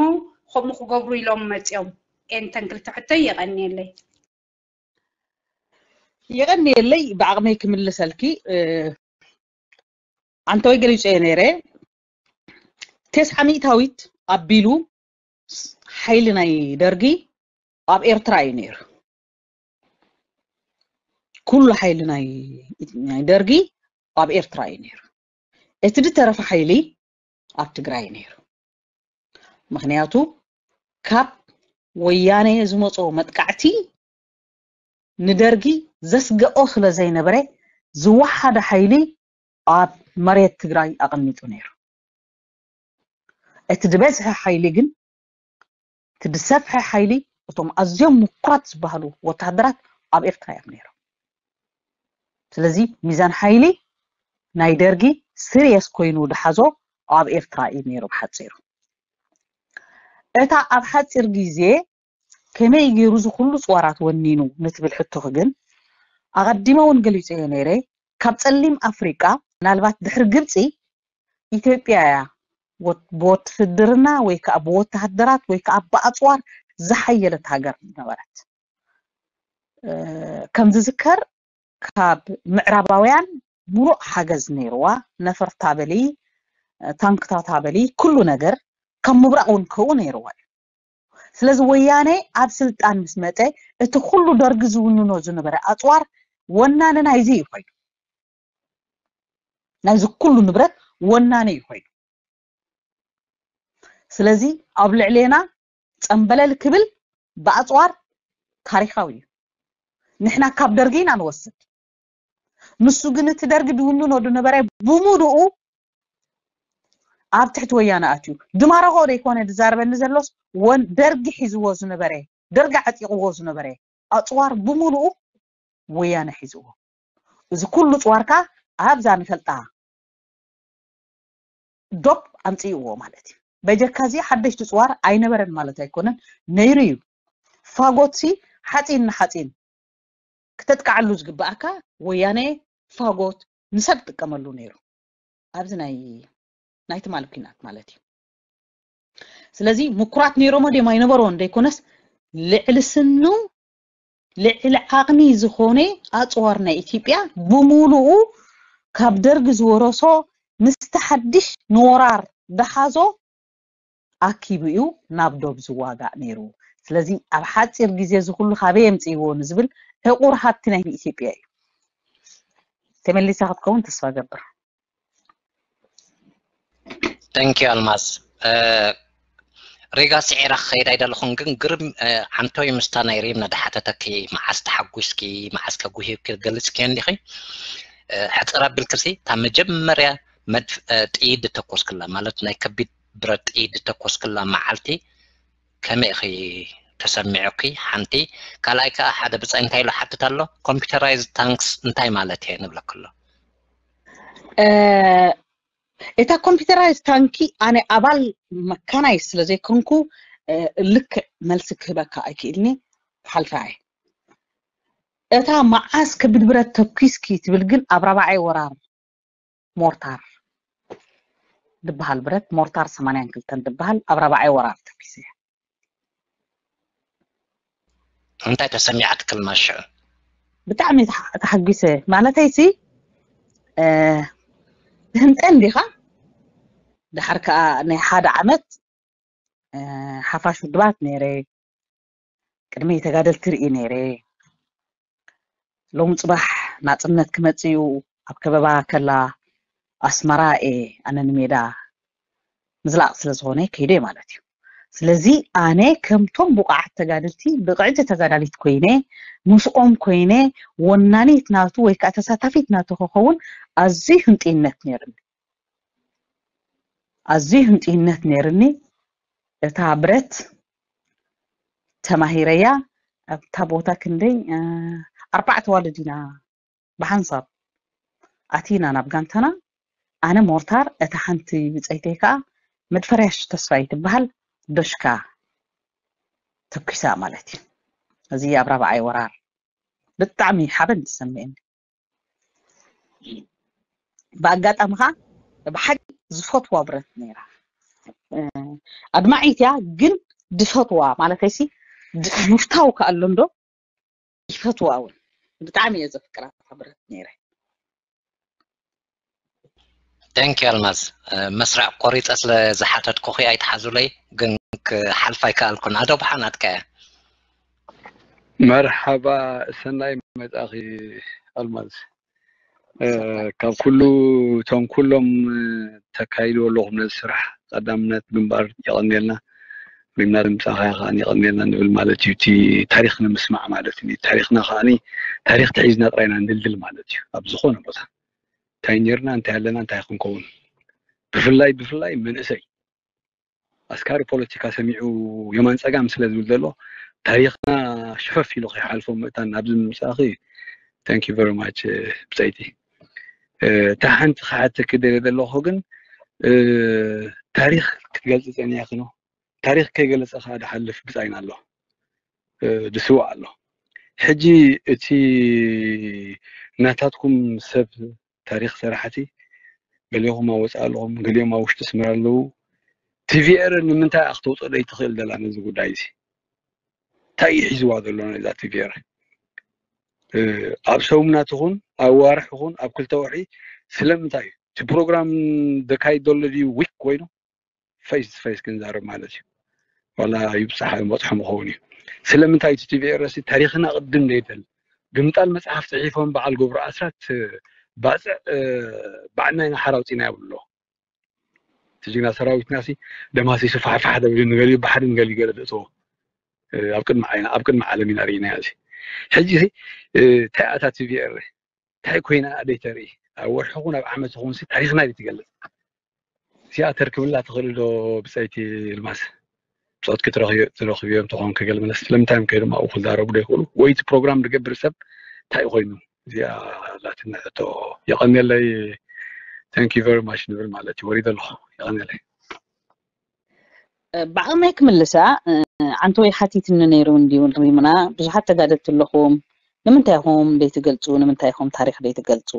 ከምኡ ክገብሩ ኢሎም መፂኦም? ኤንተን ክልተ ሕቶይ። የቐንየለይ። የቐንየለይ። ብዓቕመይ ክምልሰልኪ፣ ኣንተ ወይ ገሊፀ ነይረ፣ ተስዓ ሚእታዊት ኣቢሉ ሓይሊ ናይ ደርጊ ኣብ ኤርትራ እዩ ነይሩ። ኩሉ ሓይሊ ናይ ደርጊ ኣብ ኤርትራ እዩ ነይሩ። እቲ ዝተረፈ ሓይሊ ኣብ ትግራይ ነይሩ። ምኽንያቱ ካብ ወያነ ዝመፆ መጥቃዕቲ ንደርጊ ዘስገኦ ስለ ዘይነበረ ዝወሓደ ሓይሊ ኣብ መሬት ትግራይ ኣቐሚጡ ነይሩ። እቲ ዝበዝሐ ሓይሊ ግን እቲ ዝሰፍሐ ሓይሊ እቶም ኣዝዮም ምኩራት ዝበሃሉ ወታሃደራት ኣብ ኤርትራ እዮም ነይሮም። ስለዚ ሚዛን ሓይሊ ናይ ደርጊ ስርየስ ኮይኑ ዝሓዞ ኣብ ኤርትራ እዩ ነይሩ ብሓፂሩ። እታ ኣብ ሓፂር ግዜ ከመይ ገይሩ እዚ ኩሉ ፅዋራት ወኒኑ ንትብል ሕቶኺ ግን ኣቐዲመ እውን ገሊፀዮ ነይረ። ካብ ፀሊም ኣፍሪቃ ምናልባት ድሕሪ ግብፂ ኢትዮጵያ እያ ብወትህድርና ወይ ከዓ ብወተሃደራት ወይ ከዓ ብኣፅዋር ዝሓየለት ሃገር ዝነበረት። ከም ዝዝከር ካብ ምዕራባውያን ሙሉእ ሓገዝ ነይርዋ። ነፈርታ በሊ፣ ታንክታታ በሊ፣ ኩሉ ነገር ካብ ምብራቕ እውን ከኡ ነይርዋ እዩ። ስለዚ ወያነ ኣብ ስልጣን ምስ መፀ እቲ ኩሉ ደርጊ ዝውንኖ ዝነበረ ኣፅዋር ወናኒ ናይዚ እዩ ኮይኑ፣ ናይዚ ኩሉ ንብረት ወናኒ እዩ ኮይኑ። ስለዚ ኣብ ልዕሌና ፀምበለል ክብል ብኣፅዋር ታሪካዊ እዩ። ንሕና ካብ ደርጊ ኢና ንወስድ። ንሱ ግን እቲ ደርጊ ዝውንኖ ዝነበረ ብሙሉኡ ኣብ ትሕቲ ወያነ ኣትዩ። ድማረኾ ዘይኮነ ዝዛረበኒ ዘሎስ ወን ደርጊ ሒዝዎ ዝነበረ፣ ደርጊ ዓጢቕዎ ዝነበረ ኣፅዋር ብሙሉኡ ወያነ ሒዝዎ። እዚ ኩሉ ፅዋርካ ኣብዛ ንፈልጣ ዶብ ኣምፅእዎ ማለት እዩ። በጀካ እዚ ሓደሽቲ ፅዋር ኣይነበረን ማለት ኣይኮነን፣ ነይሩ እዩ። ፋጎትሲ ሓፂን ንሓፂን ክተጥቃዓሉ ዝግባኣካ ወያነ ፋጎት ንሰብ ጥቀመሉ ነይሩ ኣብዚ ናይ ናይ ትማል ኩናት ማለት እዩ። ስለዚ ምኩራት ነይሮሞ ድዮም ኣይነበርዎን ዘይኮነስ ልዕሊ ስኑ ልዕሊ ዓቕሚ ዝኾነ ኣፅዋር ናይ ኢትዮጵያ ብሙሉኡ ካብ ደርጊ ዝወረሶ ምስቲ ሓድሽ ንወራር ደሓዞ ኣኪቡ እዩ ናብ ዶብ ዝዋጋእ ነይሩ። ስለዚ ኣብ ሓፂር ግዜ እዚ ኩሉ ካበይ የምፅእዎ ንዝብል ዕቑር ሃብቲ ናይ ኢትዮጵያ እዩ። ተመሊሳ ክትከውን ተስፋ ገብር። Thank you ኣልማዝ። ሪጋ ስዒራ ክኸይድ ኣይደለኹን፣ ግን ግርም ዓንቶይ ምስታ ናይ ሪም ነዳሓተተኪ መዓስ ተሓጒስኪ መዓስ ከጉሂብኪ ገልጽኪ እንዲኺ። ሕፅር ኣቢልክሲ እታ መጀመርያ መድፍ ጥይት ዝተኮስክላ ማለት ናይ ከቢድ ብረት ጥይት ዝተኮስክላ መዓልቲ ከመይ ኢኺ ተሰሚዑኪ? ሓንቲ ካልኣይ ከዓ ሓደ ብፃይ እንታይ ኢሉ ሓትት ኣሎ፣ computerized tanks እንታይ ማለት እየ ንብለክ ኣሎ። እታ computerized tank ኣነ ኣባል መካናይ ስለ ዘይኮንኩ ልክዕ መልሲ ክህበካ ኣይክእልኒ፣ ክሓልፋ እየ። እታ መዓስ ከቢድ ብረት ተኩስኪ ትብል ግን ኣብ ራብዓይ ወራር ሞርታር ዝበሃል ብረት ሞርታር ሰማንያን ክልተን ዝበሃል ኣብ ራብዓይ ወራር ተኩሰ እየ። እንታይ ተሰሚዓትኪ ኣልማዝ ሽዑ? ብጣዕሚ ተሓጒሰ። ማለተይሲ ትህንጠ እንዲኻ፣ ድሓር ከዓ ናይ ሓደ ዓመት ሓፋሽ ውድባት ነይረ፣ ቅድሚ ተጋደልቲ ርኢ ነይረ። ሎም ፅባሕ ናፅነት ክመፅእ እዩ ኣብ ከበባ ከላ ኣስመራ እየ ኣነ ንሜዳ ምዝላቕ ስለ ዝኾነ ከይደ ማለት እዩ። ስለዚ ኣነ ከምቶም ብቑዓት ተጋደልቲ ብቕዕቲ ተጋዳሊት ኮይነ ምስኦም ኮይነ ወናኒት ናቱ ወይ ከዓ ተሳታፊት ናቱ ክኸውን ኣዝዩ ህንጥይነት ነይርኒ። ኣዝዩ ህንጥይነት ነይርኒ። እታ ብረት ተማሂረያ ኣብታ ቦታ ክንደይ ኣርባዕተ ዋልድ ኢና ብሓንሳብ ኣቲና ናብ ጋንታና። ኣነ ሞርታር፣ እታ ሓንቲ ብፀይተይ ከዓ መድፈርያሽ ተስፋይ ትበሃል ዶሽካ ተኩሳ ማለት እዩ። እዚ ኣብ ራብዓይ ወራር ብጣዕሚ ሓበን ዝሰምዕኒ። ብኣጋጣሚ ከዓ ብሓቂ ዝፈትዋ ብረት ነይራ። ኣድማዒት እያ ግን ድፈትዋ ማለተይሲ ምፍታው ከኣሎ እንዶ ይፈትዋ እውን ብጣዕሚ እየ ዘፍቅራ ብረት ነይረ። Thank you ኣልማዝ። መስርዕ ቆሪፀ ስለ ዝሓተትኩኺ ኣይትሓዙለይ፣ ግን ክሓልፍ ኣይከኣልኩን። ኣዶ ብሓናትካ እያ። መርሓባ፣ ሰናይ መጻኺ ኣልማዝ። ካብ ኩሉ እቶም ኩሎም ተካይድዎ ኣለኹም ነዚ ስራሕ ቀዳምነት ግንባር የቐንየልና። ሪምና ድምፃኻ ከዓኒ የቐንየልና ንብል ማለት እዩ። እቲ ታሪኽ ንምስማዕ ማለት እዩ። ታሪኽና ከዓኒ ታሪኽ ተሒዝና ጥራይ ኢና ንድልድል ማለት እዩ። ኣብ ዝኾነ ቦታ እንታይ ነርና፣ እንታይ ኣለና፣ እንታይ ክንከውን፣ ብፍላይ ብፍላይ መንእሰይ ኣስካሪ ፖለቲካ ሰሚዑ የማን ፀጋም ስለ ዝብል ዘሎ ታሪኽና ሽፈፍ ኢሉ ከይሓልፎ ምእታን ኣብዚ ምምፃእኺ thank you very much ብፀይቲ። እታ ሓንቲ ክሓተኪ ደልየ ዘለኹ ግን ታሪኽ ክትገልፂ ፀኒሕኪ ነው። ታሪኽ ከይገለፀ ከዓ ድሓልፍ ብፃይና ኣሎ፣ ድስዋእ ኣሎ። ሕጂ እቲ ናታትኩም ሰብ ታሪኽ ሰራሕቲ ገሊኹም ኣብ ወፃኢ ኣለኹም፣ ገሊኦም ኣብ ውሽጢ ኣስመራ ኣለዉ። ቲቪኤር ንምንታይ እያ ክተውፅኦ ዘይትኽእል ዘላ ነዚ ጉዳይ እዚ? እንታይ እዩ ሒዝዋ ዘሎ ነዛ ቲቪኤር? ኣብ ሰሙናት ይኹን ኣብ ዋርሕ ይኹን ኣብ ክልተ ወርሒ ስለምንታይ እዩ እቲ ፕሮግራም ዘካይድ ዘሎ ድዩ ዊክ ኮይኑ ፌስ ቱ ፌስ ክንዛረብ ማለት እዩ። ዋላ ይብፅሓ ይበፅሖም ይኸውን እዩ። ስለምንታይ እቲ ቲቪኤር ሲ ታሪኽና ቅድም ዘይደል ብምጣል መፅሓፍ ፅሒፎም በዓል ገብሩ ኣስራት ባፅዕ ባዕልና ኢና ሓራ ኣውፂና ይብሉ ኣለዉ። እቲ ጅግና ሰራዊትና ሲ ደማሲሱ ፋሕፋሕ ደብሊ ንገሊኡ ባሕሪ ንገሊኡ ገለ ደእትዎ ኣብ ቅድሚ ዓይና ኣብ ቅድሚ ዓለም ኢና ርኢናዮ። እዚ ሕጂ ሲ እንታይ ኣታ ቲቪኤር እንታይ ኮይና ደይተርኢ ኣብ ወርሒ ኹን ኣብ ዓመት ኹን ሲ ታሪኽና ደይትገልፅ እዚኣ ተርክብላ ትኽእል ዶ ብፀይቲ ልማስ? ብፆትኪ ትረኽብዮም ተኾንኪ ገለ መለስ ስለምንታይ እዮም ከይዶም ኣብኡ ክዛረቡ ዶ ይኽእሉ? ወይ እቲ ፕሮግራም ዝገብር ሰብ እንታይ ኮይኑ? እዚኣ ላትና ሕቶ። የቐንየለይ። Thank you very much ንብል ማለት እዩ። ወሪደ ኣለኹ። የቐንየለይ። ብዓቕመይ ክምልሳ ኣንቶይ ሓቲትኒ ነይሩ እንዲዩ ሪምና፣ ብዙሓት ተጋደልቲ ኣለኹም፣ ንምንታይ ኢኹም ዘይትገልጹ? ንምንታይ ኢኹም ታሪኽ ዘይትገልጹ?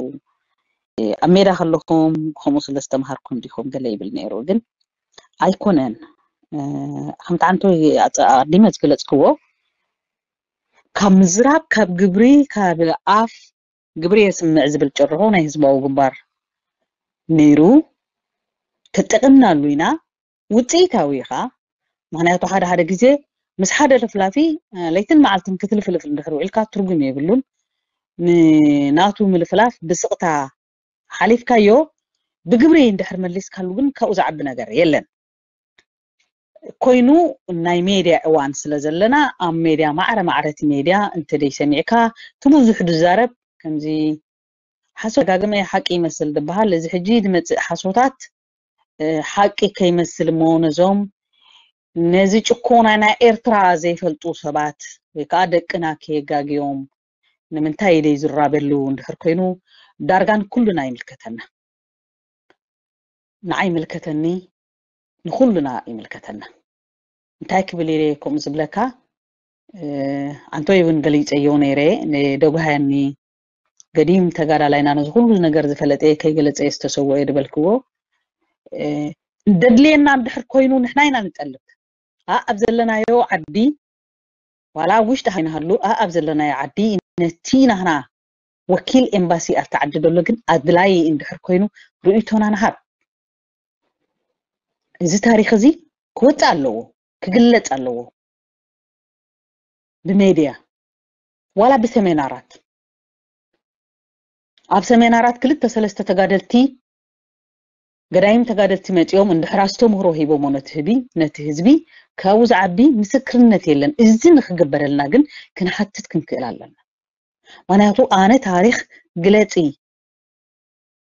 ኣብ ሜዳ ከለኹም ከምኡ ስለ ዝተምሃርኩም ዲኹም ገለ ይብል ነይሩ። ግን ኣይኮነን። ከምቲ ኣንቶይ ኣቐዲመ ዝገለጽክዎ፣ ካብ ምዝራብ፣ ካብ ግብሪ፣ ካብ ኣፍ፣ ግብሪ የስምዕ ዝብል ጭርሖ ናይ ህዝባዊ ግንባር ነይሩ። ተጠቒምናሉ ኢና። ውፅኢታዊ ኢኻ። ምክንያቱ ሓደ ሓደ ግዜ ምስ ሓደ ለፍላፊ ለይትን መዓልትን ክትልፍልፍ እንድሕር ውዒልካ ትርጉም የብሉን። ንናቱ ምልፍላፍ ብስቕታ ሓሊፍካዮ፣ ብግብሪ እንድሕር መሊስካሉ ግን ካብኡ ዝዓቢ ነገር የለን። ኮይኑ ናይ ሜድያ እዋን ስለ ዘለና፣ ኣብ ሜድያ ማዕረ ማዕረ እቲ ሜድያ እንተደይ ሰሚዕካ፣ እቲ ብዙሕ ዝዛረብ ከምዚ ሓሶት ደጋግመ ሓቂ ይመስል ዝበሃል፣ እዚ ሕጂ ዝመጽእ ሓሶታት ሓቂ ከይመስል እሞ ነዞም ነዚ ጭኮና ናይ ኤርትራ ዘይፈልጡ ሰባት ወይ ከዓ ደቅና ከየጋግዮም ንምንታይ ኢለ ይዝራበሉ እንድሕር ኮይኑ ዳርጋ ንኩልና ይምልከተና። ንዓይ ይምልከተኒ፣ ንኩልና ይምልከተና። እንታይ ክብል ኢለ ከምኡ ዝብለካ፣ ኣንቶይ እውን ገሊፀዮ ነይረ፣ ደጉሃያኒ ገዲም ተጋዳላይና ነዚ ኩሉ ነገር ዝፈለጠ ከይገለፀ ዝተሰወ ድበልክዎ። ደድልየና እንድሕር ኮይኑ ንሕና ኢና ንጠልብ። ኣብ ዘለናዮ ዓዲ ዋላ ኣብ ውሽጢ ሃይናሃሉ ኣብ ዘለናዮ ዓዲ ነቲ ናህና ወኪል ኤምባሲ ኣብቲ ዓዲ ዘሎ ግን ኣድላይ እንድሕር ኮይኑ ርእይቶና ንሃብ። እዚ ታሪኽ እዚ ክወፅእ ኣለዎ፣ ክግለፅ ኣለዎ ብሜድያ ዋላ ብሰሜናራት። ኣብ ሰሜናራት ክልተ ሰለስተ ተጋደልቲ ገዳይም ተጋደልቲ መፂኦም እንድሕር ኣስተምህሮ ሂቦሞ ነቲ ህቢ ነቲ ህዝቢ ካብኡ ዝዓቢ ምስክርነት የለን። እዚ ንክግበረልና ግን ክንሓትት ክንክእል ኣለና። ምክንያቱ ኣነ ታሪኽ ግለፂ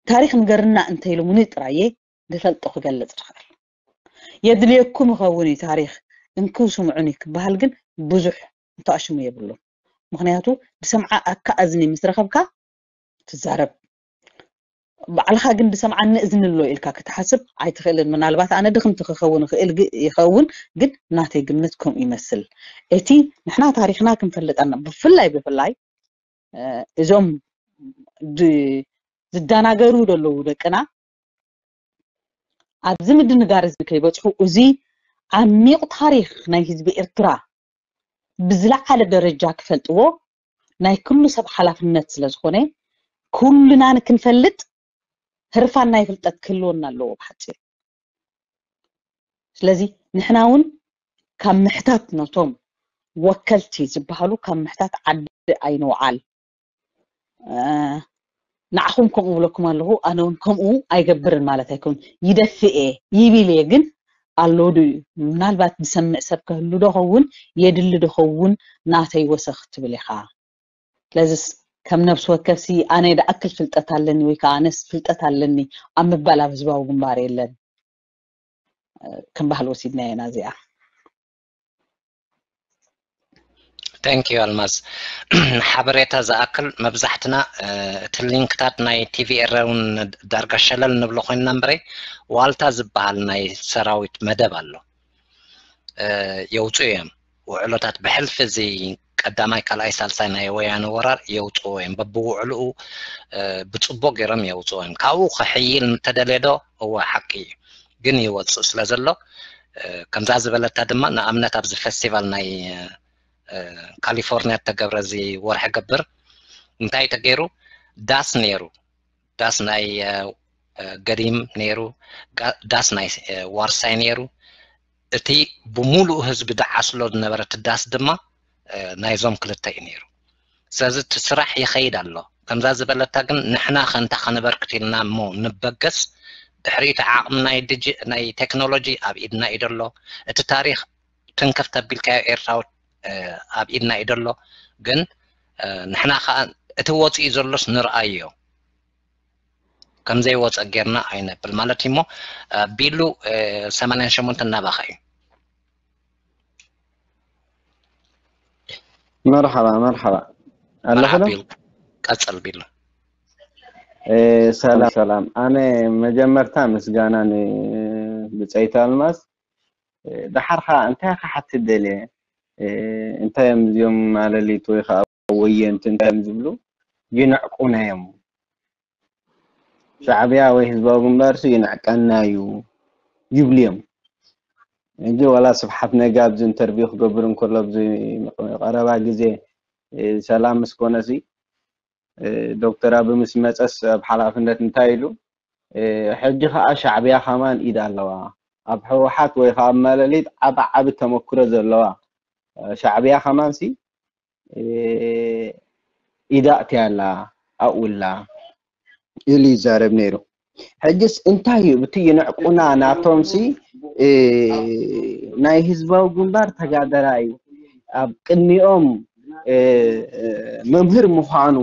ታሪኽ ንገርና እንተኢሎምኒ ጥራየ ዝፈልጦ ክገልፅ ዝኽእል። የድልየኩም ይኸውን እዩ ታሪኽ እንክው ስምዑኒ ክበሃል ግን ብዙሕ እንተኣሽሙ የብሉን። ምክንያቱ ብሰምዓ ኣካ እዝኒ ምስ ረኸብካ ትዛረብ። ባዕልኻ ግን ብሰምዓኒ እዝኒ ኣሎ ኢልካ ክትሓስብ ኣይትኽእልን። ምናልባት ኣነ ድኽምቲ ክኸውን ይኽእል ይኸውን፣ ግን ናተይ ግምት ከምኡ ይመስል። እቲ ንሕና ታሪኽና ክንፈልጥ ኣለና። ብፍላይ ብፍላይ እዞም ዝዳናገሩ ዘለዉ ደቅና ኣብዚ ምድንጋር እዚ ከይበፅሑ እዚ ዓሚቕ ታሪኽ ናይ ህዝቢ ኤርትራ ብዝለዓለ ደረጃ ክፈልጥዎ ናይ ኩሉ ሰብ ሓላፍነት ስለ ዝኾነ ኩልና ንክንፈልጥ ህርፋን ናይ ፍልጠት ክህልወና ኣለዎ ብሓፂር። ስለዚ ንሕና እውን ካብ ምሕታት ነቶም ወከልቲ ዝበሃሉ ካብ ምሕታት ዓዲ ኣይንውዓል። ንዓኹም ከምኡ ብለኩም ኣለኹ፣ ኣነ እውን ከምኡ ኣይገብርን ማለት ኣይኮን። ይደፍእ እየ ይብል እየ፣ ግን ኣሎ ድዩ ምናልባት ዝሰምዕ ሰብ ከህሉ ዶ ኸውን የድሊ ዶ ኸውን ናተይ ወሰኽ ትብል ኢኻ። ስለዚስ ከም ነብሲ ወከፍሲ ኣነ ደኣክል ፍልጠት ኣለኒ ወይ ከዓ ኣነስ ፍልጠት ኣለኒ ኣብ ምባል ኣብ ህዝባዊ ግንባር የለን። ከም ባህሊ ወሲድናዮ ኢና እዚኣ። Thank you ኣልማዝ። ሓበሬታ ዝኣክል መብዛሕትና እቲ ሊንክታት ናይ ቲቪ ኤረ እውን ዳርጋ ሸለል ንብሎ ኮይንና እምበረይ ዋልታ ዝበሃል ናይ ሰራዊት መደብ ኣሎ። የውፅኡ እዮም ውዕሎታት ብሕልፊ እዚ ቀዳማይ ካልኣይ ሳልሳይ ናይ ወያነ ወራር የውፅዎ እዮም በብውዕልኡ ብፅቡቅ ገይሮም የውፅዎ እዮም ካብኡ ክሕይል እንተደልየ ዶ እወ ሓቂ እዩ ግን ይወፅእ ስለ ዘሎ ከምዛ ዝበለታ ድማ ንኣብነት ኣብዚ ፌስቲቫል ናይ ካሊፎርኒያ ተገብረ እዚ ወርሒ ገብር እንታይ ተገይሩ ዳስ ነይሩ ዳስ ናይ ገዲም ነይሩ ዳስ ናይ ዋርሳይ ነይሩ እቲ ብሙሉእ ህዝቢ ደዓስሎ ዝነበረ እቲ ዳስ ድማ ናይዞም ክልተ እዩ ነይሩ ስለዚ እቲ ስራሕ ይኸይድ ኣሎ ከምዛ ዝበለታ ግን ንሕና ከንታ ከነበርክት ኢልና እሞ ንበገስ ድሕሪኡ እቲ ዓቕሚ ናይ ድጂ ናይ ቴክኖሎጂ ኣብ ኢድና እዩ ደሎ እቲ ታሪኽ ትንክፍ ተቢልካዮ ኤርትራዊ ኣብ ኢድና እዩ ደሎ ግን ንሕና ከዓ እቲ ወፂኡ ዘሎስ ንርኣዮ ከምዘይወፀ ጌርና ኣይነብል ማለት እሞ ቢሉ ሰማንያን ሸሞንተን ናባኻ እዩ መርሓባ መርሓባ ኣለኸ ዶ ቀፅል ቢሉ ሰላም ሰላም ኣነ መጀመርታ ምስጋና ንብፀይት ኣልማዝ ደሓር ከዓ እንታይ ክሓትት ደልየ እንታይ እዮም እዚኦም ማለሊት ወይ ከዓ ወየንቲ እንታይ እዮም ዝብሉ? ይንዕቁና እዮም። ሻዕብያ ወይ ህዝባዊ ግንባር ሲ ይንዕቀና እዩ ይብሉ እዮም። እንጂ ዋላ ስብሓት ነጋ ኣብዚ ኢንተርቪው ክገብር እንከሎ ኣብዚ ቀረባ ግዜ ሰላም ምስ ኮነ ሲ ዶክተር ኣቢ ምስ መፀስ ኣብ ሓላፍነት እንታይ ኢሉ? ሕጂ ከዓ ሻዕብያ ከማን ኢድ ኣለዋ ኣብ ህወሓት ወይ ከዓ ኣብ ማለሊት ዓቢ ዓቢ ተመክሮ ዘለዋ ሻዕብያ ከማን ሲ ኢዳ እትያ ኣላ ኣብኡ ኣላ ኢሉ ይዛረብ ነይሩ። ሕጅስ እንታይ እዩ ብቲ ይንዕቁና ናቶም ሲ ናይ ህዝባዊ ግንባር ተጋደራይ ኣብ ቅድሚኦም መምህር ምዃኑ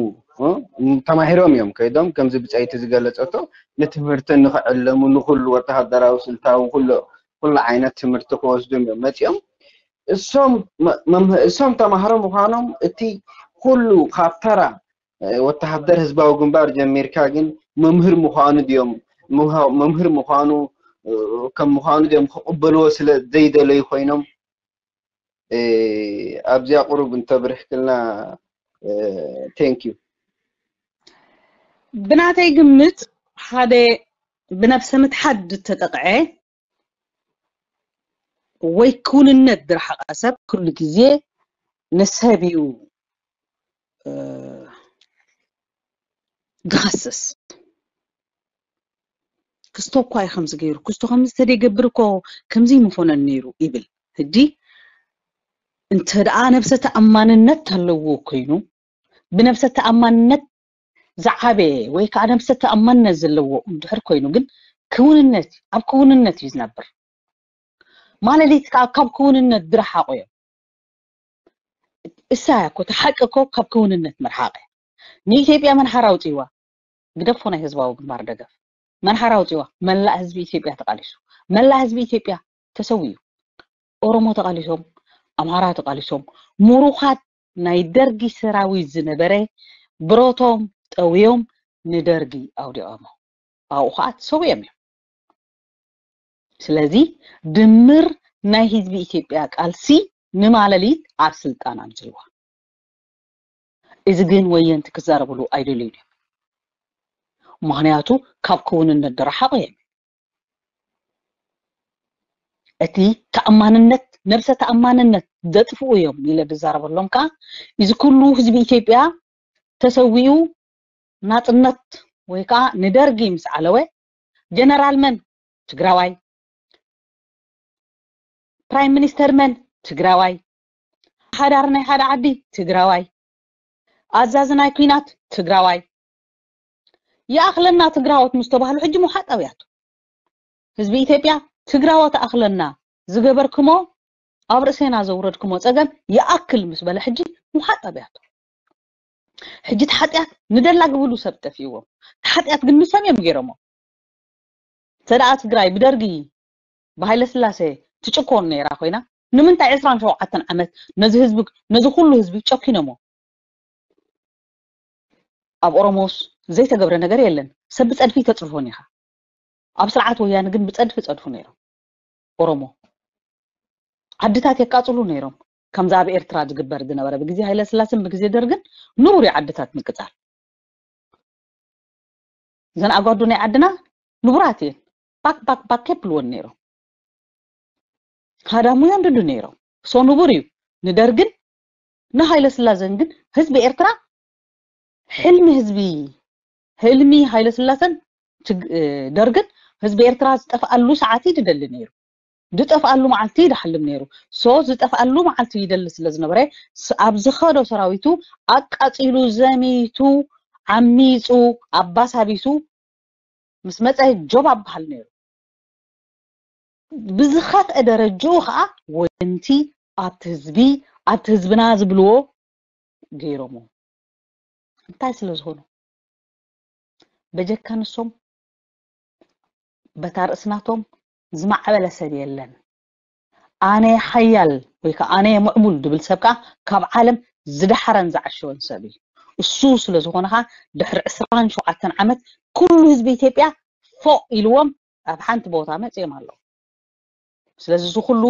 ተማሂሮም እዮም ከይዶም ከምዚ ብፀይቲ ዝገለፀቶ ንትምህርቲ ንክዕለሙ ንኩሉ ወተሃደራዊ ስልታዊ ኩሉ ዓይነት ትምህርቲ ክወስዱ እዮም መፂኦም። እሶም ተማሃሮ ምዃኖም እቲ ኩሉ ካብ ተራ ወተሃደር ህዝባዊ ግንባር ጀሚርካ ግን መምህር ምዃኑ ድዮም መምህር ምዃኑ ከም ምዃኑ ድዮም ክቕበልዎ ስለ ዘይደለዩ ኮይኖም ኣብዚኣ ቁሩብ እንተብርህክልና። Thank you። ብናተይ ግምት ሓደ ብነብሰ ምትሓት ዝተጠቕዐ ወይ ክውንነት ዝረሓቐ ሰብ ኩሉ ግዜ ንሰብ እዩ ዝኸስስ። ክስቶ እኳ እዩ ከምዚ ገይሩ ክስቶ ከምዚ ተደይገብር እኮ ከምዚ ምኾነን ነይሩ ይብል። ሕጂ እንተ ደኣ ነብሰ ተኣማንነት ኣለዎ ኮይኑ ብነብሰ ተኣማንነት ዝዓበየ ወይ ከዓ ነብሰ ተኣማንነት ዘለዎ እንድሕር ኮይኑ ግን ክውንነት ኣብ ክውንነት እዩ ዝነብር። ማለሊት ከዓ ካብ ክውንነት ዝረሓቑ እዮም። እሳ እኮ ተሓቂ እኮ ካብ ክውንነት መርሓቐ ንኢትዮጵያ መን ሓራ ኣውፅዋ ግደፎ ናይ ህዝባዊ ግንባር ደገፍ መን ሓራ ኣውፅዋ መላእ ህዝቢ ኢትዮጵያ ተቃሊሱ መላእ ህዝቢ ኢትዮጵያ ተሰዊዩ ኦሮሞ ተቃሊሶም ኣምሃራ ተቃሊሶም ምሩኻት ናይ ደርጊ ሰራዊት ዝነበረ ብረቶም ጠውዮም ንደርጊ ኣውዲቖሞ ኣብኡ ከዓ ተሰዊኦም እዮም። ስለዚ ድምር ናይ ህዝቢ ኢትዮጵያ ቃልሲ ንማለሊት ኣብ ስልጣን ኣምፅዋ። እዚ ግን ወየንቲ ክዛረብሉ ኣይደልዩን እዮም። ምክንያቱ ካብ ክውንነት ዝረሓቑ እዮም። እቲ ተኣማንነት ነብሰ ተኣማንነት ዘጥፍኡ እዮም ኢለ ዝዛረበሎም ከዓ እዚ ኩሉ ህዝቢ ኢትዮጵያ ተሰዊኡ ናፅነት ወይ ከዓ ንደርጊ ምስ ዓለወ ጀነራል መን ትግራዋይ ፕራይም ሚኒስተር መን ትግራዋይ ሓዳር ናይ ሓደ ዓዲ ትግራዋይ ኣዛዚ ናይ ኩናት ትግራዋይ ይኣኽለና ትግራዎት ምስ ተባህሉ ሕጂ ምውሓጥ ኣብያቱ ህዝቢ ኢትዮጵያ ትግራዎት ኣኽለና ዝገበርክሞ ኣብ ርእሴና ዘውረድክሞ ፀገም ይኣክል ምስ በለ ሕጂ ምውሓጥ ኣብያቱ ሕጂ እቲ ሓጢኣት ንደላግብሉ ሰብ ጠፊእዎም እቲ ሓጢኣት ግን ንሶም እዮም ገይሮሞ ተደኣ ትግራይ ብደርጊ ብሃይለ ስላሴ ትጭኮን ነይራ ኮይና ንምንታይ ዕስራን ሸውዓተን ዓመት ነዚ ህዝቢ ነዚ ኩሉ ህዝቢ ጨኪኖሞ ኣብ ኦሮሞስ ዘይተገብረ ነገር የለን ሰብ ብፀድፊ ተፅርፎን ኢኻ ኣብ ስርዓት ወያነ ግን ብፀድፊ ፀድፉ ነይሮም ኦሮሞ ዓድታት የቃፅሉ ነይሮም ከምዚ ኣብ ኤርትራ ዝግበር ዝነበረ ብግዜ ሃይለ ስላሴን ብግዜ ደርግን ንቡር እዩ ዓድታት ምቅፃል እዘን ኣጓዱ ናይ ዓድና ንቡራት እየን ባክ ባክ ባክ የብልወን ነይሮም ሃዳሙ እዮም ድዱ ነይሮም so ንቡር እዩ ንደርግን ንሃይለ ስላሴን ግን ህዝቢ ኤርትራ ሕልሚ ህዝቢ ህልሚ ሃይለ ስላሴን ደርግን ህዝቢ ኤርትራ ዝጠፍኣሉ ሰዓት እዩ ዝደሊ ነይሩ ዝጠፍኣሉ መዓልቲ ይድሓልም ነይሩ so ዝጠፍኣሉ መዓልቲ ይደሊ ስለ ዝነበረ ኣብ ዝኸዶ ሰራዊቱ ኣቃፂሉ ዘሚቱ ዓሚፁ ኣባሳቢሱ ምስ መፀ ጆብ ኣብሃል ነይሩ ብዝኸፍአ ደረጅኡ ከዓ ወንቲ ኣብቲ ህዝቢ ኣብቲ ህዝብና ዝብልዎ ገይሮሞ እንታይ ስለ ዝኾኑ በጀካ ንሶም በታ ርእስናቶም ዝማዕበለ ሰብ የለን ኣነ ሓያል ወይ ከዓ ኣነ ምዕቡል ድብል ሰብ ከዓ ካብ ዓለም ዝደሓረን ዝዓሸወን ሰብ እዩ እሱ ስለ ዝኾነ ከዓ ድሕሪ ዕስራን ሸውዓተን ዓመት ኩሉ ህዝቢ ኢትዮጵያ ፎቕ ኢልዎም ኣብ ሓንቲ ቦታ መፅኦም ኣለዉ ስለዚ እዚ ኩሉ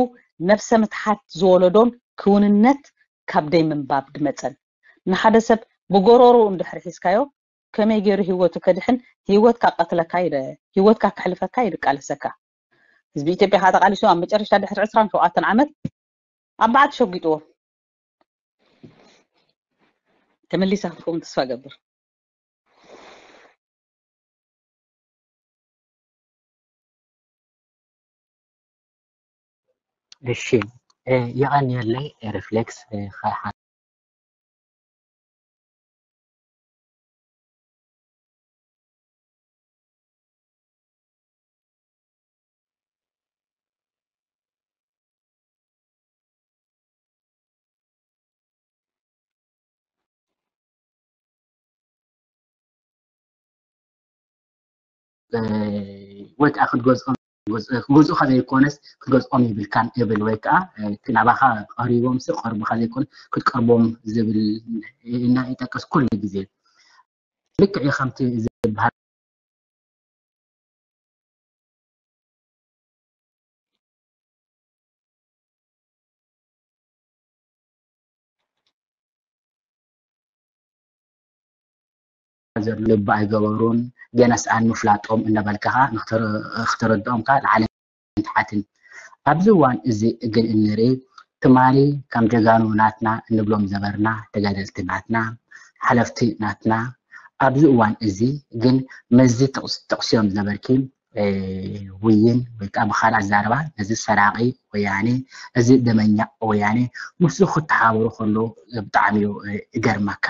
ነብሰ ምትሓት ዝወለዶን ክውንነት ካብ ደይ ምንባብ ድመጸን። ንሓደ ሰብ ብጎሮሩ እንድሕር ሒዝካዮ ከመይ ገይሩ ህይወቱ ከድሕን፣ ህይወትካ ቀትለካ ይደ ህይወትካ ከሕልፈካ ይድቃለሰካ። ህዝቢ ኢትዮጵያ ከዓ ተቃሊሱ ኣብ መጨረሻ ድሕሪ ዕስራን ሸውዓተን ዓመት ኣብ በዓል ተሸጒጥዎ። ተመሊሳ ክትከውን ተስፋ ገብር። እሺ፣ የቐንየለይ ሪፍሌክስ። ወይ ከዓ ክትገዝኦም፣ ክትገዝኡ ከዘይኮነስ ክትገዝኦም ይብልካን ይብል። ወይ ከዓ ናባኻ ቀሪቦም ሲ ቀርቡካ ዘይኮነ ክትቀርቦም ዝብል እና ይጠቅስ ኩሉ ግዜ። ልክዕ እዩ ከምቲ ዝበሃል ዘሎ ልቢ ኣይገበሩን። ገና ሰኣን ምፍላጦም እናበልካ ከዓ ክትረድኦም ከዓ ላዕልን ታሕትን። ኣብዚ እዋን እዚ ግን እንርኢ ትማሊ ከም ጀጋኑ ናትና እንብሎም ዘበርና ተጋደልቲ ናትና ሓለፍቲ ናትና ኣብዚ እዋን እዚ ግን ምስዚ ጠቕስዮም ዝነበርኪ ውይን ወይ ከዓ ብካልእ ኣዛረባ ነዚ ሰራቂ ወያኔ እዚ ደመኛ ወያኔ ምስኡ ክተሓበሩ ከለዉ ብጣዕሚ እዩ እገርመካ።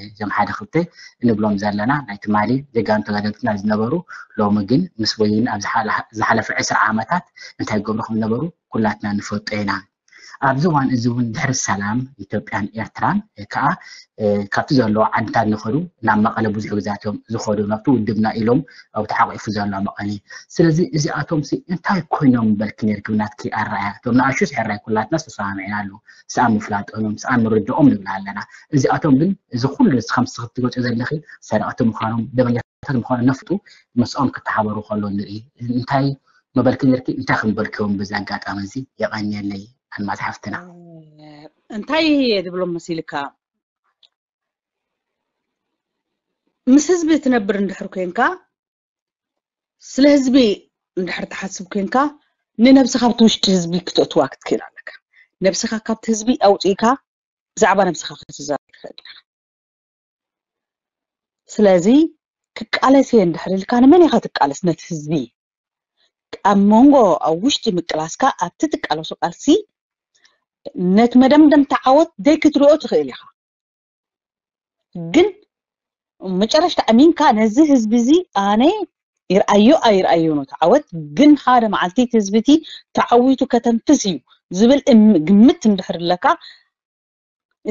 እዞም ሓደ ክልተ እንብሎም ዘለና ናይ ትማሊ ጀጋኑ ተጋደልትና ዝነበሩ ሎሚ ግን ምስ ወይን ኣብ ዝሓለፈ ዕስራ ዓመታት እንታይ ይገብሩ ከም ዝነበሩ ኩላትና ንፈልጦ ኢና። ኣብዚ እዋን እዚ እውን ድሕሪ ሰላም ኢትዮጵያን ኤርትራን ከዓ ካብቲ ዘለዎ ዓድታት ንኸዱ ናብ መቐለ ብዙሕ ግዛት እዮም ዝኸዱ ናብቲ ውድብና ኢሎም ኣብቲ ሓቂፉ ዘሎ መቐለ። ስለዚ እዚኣቶም ሲ እንታይ ኮይኖም በልኪ ነርኪ ናትኪ ኣረኣያ እቶም ንኣሹ ስሕራይ ኩላትና ዝተሰማምዕና ኣለዉ። ሰኣን ምፍላጦም እዮም ሰኣን ምርድኦም ንብል ኣለና። እዚኣቶም ግን እዚ ኩሉ ከምዚ ክትገልፁ ዘለኺ ሰረቕቲ ምዃኖም ደመኛታት ምዃኖም ነፍጡ ምስኦም ክተሓበሩ ከሎ ንርኢ እንታይ መበልኪ ነርኪ እንታይ ክንበልክዮም በዚ ኣጋጣሚ እዚ የቐንየለይ ኣልማዝ ሓፍትና። እንታይ እየ ዝብሎም መሲልካ ምስ ህዝቢ ትነብር እንድሕር ኮንካ ስለ ህዝቢ እንድሕር ትሓስብ ኮንካ ንነብስኻ ኣብቲ ውሽጢ ህዝቢ ክተእትዋ ክትክእል ኣለካ። ነብስኻ ካብቲ ህዝቢ ኣውፅእካ ብዛዕባ ነብስኻ ክትዛረብ ትኽእል ኢኻ። ስለዚ ክቃለስ እየ እንድሕር ኢልካ ንመን ኢኻ ትቃለስ? ነቲ ህዝቢ ኣብ መንጎ ኣብ ውሽጢ ምቅላስካ ኣብቲ ትቃለሶ ቃልሲ ነቲ መደምደምታ ዓወት ደይክትሪኦ ትኽእል ኢኻ። ግን መጨረሽታ ኣሚንካ ነዚ ህዝቢ እዚ ኣነ ይርኣዮ ኣይርኣዮ ነው ተዓወት ግን ሓደ መዓልቲ እቲ ህዝቢ እቲ ተዓዊቱ ከተንፍስ እዩ ዝብል ግምት እንድሕር ኣለካ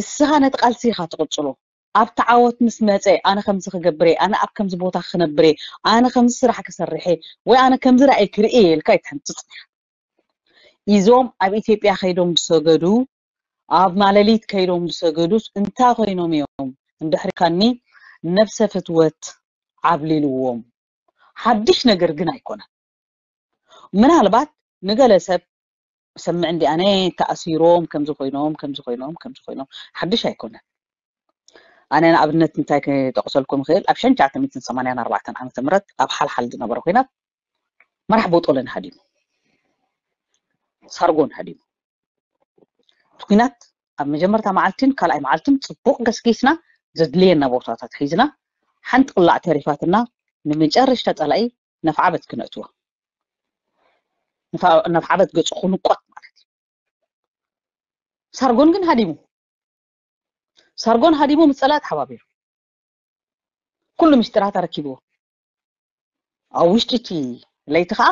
እስኻ ነቲ ቃልሲ ኢኻ ትቕጽሎ። ኣብ ተዓወት ምስ መጸ ኣነ ከምዚ ክገብር እየ፣ ኣነ ኣብ ከምዚ ቦታ ክነብር እየ፣ ኣነ ከምዚ ስራሕ ክሰርሕ እየ ወይ ኣነ ከምዚ ራእይ ክርኢ እየ ኢልካ ኣይትሕንጽጽ። ኢዞም ኣብ ኢትዮጵያ ከይዶም ዝሰገዱ ኣብ ማለሊት ከይዶም ዝሰገዱስ እንታይ ኮይኖም እዮም እንድሕሪ ካኒ ነብሰ ፍትወት ዓብሊልዎም። ሓድሽ ነገር ግን ኣይኮነን። ምናልባት ንገለ ሰብ ሰምዕ እንዲ ኣነ ተኣሲሮም ከምዚ ኮይኖም ከምዚ ኮይኖም ከምዚ ኮይኖም ሓድሽ ኣይኮነን። ኣነ ንኣብነት እንታይ ክጠቕሰልኩም ይኽእል ኣብ ሸንቻተ ሚትን ሰማንያን ኣርባዕተን ዓመተ ምህረት ኣብ ሓልሓል ዝነበረ ኮይናት መራሕ ቦጦለን ሃዲሙ ሳርጎን ሃዲሙ እቲ ኩናት ኣብ መጀመርታ መዓልትን ካልኣይ መዓልትን ፅቡቕ ገስጊስና ዘድልየና ቦታታት ሒዝና ሓንቲ ቅላዕ ተሪፋትና ንመጨረሽታ ፀላኢ ነፍዓበት ክነእትዎ ነፍዓበት ገፁ ክንቆት ማለት እዩ። ሳርጎን ግን ሃዲሙ ሳርጎን ሃዲሙ ምስ ፀላኢ ተሓባቢሩ ኩሉ ምስጢራት ኣረኪብዎ ኣብ ውሽጢ እቲ ለይቲ ከዓ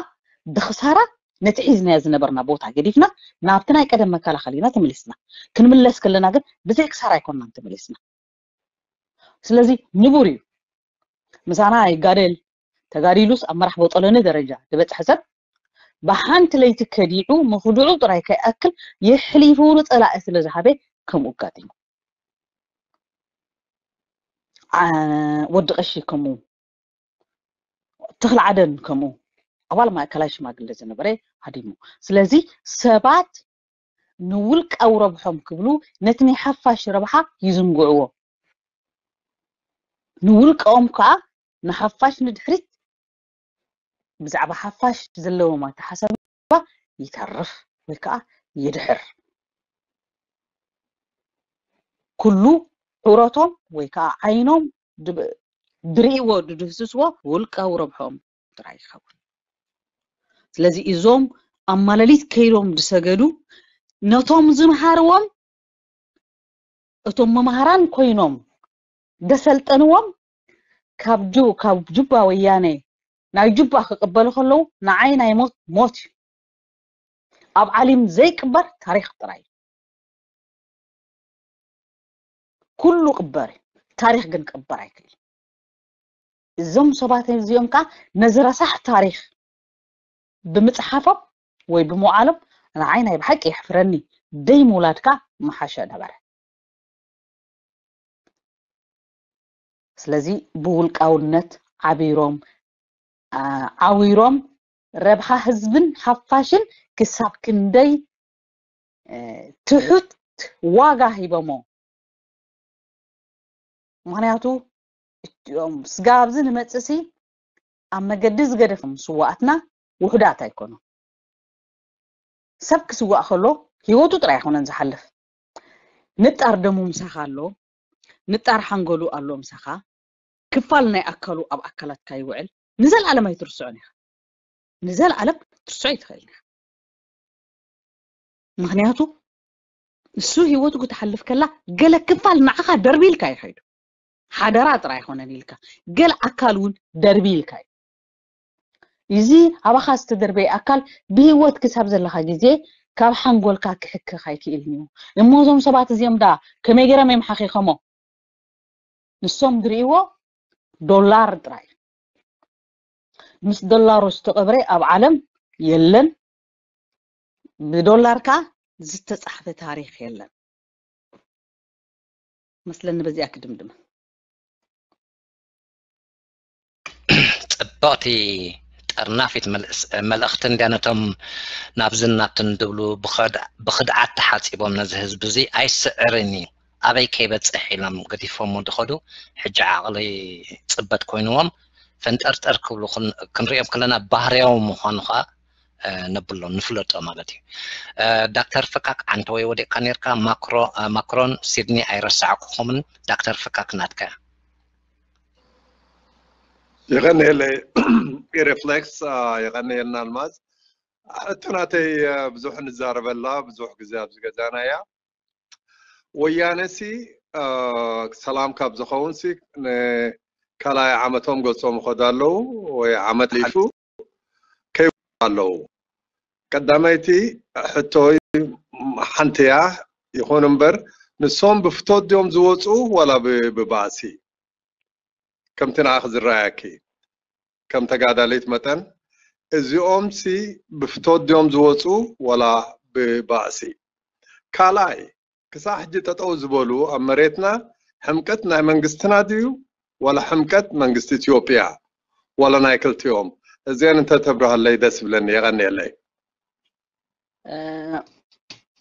ብክሳራ ነቲ ሒዝናዮ ዝነበርና ቦታ ገዲፍና ናብቲ ናይ ቀደም መከላኸሊና ተመሊስና። ክንምለስ ከለና ግን ብዘይ ክሳራ ኣይኮንናን ተመሊስና። ስለዚ ንቡር እዩ ምሳና ይጋደል ተጋዲሉስ ኣብ መራሕ ቦጠለኒ ደረጃ ዝበፅሐ ሰብ ብሓንቲ ለይቲ ከዲዑ ምኽድዑ ጥራይ ከይኣክል የሕሊፉ ንፀላኢ ስለ ዝሃበ ከምኡ ኣጋጢሙ። ወዲ ቀሺ ከምኡ፣ ተኽለ ዓደን ከምኡ፣ ኣባል ማእከላይ ሽማግለ ዝነበረ ሃዲሙ። ስለዚ ሰባት ንውልቃዊ ረብሖም ክብሉ ነቲ ናይ ሓፋሽ ረብሓ ይዝንግዕዎ። ንውልቃኦም ከዓ ንሓፋሽ ንድሕሪት ብዛዕባ ሓፋሽ ዘለዎም ኣተሓሳስባ ይተርፍ ወይ ከዓ ይድሕር። ኩሉ ዑረቶም ወይ ከዓ ዓይኖም ድብ- ድርእይዎ ድድህስስዎ ውልቃዊ ረብሖም ጥራይ ይኸውን። ስለዚ እዞም ኣብ ማለሊት ከይዶም ዝሰገዱ ነቶም ዝምሃርዎም እቶም መምሃራን ኮይኖም ደሰልጠንዎም ካብ ጁ ካብ ጁባ ወያነ ናይ ጁባ ክቅበሉ ከለዉ ንዓይ ናይ ሞት ሞት እዩ። ኣብ ዓሊም ዘይቅበር ታሪኽ ጥራይ እዩ። ኩሉ ቅበር እዩ። ታሪኽ ግን ክቅበር ኣይክእል። እዞም ሰባት እዚኦም ከዓ ነዚ ረሳሕ ታሪኽ ብምፅሓፎም ወይ ብምውዓሎም ንዓይ ናይ ብሓቂ የሕፍረኒ። ደይ ምውላድካ ምሓሸ ነበረ። ስለዚ ብውልቃውነት ዓቢሮም ዓዊሮም ረብሓ ህዝብን ሓፋሽን ክሳብ ክንደይ ትሑት ዋጋ ሂቦሞ። ምክንያቱ እም ስጋ ኣብዚ ንመፅእሲ ኣብ መገዲ ዝገደፎም ስዋኣትና ውሑዳት ኣይኮኑ። ሰብ ክስዋእ ከሎ ህይወቱ ጥራይ ኣይኮነን ዝሓልፍ። ንጣር ደሙ ምሳኻ ኣሎ፣ ንጣር ሓንጎሉ ኣሎ ምሳኻ። ክፋል ናይ ኣካሉ ኣብ ኣካላትካ ይውዕል። ንዘለኣለም ኣይትርስዖን ኢኻ። ንዘለኣለም ክትርስዖ ኣይትኽእልን ኢኻ። ምክንያቱ እሱ ህይወቱ ክትሓልፍ ከላ ገለ ክፋል ንዓኻ ደርቢልካ ይኸይዱ። ሓደራ ጥራይ ኣይኮነን ኢልካ፣ ገለ ኣካል እውን ደርቢልካ እዩ። እዚ ኣባኻ ዝተደርበየ ኣካል ብህይወት ክሳብ ዘለኻ ግዜ ካብ ሓንጎልካ ክሕክኽ ኣይክእልን እዩ። እሞ እዞም ሰባት እዚኦም ዳ ከመይ ገይሮም እዮም ሓኺኸሞ? ንሶም ዝርእይዎ ዶላር ጥራይ። ምስ ዶላሩ ዝተቐብረ ኣብ ዓለም የለን። ብዶላር ከዓ ዝተፃሕፈ ታሪኽ የለን። መስለኒ በዚኣ ክድምድም። ፅብቕቲ ጠርናፊት መልእስ- መልእኽቲ እንድያ። ነቶም ናብዝን ናብትን ዝብሉ ብኸድ- ብኽድዓት ተሓፂቦም ነዚ ህዝቢ እዚ ኣይስዕርን እዩ ኣበይ ከይበፅሕ ኢሎም ገዲፎሞ ዝኸዱ ሕጂ ዓቕሊ ፅበት ኮይንዎም ፈንጠርጠር ክብሉ ክን- ክንሪኦም ከለና ባህርያዊ ምዃኑ ከዓ ነብሎ ንፍለጦ ማለት እዩ። ዳክተር ፍካክ ዓንተ ወይ ወዲቕካ ነርካ ማክሮ ማክሮን ሲድኒ ኣይረሳዕኩኹምን። ዳክተር ፍካክ ናትካ እያ። የቐንየለይ ኢሬፍሌክስ። የቐንየልና ኣልማዝ። ሕቶ ናተይ ብዙሕ ንዛረበላ ብዙሕ ግዜ ኣብዚ ገዛና እያ። ወያነ ሲ ሰላም ካብ ዝኸውን ሲ ካልኣይ ዓመቶም ገጾም ይኸዱ ኣለዉ ወይ ዓመት ሓሊፉ ከይወ ኣለዉ። ቀዳመይቲ ሕቶይ ሓንቲ እያ። ይኹን እምበር ንሶም ብፍቶት ድዮም ዝወፁ ዋላ ብባእሲ? ከምቲ ንኣኺ ዝረኣየኪ ከም ተጋዳሊት መጠን እዚኦም ሲ ብፍቶት ድዮም ዝወፁ ዋላ ብባእሲ? ካልኣይ ክሳዕ ሕጂ ጠጠው ዝበሉ ኣብ መሬትና ሕምቀት ናይ መንግስትና ድዩ ዋላ ሕምቀት መንግስቲ ኢትዮጵያ ዋላ ናይ ክልቲኦም? እዚአን እንተተብርሃለይ ደስ ይብለኒ። የቐንየለይ።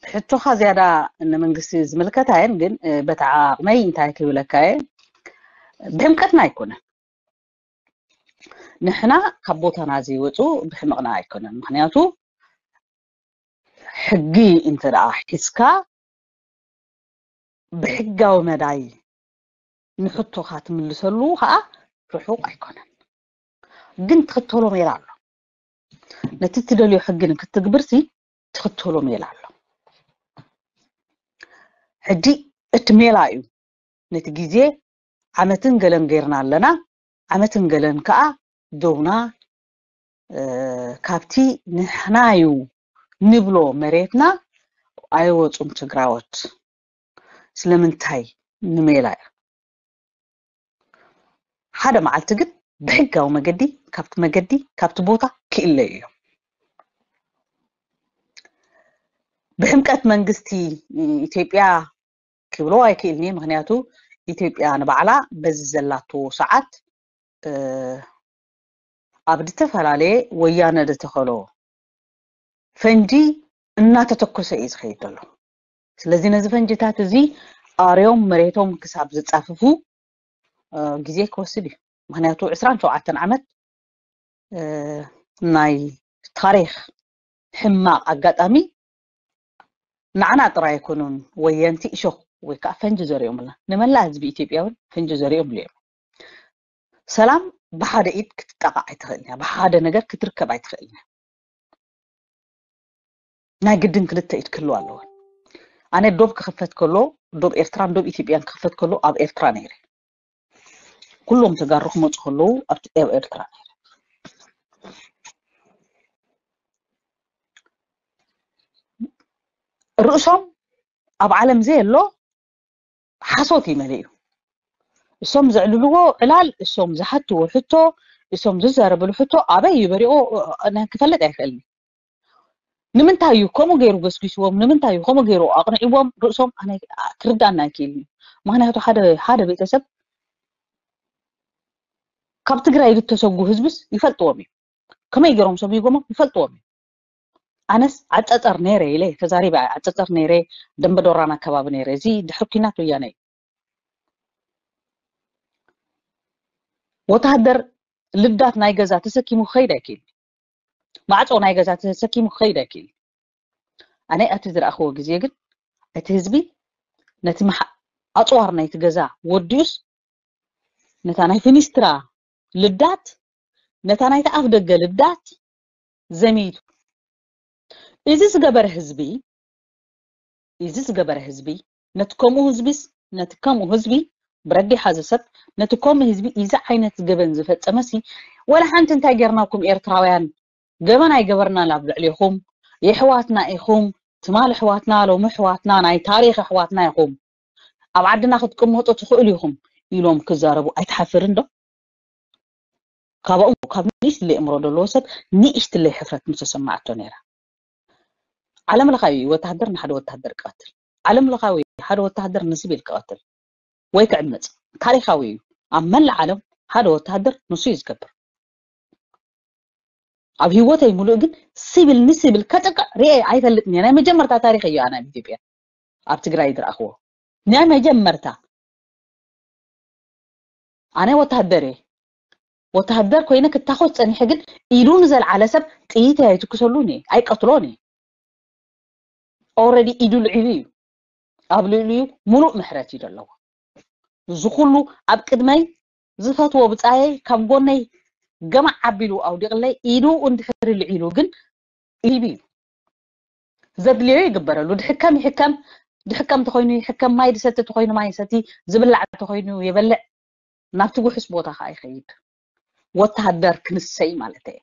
ሕቶኻ ዝያዳ ንመንግስቲ ዝምልከት ኣየን፣ ግን በቲ ዓቕመይ እንታይ ክብለካ እየ፣ ብሕምቀትና ኣይኮነን። ንሕና ካብ ቦታና ዘይወፁ ብሕምቕና ኣይኮነን። ምክንያቱ ሕጊ እንተ ደኣ ሒዝካ ብሕጋዊ መዳይ ንሕቶኻ ትምልሰሉ ከዓ ርሑቕ ኣይኮነን። ግን ትኽተሎ ሜላ ኣሎ። ነቲ ትደልዮ ሕጊ ንክትግብርሲ ትኽተሎ ሜላ ኣሎ። ሕጂ እቲ ሜላ እዩ ነቲ ግዜ ዓመትን ገለን ገይርና ኣለና። ዓመትን ገለን ከዓ ደውና ካብቲ ንሕናዩ ንብሎ መሬትና ኣይወፁን ትግራዎት። ስለምንታይ ንሜላ እዩ። ሓደ መዓልቲ ግን ብሕጋዊ መገዲ ካብቲ መገዲ ካብቲ ቦታ ክእለዩ እዮም። ብሕምቀት መንግስቲ ኢትዮጵያ ክብሎ ኣይክእልኒ። ምክንያቱ ኢትዮጵያ ንባዕላ በዚ ዘላቶ ሰዓት ኣብ ዝተፈላለየ ወያነ ዝተኸሎ ፈንጂ እናተተኮሰ እዩ ዝኸይድ ዘሎ። ስለዚ ነዚ ፈንጅታት እዚ ኣርዮም መሬቶም ክሳብ ዝጻፍፉ ግዜ ክወስድ እዩ። ምክንያቱ ዕስራን ሸውዓተን ዓመት ናይ ታሪክ ሕማቕ ኣጋጣሚ ንዓና ጥራይ ኣይኮኑን ወየንቲ እሾኽ ወይ ከዓ ፈንጂ ዘሪኦምልና፣ ንመላእ ህዝቢ ኢትዮጵያ እውን ፈንጂ ዘሪኦምሉ እዮም። ሰላም ብሓደ ኢድ ክትጣቃዕ ኣይትኽእልን እያ፣ ብሓደ ነገር ክትርከብ ኣይትኽእልን እያ። ናይ ግድን ክልተ ኢድ ክህልዋ ኣለወን። ኣነ ዶብ ክኽፈት ከሎ፣ ዶብ ኤርትራን ዶብ ኢትዮጵያን ክኽፈት ከሎ ኣብ ኤርትራ ነይረ። ኩሎም ተጋሩ ክመፁ ከለዉ ኣብ ኤርትራ ነይረ። ርእሶም ኣብ ዓለም ዘየሎ ሓሶት እዩ መሊኡ። እሶም ዘዕልልዎ ዕላል፣ እሶም ዝሓትዎ ሕቶ፣ እሶም ዝዛረብሉ ሕቶ ኣበይ እዩ በሪቑ ክፈልጥ ኣይክእልን። ንምንታይ እዩ ከምኡ ገይሩ ገስጊስዎም? ንምንታይ እዩ ከምኡ ገይሩ ኣቕንዕዎም? ርእሶም ኣነ ክርዳእና ኣይክእልን እዩ። ምክንያቱ ሓደ ሓደ ቤተሰብ ካብ ትግራይ ዝተሰጉ ህዝብስ ይፈልጥዎም እዩ። ከመይ ገይሮም ሰጉጎሞም ይፈልጥዎም እዩ። ኣነስ ዓፀፀር ነይረ ኢለ ተዛሪበ፣ ዓፀፀር ነይረ፣ ደንበዶራን ኣከባቢ ነይረ። እዚ ድሕሪ ኲናት ወያነ እዩ። ወተሃደር ልዳት ናይ ገዛ ተሰኪሙ ክኸይድ ኣይክእል። ማዕፆ ናይ ገዛ ተሰኪሙ ክኸይድ ኣይክእል። ኣነ ኣብቲ ዝረኣኽዎ ግዜ ግን እቲ ህዝቢ ነቲ ኣፅዋር ናይቲ ገዛ ወዲኡስ ነታ ናይ ፊኒስትራ ልዳት፣ ነታ ናይቲ ኣፍ ደገ ልዳት ዘሚቱ። እዚ ዝገበረ ህዝቢ እዚ ዝገበረ ህዝቢ ነቲ ከምኡ ህዝቢስ ነቲ ከምኡ ህዝቢ ብረዲሓ ዝሰብ ነቲ ከምኡ ህዝቢ እዚ ዓይነት ገበን ዝፈጸመሲ ወላ ሓንቲ እንታይ ጌርናኩም ኤርትራውያን ገበን ኣይገበርናን ኣብ ልዕሌኹም የሕዋትና ኢኹም ትማል ኣሕዋትና ሎሚ ኣሕዋትና ናይ ታሪኽ ኣሕዋትና ኢኹም ኣብ ዓድና ክትቅመጡ ትኽእሉ ኢኹም ኢሎም ክዛረቡ ኣይትሓፍርን ዶ? ካባኡ ካብ ንእሽትለይ እምሮ ዘለዎ ሰብ ንእሽትለይ ሕፍረት ምተሰማዓቶ ነይራ። ዓለም ለኻዊ ወተሃደር ንሓደ ወተሃደር ክቐትል፣ ዓለም ለኻዊ ሓደ ወተሃደር ንሲቪል ክቐትል ወይ ክዕምፅ ታሪኻዊ እዩ። ኣብ መላእ ዓለም ሓደ ወተሃደር ንሱ እዩ ዝገብር። ኣብ ህይወተይ ሙሉእ ግን ሲቪል ንሲቪል ከጥቅዕ ርኤ ኣይፈልጥን እየ። ናይ መጀመርታ ታሪኽ እዩ ኣነ ኣብ ኢትዮጵያ ኣብ ትግራይ ዝረኣኽዎ ናይ መጀመርታ። ኣነ ወተሃደር እየ። ወተሃደር ኮይነ ክታኾስ ፀኒሐ ግን ኢዱ ንዘልዓለ ሰብ ጥይት ኣይትኩሰሉን እየ፣ ኣይቀትሎን እየ። ኦረዲ ኢዱ ልዒሉ እዩ። ኣብ ልዕሊኡ ሙሉእ ምሕረት እዩ ዘለዎ። እዚ ኩሉ ኣብ ቅድመይ ዝፈትዎ ብፃየይ ካብ ጎነይ ገማዕ ኣቢሉ ኣውዲቕለይ ኢዱ እንድሕሪ ልዒሉ ግን ኢቢ እዩ። ዘድልዮ ይግበረሉ። ድሕከም ይሕከም፣ ድሕከም ተኾይኑ ይሕከም፣ ማይ ድሰቲ ተኾይኑ ማይ ይሰቲ፣ ዝብላዕ ተኾይኑ ይበልዕ፣ ናብቲ ውሑስ ቦታ ከዓ ይኸይድ። ወተሃደር ክንሰይ ማለት እየ።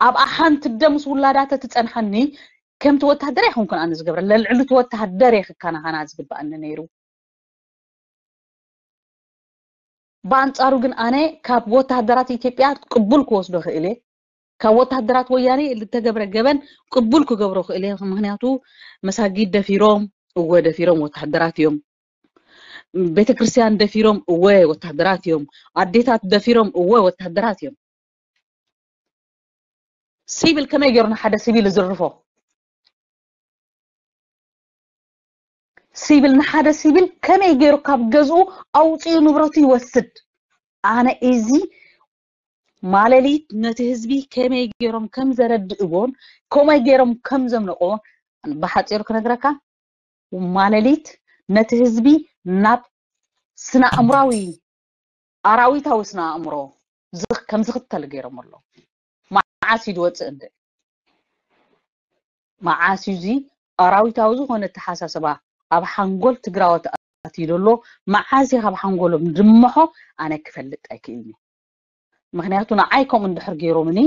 ኣብኣ ሓንቲ ደምስ ውላዳ ተትፀንሓኒ ከምቲ ወተሃደር ኣይኮንኩን ኣነ ዝገብረ ለልዕሉቲ ወተሃደር እየ ክከናኸና ዝግበኣኒ ነይሩ። ብኣንጻሩ ግን ኣነ ካብ ወተሃደራት ኢትዮጵያ ቅቡል ክወስዶ ክእል እየ። ካብ ወተሃደራት ወያኔ ዝተገብረ ገበን ቅቡል ክገብሮ ክእል እየ። ምክንያቱ መሳጊድ ደፊሮም፣ እወ ደፊሮም ወተሃደራት እዮም። ቤተክርስትያን ደፊሮም፣ እወ ወተሃደራት እዮም። ኣዴታት ደፊሮም፣ እወ ወተሃደራት እዮም። ሲቪል ከመይ ገይሩ ንሓደ ሲቪል ዝርፎ? ሲቪል ንሓደ ሲቪል ከመይ ገይሩ ካብ ገዝኡ ኣውፅኡ ንብረቱ ይወስድ? ኣነ እዚ ማለሊት ነቲ ህዝቢ ከመይ ገይሮም ከም ዘረድእዎን ከመይ ገይሮም ከም ዘምልቕዎን ብሓፂሩ ክነግረካ፣ ማለሊት ነቲ ህዝቢ ናብ ስነ ኣእምራዊ ኣራዊታዊ ስነ ኣእምሮ ከም ዝኽተል ገይሮም ኣለዉ። መዓስ እዩ ዝወፅእ እንደ መዓስ እዩ እዚ ኣራዊታዊ ዝኾነ ኣተሓሳስባ ኣብ ሓንጎል ትግራዎት ኣትዩ ዘሎ? መዓስ እዩ ካብ ሓንጎሎም ድምሖ? ኣነ ክፈልጥ ኣይክእልን እየ። ምክንያቱ ንዓይ ከምኡ እንድሕር ገይሮምኒ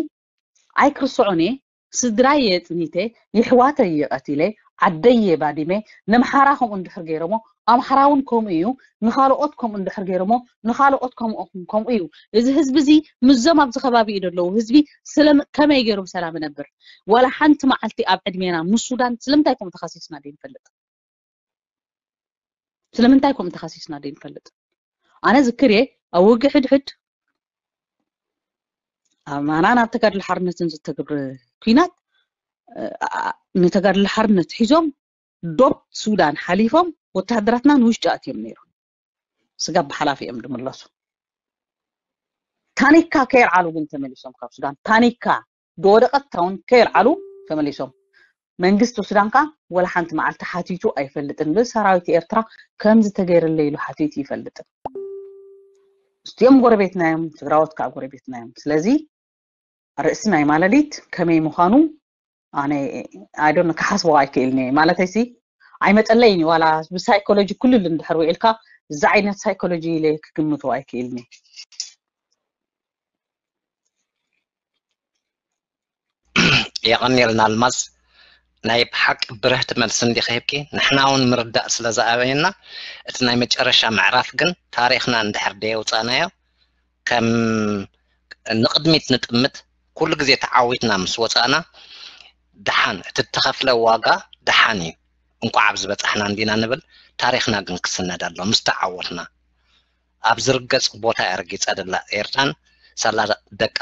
ኣይክርስዖን እየ። ስድራይ እየ ኣፅኒተ፣ የሕዋተይ እየ ቀቲለ፣ ዓደይ እየ ባዲመ። ነምሓራ ከምኡ እንድሕር ገይሮሞ ኣምሓራ እውን ከምኡ እዩ። ንኻልኦት ከምኡ እንድሕር ገይሮሞ ንኻልኦት ከምኡ ከምኡ እዩ። እዚ ህዝቢ እዚ ምስዞም ኣብዚ ከባቢ እዩ ዘለዉ ህዝቢ ስለ ከመይ ገይሩ ብሰላም ይነብር? ዋላ ሓንቲ መዓልቲ ኣብ ዕድሜና ምስ ሱዳን ስለምንታይ ከምኡ ተኸሲስና ደይንፈልጥ? ስለምንታይ ከምኡ ተኸሲስና ደይንፈልጥ? ኣነ ዝክር እየ ኣብ ውግእ ሕድሕድ ኣማና ናብ ተጋድሎ ሓርነትን ዝተገብረ ኲናት ንተጋድሎ ሓርነት ሒዞም ዶብ ሱዳን ሓሊፎም ወተሃደራትና ንውሽጢ ኣትዮም ነይሮም። ስጋብ ብሓላፊ እዮም ዝምለሱ። ታኒካ ከየልዓሉ ግን ተመሊሶም ካብ ሱዳን ታኒካ ዝወደቀት ታውን ከየልዓሉ ተመሊሶም። መንግስቲ ሱዳን ከዓ ወላ ሓንቲ መዓልቲ ሓቲቱ ኣይፈልጥን። ብሰራዊት ኤርትራ ከምዚ ተገይርለይ ኢሉ ሓቲቱ ይፈልጥን። እዚኦም ጎረቤትና እዮም፣ ትግራዎት ከዓ ጎረቤትና እዮም። ስለዚ ርእሲ ናይ ማለሊት ከመይ ምዃኑ ኣነ ኣይዶን ክሓስቦ ኣይክእልኒ። ማለተይሲ ኣይመጠለይን እዩ። ዋላ ብሳይኮሎጂ ኩልል እንድሕር ውዒልካ እዚ ዓይነት ሳይኮሎጂ ኢለ ክግምቶ ኣይክእልኒ። የቐንየልና ኣልማዝ። ናይ ብሓቂ ብርህቲ መልሲ እንዲኺ ሂብኪ፣ ንሕና እውን ምርዳእ ስለ ዝኣበየና፣ እቲ ናይ መጨረሻ ምዕራፍ ግን ታሪኽና እንድሕር ደየውፃእናዮ ከም ንቕድሚት ንጥምት። ኩሉ ግዜ ተዓዊትና ምስ ወፃእና ደሓን፣ እቲ እተኸፍለ ዋጋ ደሓን እዩ። እንኳዕ ኣብዚ በፃሕና እንዲና ንብል። ታሪኽና ግን ክስነድ ኣሎ ምስ ተዓወትና። ኣብ ዝርገፅ ቦታ እያ ረጊፃ ደላ ኤርትራን ሳላ ደቃ።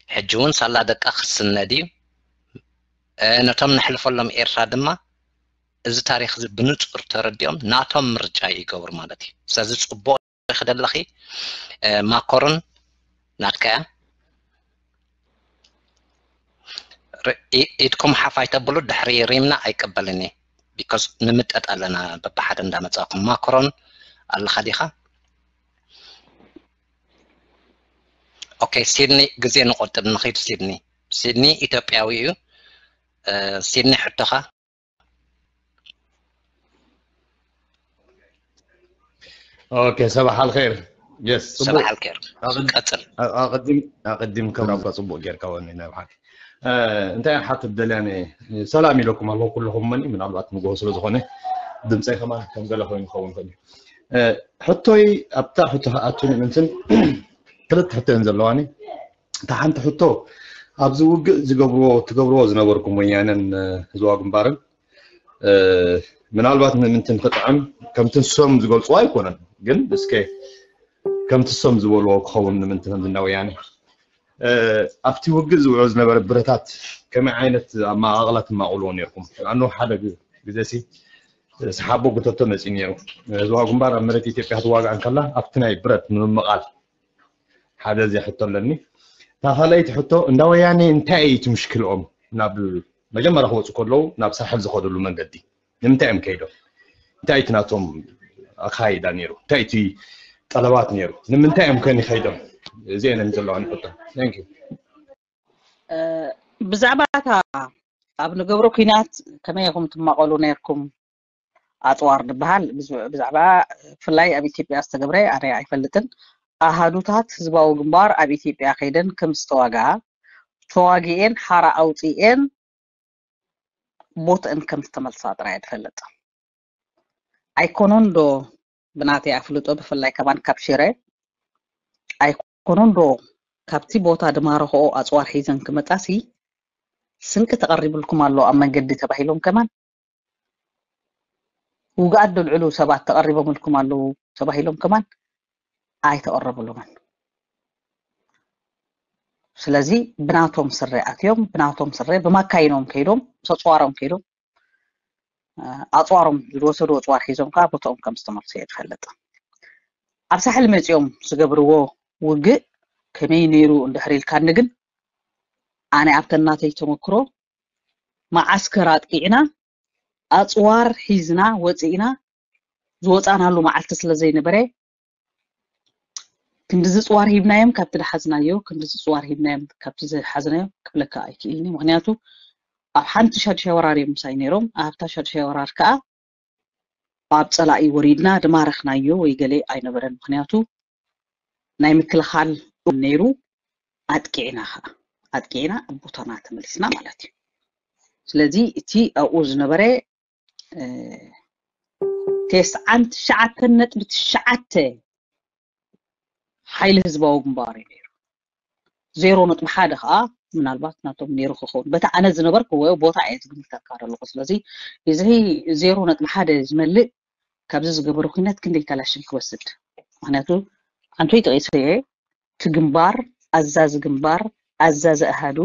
ሕጂ እውን ሳላ ደቃ ክስነድ እዩ። ነቶም ነሕልፈሎም ኤርትራ ድማ እዚ ታሪኽ እዚ ብንጹር ተረዲኦም ናቶም ምርጫ ይገብሩ ማለት እዩ። ስለዚ ጽቡቕ ኢኺ ደለኺ። ማኮሮን ናትካ እያ። ኢድኩም ሓፍ ኣይተብሉ፣ ድሕሪ ሪምና ኣይቀበልን እየ። ቢኮዝ ንምጠጥ ኣለና በብሓደ እንዳመጻእኩም። ማኮሮን ኣለኻ ዲኻ? ኦኬ፣ ሲድኒ ግዜ ንቆጥብ፣ ንኺድ ሲድኒ። ሲድኒ ኢትዮጵያዊ እዩ። ሲድኒ ሕቶኻ። ኦኬ፣ ሰባሕ ኣልኸይር። የስ፣ ሰባሕ ኣልኸይር። ቀጽል። ኣቐዲም ኣቐዲም ከም ኣባ ጽቡቕ ጌርካ ወኒ ናይ ብሓቂ። እንታይ ሓትት ደልያ እኔ፣ ሰላም ኢለኩም ኣለኹ ኩልኹም። መኒ ምናልባት ንግሆ ስለ ዝኾነ ድምፀይ ከማን ከም ገለ ኮይኑ ክኸውን ይኽእል እዩ። ሕቶይ ኣብታ ሕቶ ኣቱን ምንትን ክልተ ሕቶ እየን ዘለዋኒ። እታ ሓንቲ ሕቶ ኣብዚ ውግእ ዝገብርዎ ትገብርዎ ዝነበርኩም ወያነን ህዝባዊ ግንባርን ምናልባት ንምንትን ክጥዕም ከምቲ ንሶም ዝገልፅዎ ኣይኮነን፣ ግን እስከ ከምቲ ንሶም ዝበልዎ ክኸውን ንምንትን ከምዚ እንዳ ወያነ ኣብቲ ውግእ ዝውዕል ዝነበረ ብረታት ከመይ ዓይነት ኣመቓቕላ ትማቕልዎ ነርኩም? ኣኖ ሓደ ግዜ ሲ ሰሓቦ ጉተቶ መፂኡ ነይሩ። ህዝባዊ ግንባር ኣብ መሬት ኢትዮጵያ ክትዋጋእ እንከላ ኣብቲ ናይ ብረት ንምምቓል ሓደ እዚኣ ሕቶ ኣለኒ። እታ ካልኣይቲ ሕቶ እንዳ ወያኔ እንታይ እዩ እቲ ምሽክልኦም ናብ መጀመርያ ክወፁ ከለዉ ናብ ሳሕል ዝኸድሉ መንገዲ ንምንታይ እዮም ከይዶም? እንታይ እቲ ናቶም ኣካይዳ ነይሩ? እንታይ እቲ ጠለባት ነይሩ? ንምንታይ እዮም ከኒ ከይዶም? እዚአን ዘለዋኒ ሕቶ። Thank you። ብዛዕባ እታ ኣብ ንገብሮ ኲናት ከመይ ኢኹም ትማቐሉ ነይርኩም? ኣፅዋር ዝበሃል ብዛዕባ ብፍላይ ኣብ ኢትዮጵያ ዝተገብረ ኣነ ኣይፈልጥን። ኣሃዱታት ህዝባዊ ግንባር ኣብ ኢትዮጵያ ከይደን ከም ዝተዋግኣ ተዋጊኤን ሓራ ኣውፂኤን ቦትእን ከም ዝተመልሳ ጥራይ እየ ዝፈልጥ። ኣይኮኑን ዶ ብናተይ ኣፍልጦ ብፍላይ ከማን ካብ ሽረ ኣይኮኑን ዶ ካብቲ ቦታ ዝማረኽኦ ኣፅዋር ሒዘን ክመፃሲ ስንቂ ተቐሪብልኩም ኣሎ ኣብ መንገዲ ተባሂሎም ከማን ውግኣት ደልዕሉ ሰባት ተቐሪቦምልኩም ኣለዉ ተባሂሎም ከማን ኣይተቐረብሎምን። ስለዚ ብናቶም ስረ ኣትዮም ብናቶም ስረ ብማካይኖም ከይዶም ሰፅዋሮም ከይዶም ኣፅዋሮም ዝወሰዱ ኣፅዋር ሒዞም ከዓ ቦትኦም ከም ዝተመልሱ እየ ዝፈልጥ። ኣብ ሳሕል መፂኦም ዝገብርዎ ውግእ ከመይ ነይሩ እንድሕር ኢልካኒ ግን ኣነ ኣብተን ናተይ ተመክሮ መዓስከር ኣጥቂዕና ኣፅዋር ሒዝና ወፂእና ዝወፃእናሉ መዓልቲ ስለ ዘይነበረ ክንድዚ ፅዋር ሂብናዮም ካብቲ ዝሓዝናዮ ክንድዚ ፅዋር ሂብናዮም ካብቲ ዝሓዝናዮ ክብለካ ኣይክእልኒ። ምክንያቱ ኣብ ሓንቲ ሻድሻይ ወራር እዮም ምሳይ ነይሮም። ኣብታ ሻድሻይ ወራር ከዓ ኣብ ፀላኢ ወሪድና ድማረኽናዮ ወይ ገለ ኣይነበረን። ምክንያቱ ናይ ምክልኻል ነይሩ። ኣጥቂዕና ከዓ ኣጥቂዕና ኣብ ቦታና ተመሊስና ማለት እዩ። ስለዚ እቲ ኣብኡ ዝነበረ ተስዓን ትሽዓተን ነጥቢ ትሽዓተ ሓይሊ ህዝባዊ ግንባር እዩ ነይሩ። ዜሮ ነጥቢ ሓደ ከዓ ምናልባት ናቶም ነይሩ ክኸውን በቲ ኣነ ዝነበርክዎ ቦታ እየ ዝግምተካ ዘለኹ። ስለዚ እዚ ዜሮ ነጥቢ ሓደ ዝመልእ ካብዚ ዝገበሩ ኩነት ክንደይ ካላሽን ክወስድ? ምክንያቱ ኣንቶይ ጠቂሰ እየ እቲ ግንባር ኣዛዚ ግንባር ኣዛዚ ኣሃዱ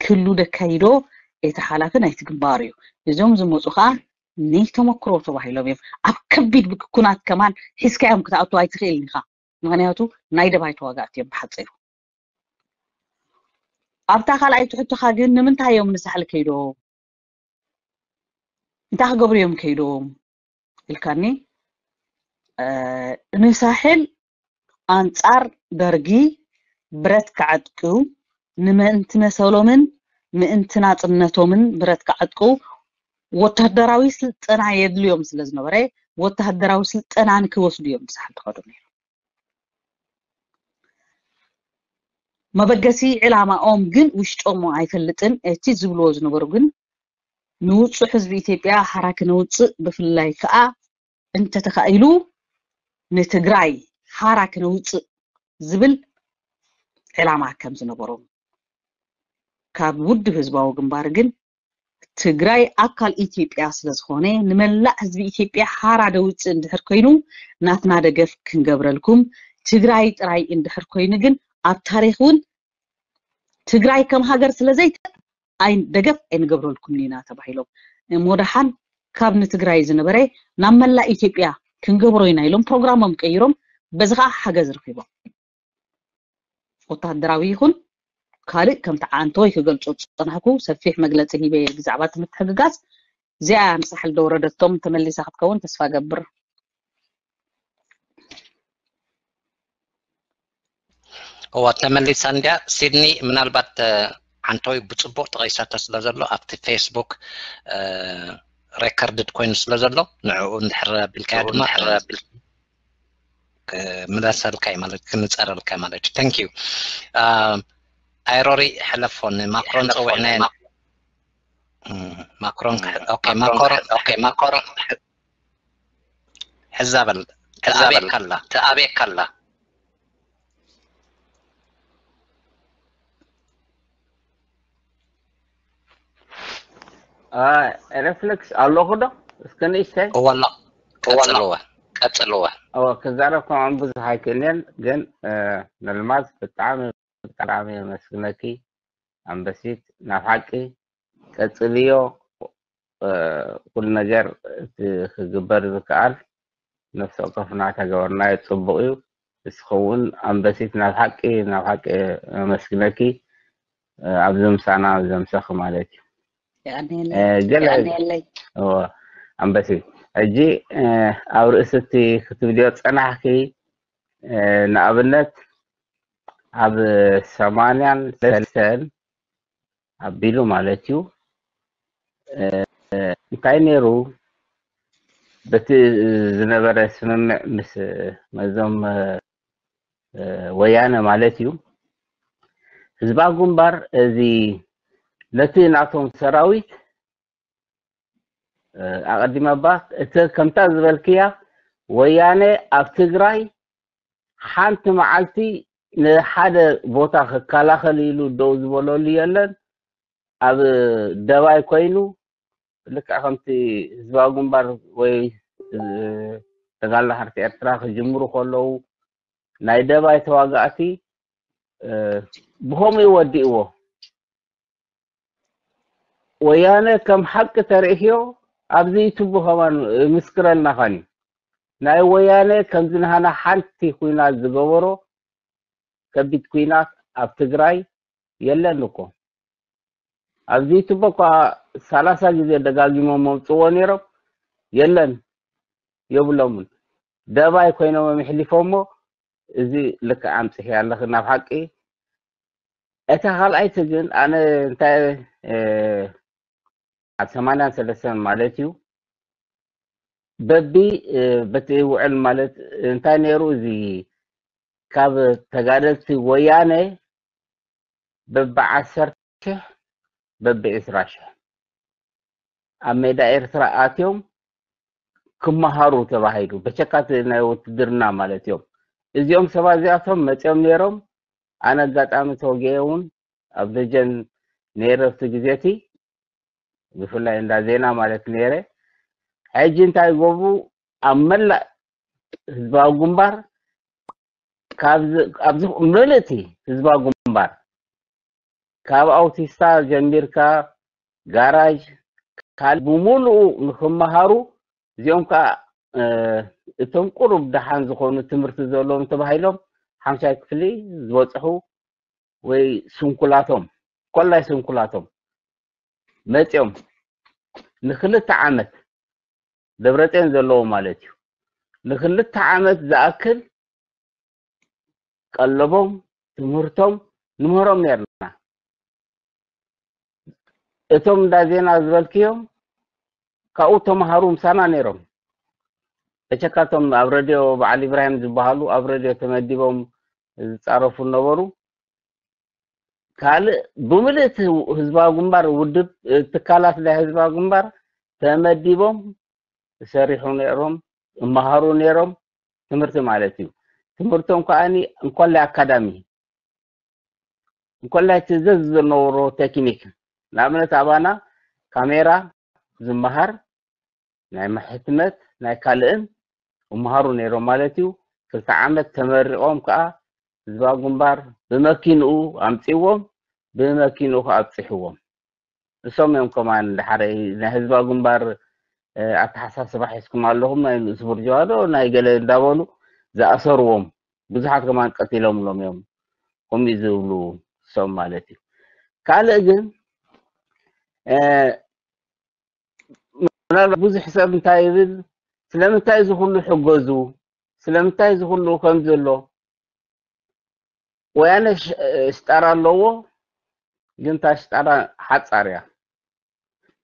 ክሉ ደካይዶ እቲ ሓላፊ ናይቲ ግንባር እዩ። እዞም ዝመፁ ከዓ ናይ ተመክሮ ተባሂሎም እዮም። ኣብ ከቢድ ብክ- ኩናት ከማን ሒዝካዮም ክትኣቱ ኣይትኽእልን ኢኻ። ምኽንያቱ ናይ ደባይ ተዋጋእቲ እዮም ብሓፂሩ። ኣብታ ካልኣይቲ ሕቶኻ ግን ንምንታይ እዮም ንሳሕል ከይዶም? እንታይ ክገብሩ እዮም ከይዶም ኢልካኒ? ንሳሕል ኣንጻር ደርጊ ብረት ክዓጥቁ፣ ንምእንቲ መሰሎምን ምእንቲ ናጽነቶምን ብረት ክዓጥቁ ወታደራዊ ስልጠና የድልዮም ስለ ዝነበረ፣ ወታደራዊ ስልጠና ንክወስዱ እዮም ንሳሕል ዝኸዱ ነይሮም። መበገሲ ዕላማኦም ግን ውሽጦም ኣይፈልጥን። እቲ ዝብልዎ ዝነበሩ ግን ንውጹዕ ህዝቢ ኢትዮጵያ ሓራ ክነውጽእ፣ ብፍላይ ከኣ እንተተኻኢሉ ንትግራይ ሓራ ክነውጽእ ዝብል ዕላማ ከም ዝነበሮም፣ ካብ ውድብ ህዝባዊ ግንባር ግን ትግራይ ኣካል ኢትዮጵያ ስለ ዝኾነ ንመላእ ህዝቢ ኢትዮጵያ ሓራ ደውጽእ እንድሕር ኮይኑ ናትና ደገፍ ክንገብረልኩም፣ ትግራይ ጥራይ እንድሕር ኮይኑ ግን ኣብ ታሪኽ እውን ትግራይ ከም ሃገር ስለ ዘይተ ኣይ ደገፍ ኣይንገብረልኩምን ኢና ተባሂሎም። እሞ ደሓን ካብ ንትግራይ ዝነበረ ናብ መላእ ኢትዮጵያ ክንገብሮ ኢና ኢሎም ፕሮግራሞም ቀይሮም፣ በዚ ከዓ ሓገዝ ረኺቦም። ወታደራዊ ይኹን ካልእ ከምቲ ዓንተወይ ክገልጾ ዝጸናሕኩ ሰፊሕ መግለጺ ሂበ ብዛዕባ እቲ ምትሕግጋዝ። እዚኣ እያ ንሳሕል ደውረደቶም፣ ተመሊሳ ክትከውን ተስፋ ገብር። እዋ ተመሊሳ እንድያ። ሲድኒ ምናልባት ዓንተወይ ብፅቡቅ ተቐይሳቶ ስለ ዘሎ ኣብቲ ፌስቡክ ሬከርድድ ኮይኑ ስለ ዘሎ ንዕኡ እንድሕር ኣቢልካዮ ድማ ምለሰልካ ማለት ክንፀረልካ ማለት እዩ። Thank you። ኣይሮሪ ሕለፎ ንማክሮን ፀዊዕናዮ። ማክሮን ማክሮን ሕዛ በል ተኣቤካ ኣላ። ሬፍሌክስ ኣለኹ ዶ? እስከ ንእሽተይ እወላ ቀጽልወ ቀጽልወ ክዛረብ ከምዖም ብዙሕ ኣይክእልን፣ ግን ነልማዝ ብጣዕሚ ብጣዕሚ የመስግነኪ ኣንበሲት፣ ናብ ሓቂ ቀጽልዮ። ኩሉ ነገር እቲ ክግበር ዝከኣል ነፍሲ ወከፍና ተገበርናዮ ጽቡቕ እዩ። ንስኺ እውን ኣንበሲት ናብ ሓቂ ናብ ሓቂ የመስግነኪ ኣብዚ ምሳና ዘምሰኺ ማለት እዩ። ገለ ኣንበሲት ሕጂ ኣብ ርእሲ እቲ ክትብልዮ ጸናሕኪ ንኣብነት ኣብ ሰማንያን ሰለስተን ኣቢሉ ማለት እዩ እንታይ ነይሩ በቲ ዝነበረ ስምምዕ ምስ መዞም ወያነ ማለት እዩ ህዝባዊ ግንባር እዚ ነቲ ናቶም ሰራዊት ኣቐዲመ እባ እቲ ከምታ ዝበልክያ ወያነ ኣብ ትግራይ ሓንቲ መዓልቲ ንሓደ ቦታ ክከላኸል ኢሉ ደው ዝበለሉ የለን። ኣብ ደባይ ኮይኑ ልክዕ ከምቲ ህዝባዊ ግንባር ወይ ተጋድሎ ሓርነት ኤርትራ ክጅምሩ ከለዉ ናይ ደባይ ተዋጋእቲ ብኸምኡ ወዲእዎ። ወያነ ከም ሓቂ ተርእዮ ኣብዚ ዩቱብ ከማን ምስክረልና ኻኒ ናይ ወያነ ከምዚ ንሃና ሓንቲ ኩናት ዝገበሮ ከቢድ ኩናት ኣብ ትግራይ የለን እኮ። ኣብዚ ዩቱብ እኳ ሰላሳ ግዜ ደጋጊሞም መምፅዎ ነይሮም የለን የብሎምን። ደባይ ኮይኖም ኣሕሊፎሞ እዚ ልክዕ ኣምፅሒ ኣለኺ ናብ ሓቂ። እታ ካልኣይቲ ግን ኣነ እንታይ ኣብ ሰማንያን ሰለስተን ማለት እዩ በቢ በቲ ውዕል ማለት እንታይ ነይሩ እዚ ካብ ተጋደልቲ ወያነ በቢ ዓሰርተ ሺሕ በቢ ዕስራ ሺሕ ኣብ ሜዳ ኤርትራ ኣትዮም ክመሃሩ ተባሂሉ በቸካት ናይ ውትድርና ማለት እዮም። እዚኦም ሰባት እዚኣቶም መፅኦም ነይሮም። ኣነ ኣጋጣሚ ተወጊኤ እውን ኣብ ደጀን ነይረ ኣብቲ ግዜ እቲ ብፍላይ እንዳ ዜና ማለት ነይረ። ሕጂ እንታይ ይገብሩ ኣብ መላእ ህዝባዊ ግንባር ኣብዚ ምልእቲ ህዝባዊ ግንባር ካብ ኣውቲስታ ጀሚርካ ጋራጅ፣ ካልእ ብምሉኡ ንክመሃሩ፣ እዚኦም ከዓ እቶም ቁሩብ ደሓን ዝኾኑ ትምህርቲ ዘለዎም ተባሂሎም ሓምሻይ ክፍሊ ዝበፅሑ ወይ ስንኩላቶም፣ ኮላይ ስንኩላቶም መፂኦም ንክልተ ዓመት፣ ደብረፅዮን ዘለዎ ማለት እዩ፣ ንክልተ ዓመት ዝኣክል ቀለቦም፣ ትምህርቶም ንምህሮም ነርና። እቶም እንዳ ዜና ዝበልክዮም ካብኡ ተምሃሩ ምሳና ነይሮም። በቸካቶም ኣብ ረድዮ በዓል ኢብራሂም ዝበሃሉ ኣብ ረድዮ ተመዲቦም ዝፃረፉ ነበሩ። ካልእ ብምልእቲ ህዝባዊ ግንባር ውድብ፣ ትካላት ናይ ህዝባዊ ግንባር ተመዲቦም ዝሰሪሑ ነይሮም፣ እመሃሩ ነይሮም። ትምህርቲ ማለት እዩ። ትምህርቶም ከዓኒ እንኮላይ ኣካዳሚ፣ እንኮላይ እቲ ዘዝ ዝነበሮ ቴክኒክ፣ ንኣብነት ኣባና ካሜራ ዝመሃር፣ ናይ ሕትመት ናይ ካልእን እመሃሩ ነይሮም ማለት እዩ። ክልተ ዓመት ተመሪቖም ከዓ ህዝባዊ ግንባር ብመኪንኡ ኣምፅዎም፣ ብመኪንኡ ከዓ ኣብፅሕዎም። እሶም እዮም ከማን ድሓረይ ናይ ህዝባዊ ግንባር ኣተሓሳስባ ሒዝኩም ኣለኹም፣ ናይ ንእስ ቡርጅዋ ዶ ናይ ገለ እንዳበሉ ዝኣሰርዎም ብዙሓት ከማን ቀቲሎምሎም እዮም። ከምኡ ዝብሉ እሶም ማለት እዩ። ካልእ ግን ምናልባት ብዙሕ ሰብ እንታይ ይብል፣ ስለምንታይ እዚ ኩሉ ሕገዙ፣ ስለምንታይ እዚ ኩሉ ከም ዘሎ፣ ወያነ ሽጣራ ኣለዎ፣ ግን እታ ሽጣራ ሓፃር እያ።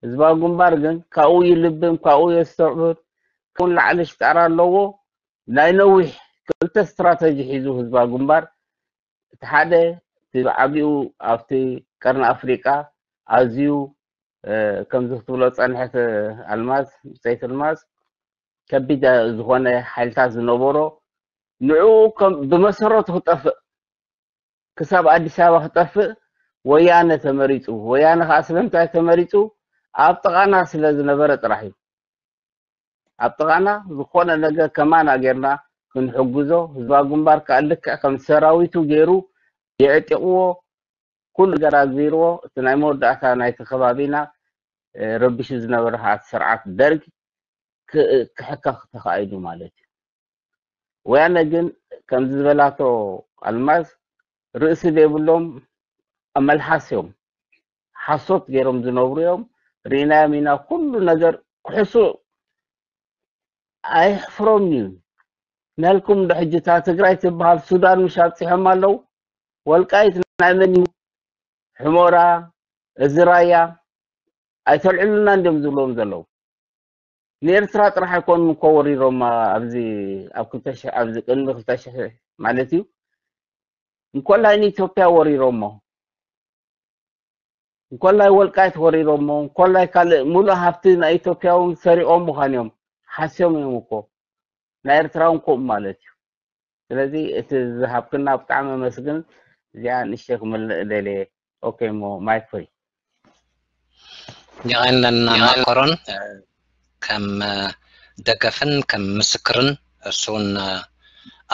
ህዝባዊ ግንባር ግን ካብኡ ይልብም፣ ካብኡ የስተውዕል፣ ካብኡ ንላዕሊ ሽጣራ ኣለዎ። ናይ ነዊሕ ክልተ ስትራተጂ ሒዙ ህዝባዊ ግንባር፣ እቲ ሓደ እቲ ብዓቢኡ ኣብቲ ቀርኒ ኣፍሪቃ ኣዝዩ ከምዚ ክትብሎ ዝፀንሐት ኣልማዝ፣ ብፀይቲ ኣልማዝ፣ ከቢድ ዝኾነ ሓይልታት ዝነበሮ፣ ንዕኡ ከም ብመሰረቱ ክጠፍእ፣ ክሳብ ኣዲስ ኣበባ ክጠፍእ ወያነ ተመሪፁ። ወያነ ከዓ ስለምንታይ ተመሪፁ? ኣብ ጥቓና ስለ ዝነበረ ጥራሕ እዩ። ኣብ ጥቓና ዝኾነ ነገር ከማና ጌርና ክንሕግዞ፣ ህዝባዊ ግንባር ከዓ ልክዕ ከም ሰራዊቱ ገይሩ የዕጢቕዎ፣ ኩሉ ነገር ኣግቢርዎ፣ እቲ ናይ መወዳእታ ናይቲ ከባቢና ረቢሹ ዝነበረ ከዓ እቲ ስርዓት ደርግ ክሕከኽ ተኻኢሉ ማለት እዩ። ወያነ ግን ከምዚ ዝበላቶ ኣልማዝ ርእሲ ዘይብሎም ኣመልሓስ እዮም። ሓሶት ገይሮም ዝነብሩ እዮም። ርኢናዮም ኢና። ኩሉ ነገር ክሕሱ ኣይሕፍሮም እዩ። ናልኩም ዶ ሕጂ እታ ትግራይ ትበሃል ሱዳን ምሽ ኣብፂሖም ኣለዉ? ወልቃይት ናይ መን እዩ? ሕሞራ፣ እዚ ራያ ኣይተልዕሉና እንዲዮም ዝብሎም ዘለዉ። ንኤርትራ ጥራሕ ኣይኮኑን እኮ ወሪሮማ ኣብዚ ኣብ ክልተ ሽሕ ኣብዚ ቅድሚ ክልተ ሽሕ ማለት እዩ። እንኮላይ ንኢትዮጵያ ወሪሮሞ፣ እንኮላይ ወልቃይት ወሪሮሞ፣ እንኮላይ ካልእ ሙሉእ ሃብቲ ናይ ኢትዮጵያ እውን ሰሪቖም ምዃን እዮም ሓስዮም እዮም እኮ። ናይ ኤርትራ እውን ከምኡ ማለት እዩ። ስለዚ እቲ ዝሃብክና ብጣዕሚ ኣመስግን። እዚኣ ንእሽተይ ክምልእ ደልየ። ኦኬ እሞ ማይክ ፍሪ። የቐንለና ማኮሮን ከም ደገፍን ከም ምስክርን እሱ እውን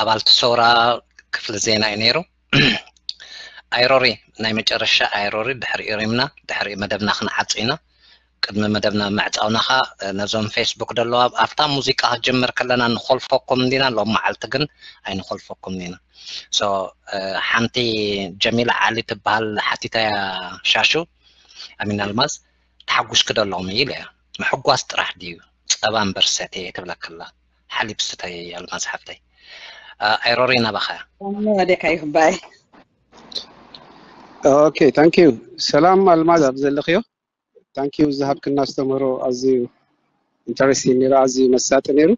ኣባልቲ ሰውራ ክፍሊ ዜና እዩ ነይሩ። ኣይሮሪ ናይ መጨረሻ ኣይሮሪ ድሕሪ ኢሪምና ድሕሪ መደብና ክንዓጽ ኢና። ቅድሚ መደብና ምዕጻውና ኸኣ ነዞም ፌስቡክ ደለዋ ኣብታ ሙዚቃ ክትጅምር ከለና ንኾልፈኩም እንዲና ሎም መዓልቲ ግን ኣይንኾልፈኩም ኢና። So ሓንቲ ጀሚላ ዓሊ ትበሃል ሓቲታያ ሻሹ ኣሚን ኣልማዝ ተሓጉስኪ ዶ ኣለኹም ኢለ እያ። ምሕጓስ ጥራሕ ድዩ ጸባ እምበር ሰትየ ትብለካ ኣላ። ሓሊብ ስተይ ኣልማዝ ሓፍተይ። ኣይሮሪ ናባኻ። ወደካ ይኽባይ። ኦኬ ታንክ ዩ። ሰላም ኣልማዝ ኣብ ዘለኽዮ። ታንክ ዩ ዝሃብክና ኣስተምህሮ ኣዝዩ ኢንተረስቲንግ ነይሩ፣ ኣዝዩ መሳጢ ነይሩ።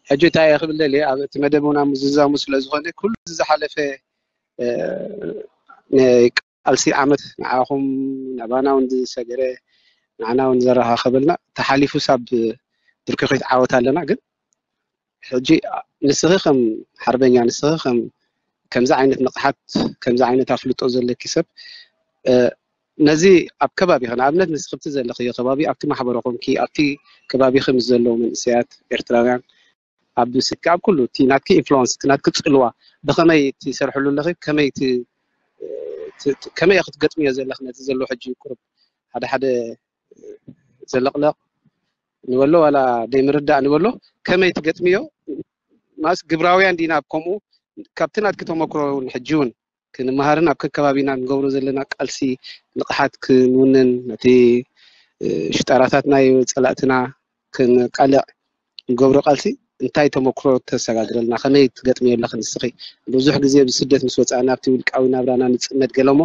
ሕጂ እንታይ እየ ክብል ደልየ ኣብ እቲ መደብ እውን ኣብ ምዝዛሙ ስለ ዝኾነ ኩሉ ዝሓለፈ ቃልሲ ዓመት ንዓኹም ናባና እውን ዝሰገረ ንዓና እውን ዘረኻኸበልና ተሓሊፉ ሳብ ብርኪ ዓወት ኣለና ግን ሕጂ ንስኺ ከም ሓርበኛ ንስኺ ከም ከምዚ ዓይነት ንቕሓት ከምዚ ዓይነት ኣፍልጦ ዘለኪ ሰብ ነዚ ኣብ ከባቢኺ ንኣብነት ንስኺ ብቲ ዘለኽዮ ከባቢ ኣብቲ ማሕበረ ኮንኪ ኣብቲ ከባቢኺ ምስ ዘለዉ መንእሰያት ኤርትራውያን ኣብ ስልኪ ኣብ ኩሉ እቲ ናትኪ ኢንፍሉወንስ እቲ ናትኪ ፅልዋ ብኸመይ ትሰርሕሉ ኣለኺ ከመይ ከመይ ክትገጥምዮ ዘለኺ ነቲ ዘሎ ሕጂ ቁሩብ ሓደ ሓደ ዘለቕለቕ ንበሎ ዋላ ደይምርዳእ ንበሎ ከመይ ትገጥምዮ? ማስ ግብራውያን ዲና ኣብ ከምኡ ካብቲ ናትኪ ተመክሮ እውን ሕጂ እውን ክንመሃርን ኣብ ከከባቢና ንገብሮ ዘለና ቃልሲ ንቕሓት ክንውንን ነቲ ሽጣራታት ናይ ጸላእትና ክንቃልዕ ንገብሮ ቃልሲ እንታይ ተመክሮ ተሰጋግረልና? ከመይ ትገጥምዮ ኣለኺ ንስኺ? ብዙሕ ግዜ ብስደት ምስ ወጻእና ኣብቲ ውልቃዊ ናብራና ንጽመድ ገለሞ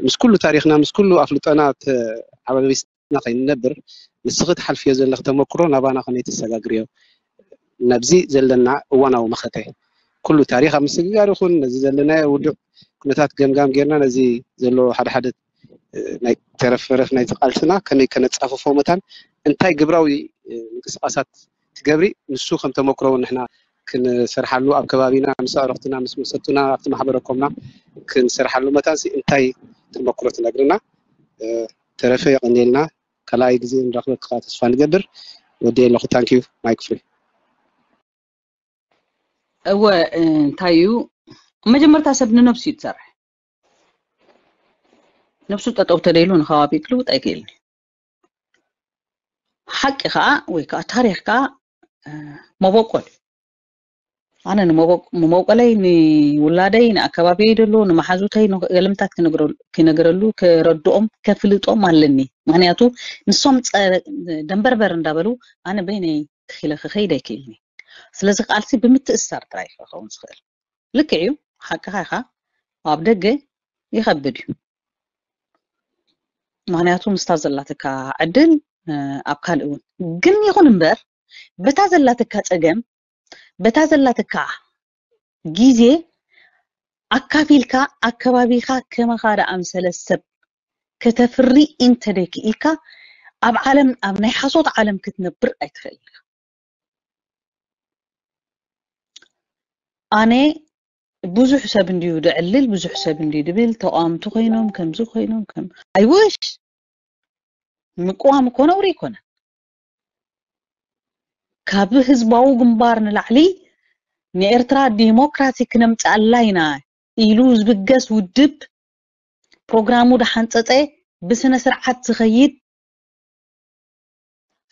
ምስ ኩሉ ታሪኽና ምስ ኩሉ ኣፍልጦና ተዓባቢስና ከይንነብር ንስኺ ትሓልፍዮ ዘለኺ ተመክሮ ናባና ከመይ ተሰጋግርዮ? ናብዚ ዘለና እዋናዊ መኸተ ኩሉ ታሪኽ ኣብ ምስግጋር ይኹን ነዚ ዘለናዮ ውዱዕ ኩነታት ገምጋም ጌርና ነዚ ዘለዎ ሓደ ሓደ ናይ ተረፍረፍ ናይቲ ቃልስና ከመይ ከነጻፍፎ መታን እንታይ ግብራዊ ምንቅስቃሳት ትገብሪ ንሱ ከም ተመክሮ እውን ንሕና ክንሰርሓሉ ኣብ ከባቢና ምስ ኣዕሩኽትና ምስ መሰቱና ኣብቲ ማሕበረ ኮምና ክንሰርሓሉ መታን ሲ እንታይ ተመክሮ ትነግርና? ተረፈ የቐንየልና። ካልኣይ ግዜ ንረኽበካ ተስፋ ንገብር። ወዲ ኣለኹ። ታንኪዩ ማይክ ፍሪ። እወ እንታይ እዩ መጀመርታ ሰብ ንነብሱ እዩ ዝሰርሕ። ነብሱ ጠጠው ተደይሉ ንከባቢ ክልውጥ ኣይክእልን። ሓቂ ከዓ ወይ ከዓ ታሪኽ ከዓ መበቆል እዩ። ኣነ ንመበቆለይ ንውላደይ ንኣከባቢየይ ደሎ ንመሓዙተይ ገለምታት ክነግረሉ ክረድኦም ከፍልጦም ኣለኒ። ምክንያቱ ንሶም ደንበርበር እንዳበሉ ኣነ በይነይ ተኺለ ክኸይድ ኣይክእልኒ። ስለዚ ቃልሲ ብምትእስሳር ጥራይ ክኸውን ዝኽእል። ልክዕ እዩ፣ ሓቅኻ ኢኻ። ኣብ ደገ ይኸብድ እዩ። ምክንያቱ ምስታ ዘላትካ ዕድል ኣብ ካልእ እውን ግን ይኹን እምበር በታ ዘላትካ ፀገም በታ ዘላትካ ግዜ ኣካፊልካ ኣከባቢኻ ከማኻ ደኣምሰለ ሰብ ከተፍሪ እንተደይክኢልካ ኣብ ዓለም ኣብ ናይ ሓሶት ዓለም ክትነብር ኣይትኽእል። ኣነ ብዙሕ ሰብ እንድዩ ድዕልል ብዙሕ ሰብ እንድዩ ድብል ተቋምቲ ኮይኖም ከምዚ ኮይኖም ከም I wish ምቅዋም እኮ ነውሪ ኣይኮነን። ካብ ህዝባዊ ግንባር ንላዕሊ ንኤርትራ ዲሞክራሲ ክነምፅኣላ ኢና ኢሉ ዝብገስ ውድብ ፕሮግራሙ ዳሓንፀፀ ብስነ ስርዓት ዝኸይድ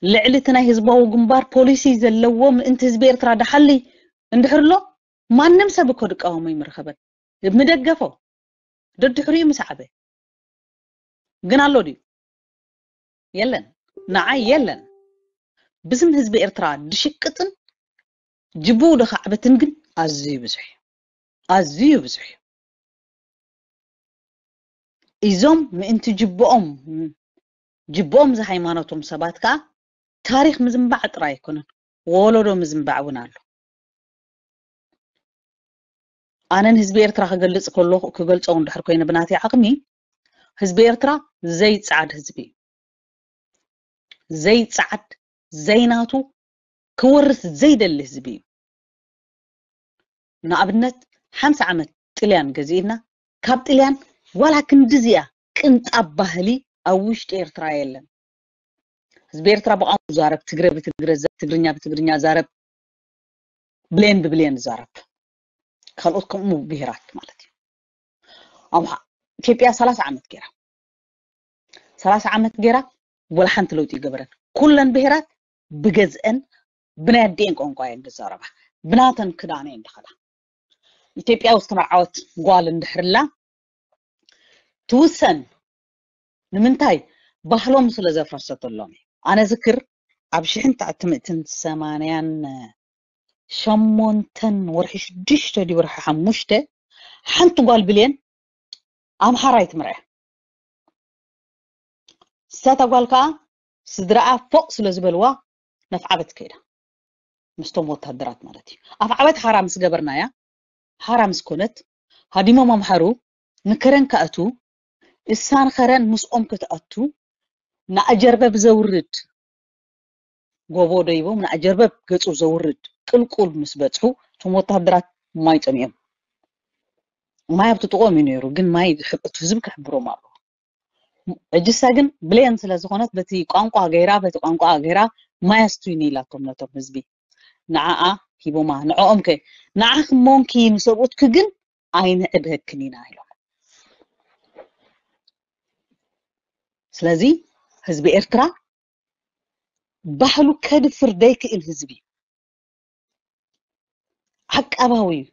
ልዕሊ እቲ ናይ ህዝባዊ ግንባር ፖሊሲ ዘለዎ ምእንቲ ህዝቢ ኤርትራ ዳሓሊ እንድሕር ኣሎ ማንም ሰብ እኮ ድቃወሞ ይምረኸበን ምደገፎ ደድሕሪኡ ምስ ዓበ ግን ኣሎ ድዩ? የለን። ንዓይ የለን። ብስም ህዝቢ ኤርትራ ድሽቅጥን ጅቡኡ ደኻዕበትን ግን ኣዝዩ ብዙሕ እዩ። ኣዝዩ ብዙሕ እዩ። እዞም ምእንቲ ጅብኦም ጅብኦም ዝሃይማኖቶም ሰባት ከዓ ታሪኽ ምዝንባዕ ጥራይ ኣይኮነን፣ ወለዶ ምዝንባዕ እውን ኣሎ። ኣነ ንህዝቢ ኤርትራ ክገልጽ ከለኹ ክገልጾ እንድሕር ኮይነ ብናተይ ዓቕሚ ህዝቢ ኤርትራ ዘይጸዓድ ህዝቢ እዩ። ዘይጸዓድ ዘይናቱ ክወርስ ዘይደሊ ህዝቢ እዩ። ንኣብነት ሓምሳ ዓመት ጥልያን ገዚእና ካብ ጥልያን ዋላ ክንድዚያ ቅንጣብ ባህሊ ኣብ ውሽጢ ኤርትራ የለን። ህዝቢ ኤርትራ ብቋንቋ ዛረብ ትግረ ብትግረ ትግርኛ ብትግርኛ ዛረብ ብሌን ብብሌን ዛረብ ካልኦት ከምኡ ብሄራት ማለት እዩ። ኣምሓ ኢትዮጵያ ሰላሳ ዓመት ገይራ ሰላሳ ዓመት ገይራ ወላ ሓንቲ ለውጢ ይገበረን ኩለን ብሄራት ብገዝአን ብናይ ኣዲኤን ቋንቋ እየን ዝዛረባ ብናተን ክዳን እየን ዝኸዳ። ኢትዮጵያ ዝተመርዓወት ጓል እንድሕርላ ትውሰን ንምንታይ ባህሎም ስለ ዘፍረሰተሎም እዩ። ኣነ ዝክር ኣብ ሽሕን ትሽዓተ ሚእትን ሰማንያን ሸሞንተን ወርሒ ሽዱሽተ ድዩ ወርሒ ሓሙሽተ ሓንቲ ጓል ብሌን ኣምሓራይ ትምርዐ። እሳታ ጓል ከዓ ስድራኣ ፎቅ ስለ ዝበልዋ ነፍዓበት ከይዳ ምስቶም ወታደራት ማለት እዩ። ኣፍዓበት ሓራ ምስ ገበርናያ ሓራ ምስ ኮነት ሃዲሞም ኣምሓሩ ንከረን ክኣቱ እሳን ኸረን ምስኦም ክትኣቱ ንኣጀርበብ ዘውርድ ጎቦ ደይቦም ንኣጀርበብ ገጹ ዘውርድ ቅልቁል ምስ በጽሑ እቶም ወታደራት ማይ ጸሚኦም ማይ ኣብቲ ጥቕኦም እዩ ነይሩ ግን ማይ እቲ ህዝቢ ክሕብሮም ኣለዎ። እጅሳ ግን ብሌን ስለ ዝኾነት በቲ ቋንቋ ገይራ በቲ ቋንቋ ገይራ ማይ ኣስቱይኒ ኢላቶም ነቶም ህዝቢ ንዓኣ ሂቦማ ንዕኦም ከ ንዓኺ ሞንኪ ንሰብኡትኪ ግን ኣይንዕድሀክን ኢና ኢሎም። ስለዚ ህዝቢ ኤርትራ ባህሉ ከድፍር ደይክእል ህዝቢ እዩ። ዓቃባዊ እዩ።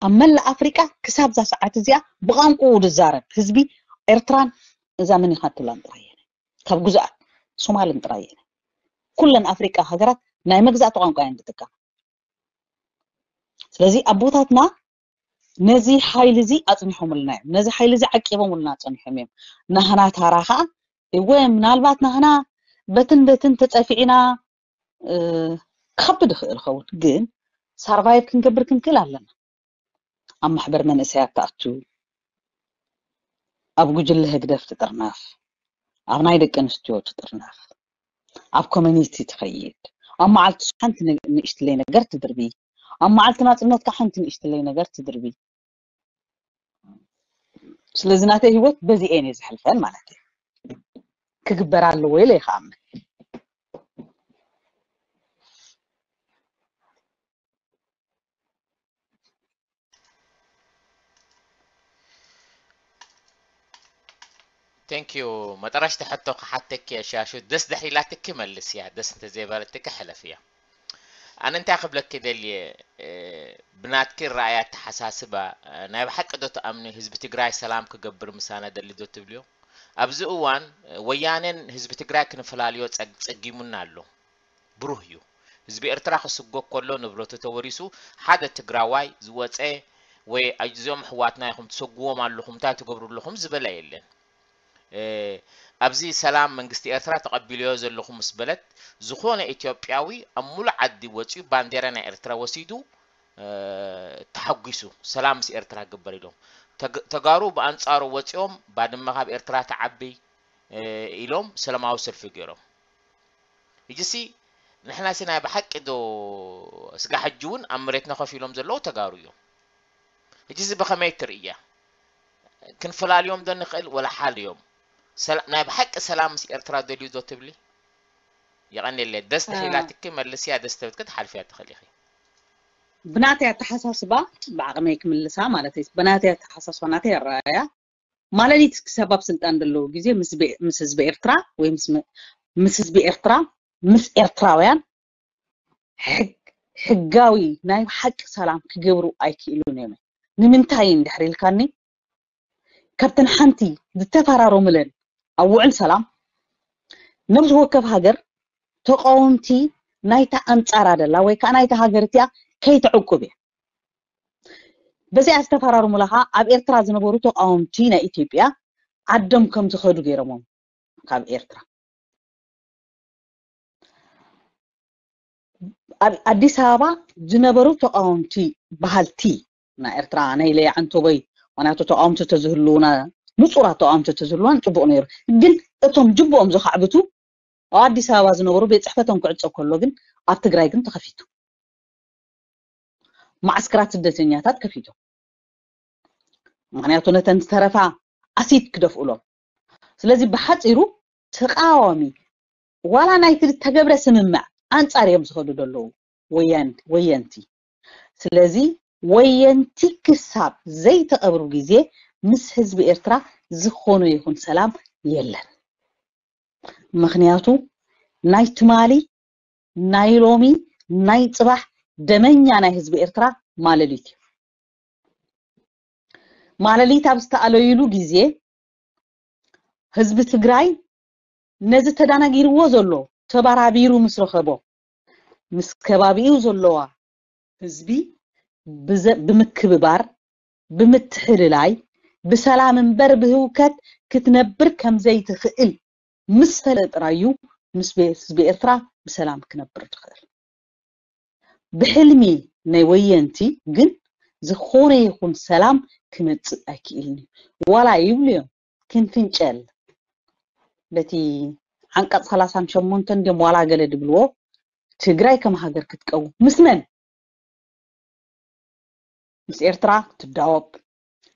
ኣብ መላእ ኣፍሪቃ ክሳብ እዛ ሰዓት እዚኣ ብቋንቋኡ ዝዛረብ ህዝቢ ኤርትራን እዛ መን ኢኻ ትብላን ጥራይ እየን። ካብ ግዙኣት ሶማልን ጥራይ እየን። ኩለን ኣፍሪቃ ሃገራት ናይ መግዛእቲ ቋንቋ እየን ዝጥቀማ። ስለዚ ኣቦታትና ነዚ ሓይሊ እዚ ኣጽኒሖምልና እዮም። ነዚ ሓይሊ እዚ ዓቂቦምልና ጸኒሖም እዮም። ናህና ታራ ኸዓ እወ ምናልባት ናህና በትን በትን ተጸፊዕና ክኸብድ ይኽእል ኸውን፣ ግን ሳርቫይቭ ክንገብር ክንክእል ኣለና። ኣብ ማሕበር መንእሰያት ትኣቱ፣ ኣብ ጉጅለ ህግደፍ ትጥርነፍ፣ ኣብ ናይ ደቂ ኣንስትዮ ትጥርነፍ፣ ኣብ ኮሚኒቲ ትኸይድ፣ ኣብ መዓልቲ ሓንቲ ንእሽትለይ ነገር ትድርቢ፣ ኣብ መዓልቲ ናጽነትካ ሓንቲ ንእሽትለይ ነገር ትድርቢ። ስለዚ ናተይ ህይወት በዚ እየ ዘሕልፈን ማለት እዩ። ክግበር ኣለዎ ኢለ ይኸኣምን። Thank you። መጠረሽቲ ሕቶ ክሓተኪ እየ ሻሹ፣ ደስ ድሕር ኢላትኪ መልስያ፣ ደስ እንተዘይበለትኪ ሕለፍያ። ኣነ እንታይ ክብለኪ ደልየ፣ ብናትኪ ረኣያ ኣተሓሳስባ፣ ናይ ብሓቂ ዶ ትኣምኒ ህዝቢ ትግራይ ሰላም ክገብር ምሳና ደሊ ዶ ትብልዮ? ኣብዚ እዋን ወያኔን ህዝቢ ትግራይ ክንፈላልዮ ጸጊሙና ኣሎ። ብሩህ እዩ። ህዝቢ ኤርትራ ክስጎግ ከሎ ንብረቱ ተወሪሱ ሓደ ትግራዋይ ዝወፀ ወይ እዚኦም ኣሕዋትና ኢኹም ትሰጉዎም ኣለኹም እንታይ ትገብሩ ኣለኹም ዝበለ የለን። ኣብዚ ሰላም መንግስቲ ኤርትራ ተቐቢለዮ ዘለኹ ምስ በለት ዝኾነ ኢትዮጵያዊ ኣብ ሙሉእ ዓዲ ወፂኡ ባንዴራ ናይ ኤርትራ ወሲዱ ተሓጒሱ ሰላም ምስ ኤርትራ ግበር ኢሎም ተጋሩ ብኣንፃሩ ወፂኦም ባድመ ካብ ኤርትራ ትዓቢ ኢሎም ሰላማዊ ሰልፊ ገይሮም። ሕጂሲ ንሕናሲ ናይ ብሓቂ ዶ ስጋ ሕጂ እውን ኣብ መሬትና ኮፍ ኢሎም ዘለዉ ተጋሩ እዮም። ሕጂሲ ብኸመይ ትርእያ? ክንፈላልዮም ዶ ንኽእል ወላ ሓልዮም? ናይ ብሓቂ ሰላም ምስ ኤርትራ ደልዩ ዶ ትብሊ? የቐንየለይ። ደስ ተሒላትኪ መልስያ፣ ደስ ተብትኪ ትሓልፍያ ትኽእል ኢኺ። ብናተይ ኣተሓሳስባ ብዓቕመይ ክምልሳ ማለት እዩ። ብናተይ ኣተሓሳስባ ናተይ ኣረኣያ ማለሊት ክሳብ ኣብ ስልጣን ዘለዉ ግዜ ምስ ህዝቢ ኤርትራ ወይ ምስ ህዝቢ ኤርትራ ምስ ኤርትራውያን ሕጋዊ ናይ ሓቂ ሰላም ክገብሩ ኣይክእሉን እዮም። ንምንታይ እንድሕር ኢልካኒ ካብተን ሓንቲ ዝተፈራረሙለን ኣብ ውዕል ሰላም ነብሲ ወከፍ ሃገር ተቃወምቲ ናይታ ኣንጻራ ደላ ወይ ከዓ ናይታ ሃገር እቲኣ ከይተዕቁብ እያ። በዚኣ ዝተፈራረሙላ ከዓ ኣብ ኤርትራ ዝነበሩ ተቃወምቲ ናይ ኢትዮጵያ ዓዶም ከም ዝኸዱ ገይሮሞም ካብ ኤርትራ ኣብ ኣዲስ ኣበባ ዝነበሩ ተቃወምቲ በሃልቲ ናይ ኤርትራ ናይ ለያ ዓንቶቦይ ዋናቱ ተቃወምቲ ተዝህልውና ንጹራት ተቃወምቲ ተዝህልዋን ጽቡቅ ነይሩ። ግን እቶም ጅብኦም ዝካዕብቱ ኣብ ኣዲስ ኣበባ ዝነበሩ ቤት ጽሕፈቶም ክዕጾ ከሎ ግን ኣብ ትግራይ ግን ተኸፊቱ ማዕስከራት ስደተኛታት ከፊቶም። ምክንያቱ ነተን ዝተረፋ ኣሲድ ክደፍኡሎም። ስለዚ ብሓፂሩ ተቃዋሚ ዋላ ናይቲ ዝተገብረ ስምምዕ ኣንፃር እዮም ዝኸዱ ዘለዉ ወየንቲ። ስለዚ ወየንቲ ክሳብ ዘይተቐብሩ ግዜ ምስ ህዝቢ ኤርትራ ዝኾነ ይኹን ሰላም የለን። ምክንያቱ ናይ ትማሊ ናይ ሎሚ ናይ ፅባሕ ደመኛ ናይ ህዝቢ ኤርትራ ማለሊት እዩ። ማለሊት ኣብ ዝተኣለይሉ ግዜ ህዝቢ ትግራይ ነዚ ተዳናጊርዎ ዘሎ ተባራቢሩ ምስ ረኸቦ ምስ ከባቢኡ ዘለዋ ህዝቢ ብምክብባር ብምትሕልላይ ብሰላም እምበር ብህውከት ክትነብር ከምዘይትኽእል ምስ ፈለጠ ጥራይ እዩ ምስ ህዝቢ ኤርትራ ብሰላም ክነብር ዝኽእል። ብሕልሚ ናይ ወየንቲ ግን ዝኾነ ይኹን ሰላም ክመፅእ ኣይክእልን እዩ። ዋላ ይብሉ እዮም ክንፍንጨል በቲ ዓንቀፅ ሰላሳን ሸሞንተን ድዮም ዋላ ገለ ድብልዎ ትግራይ ከም ሃገር ክትቀውም ምስ መን? ምስ ኤርትራ ትዳወብ፣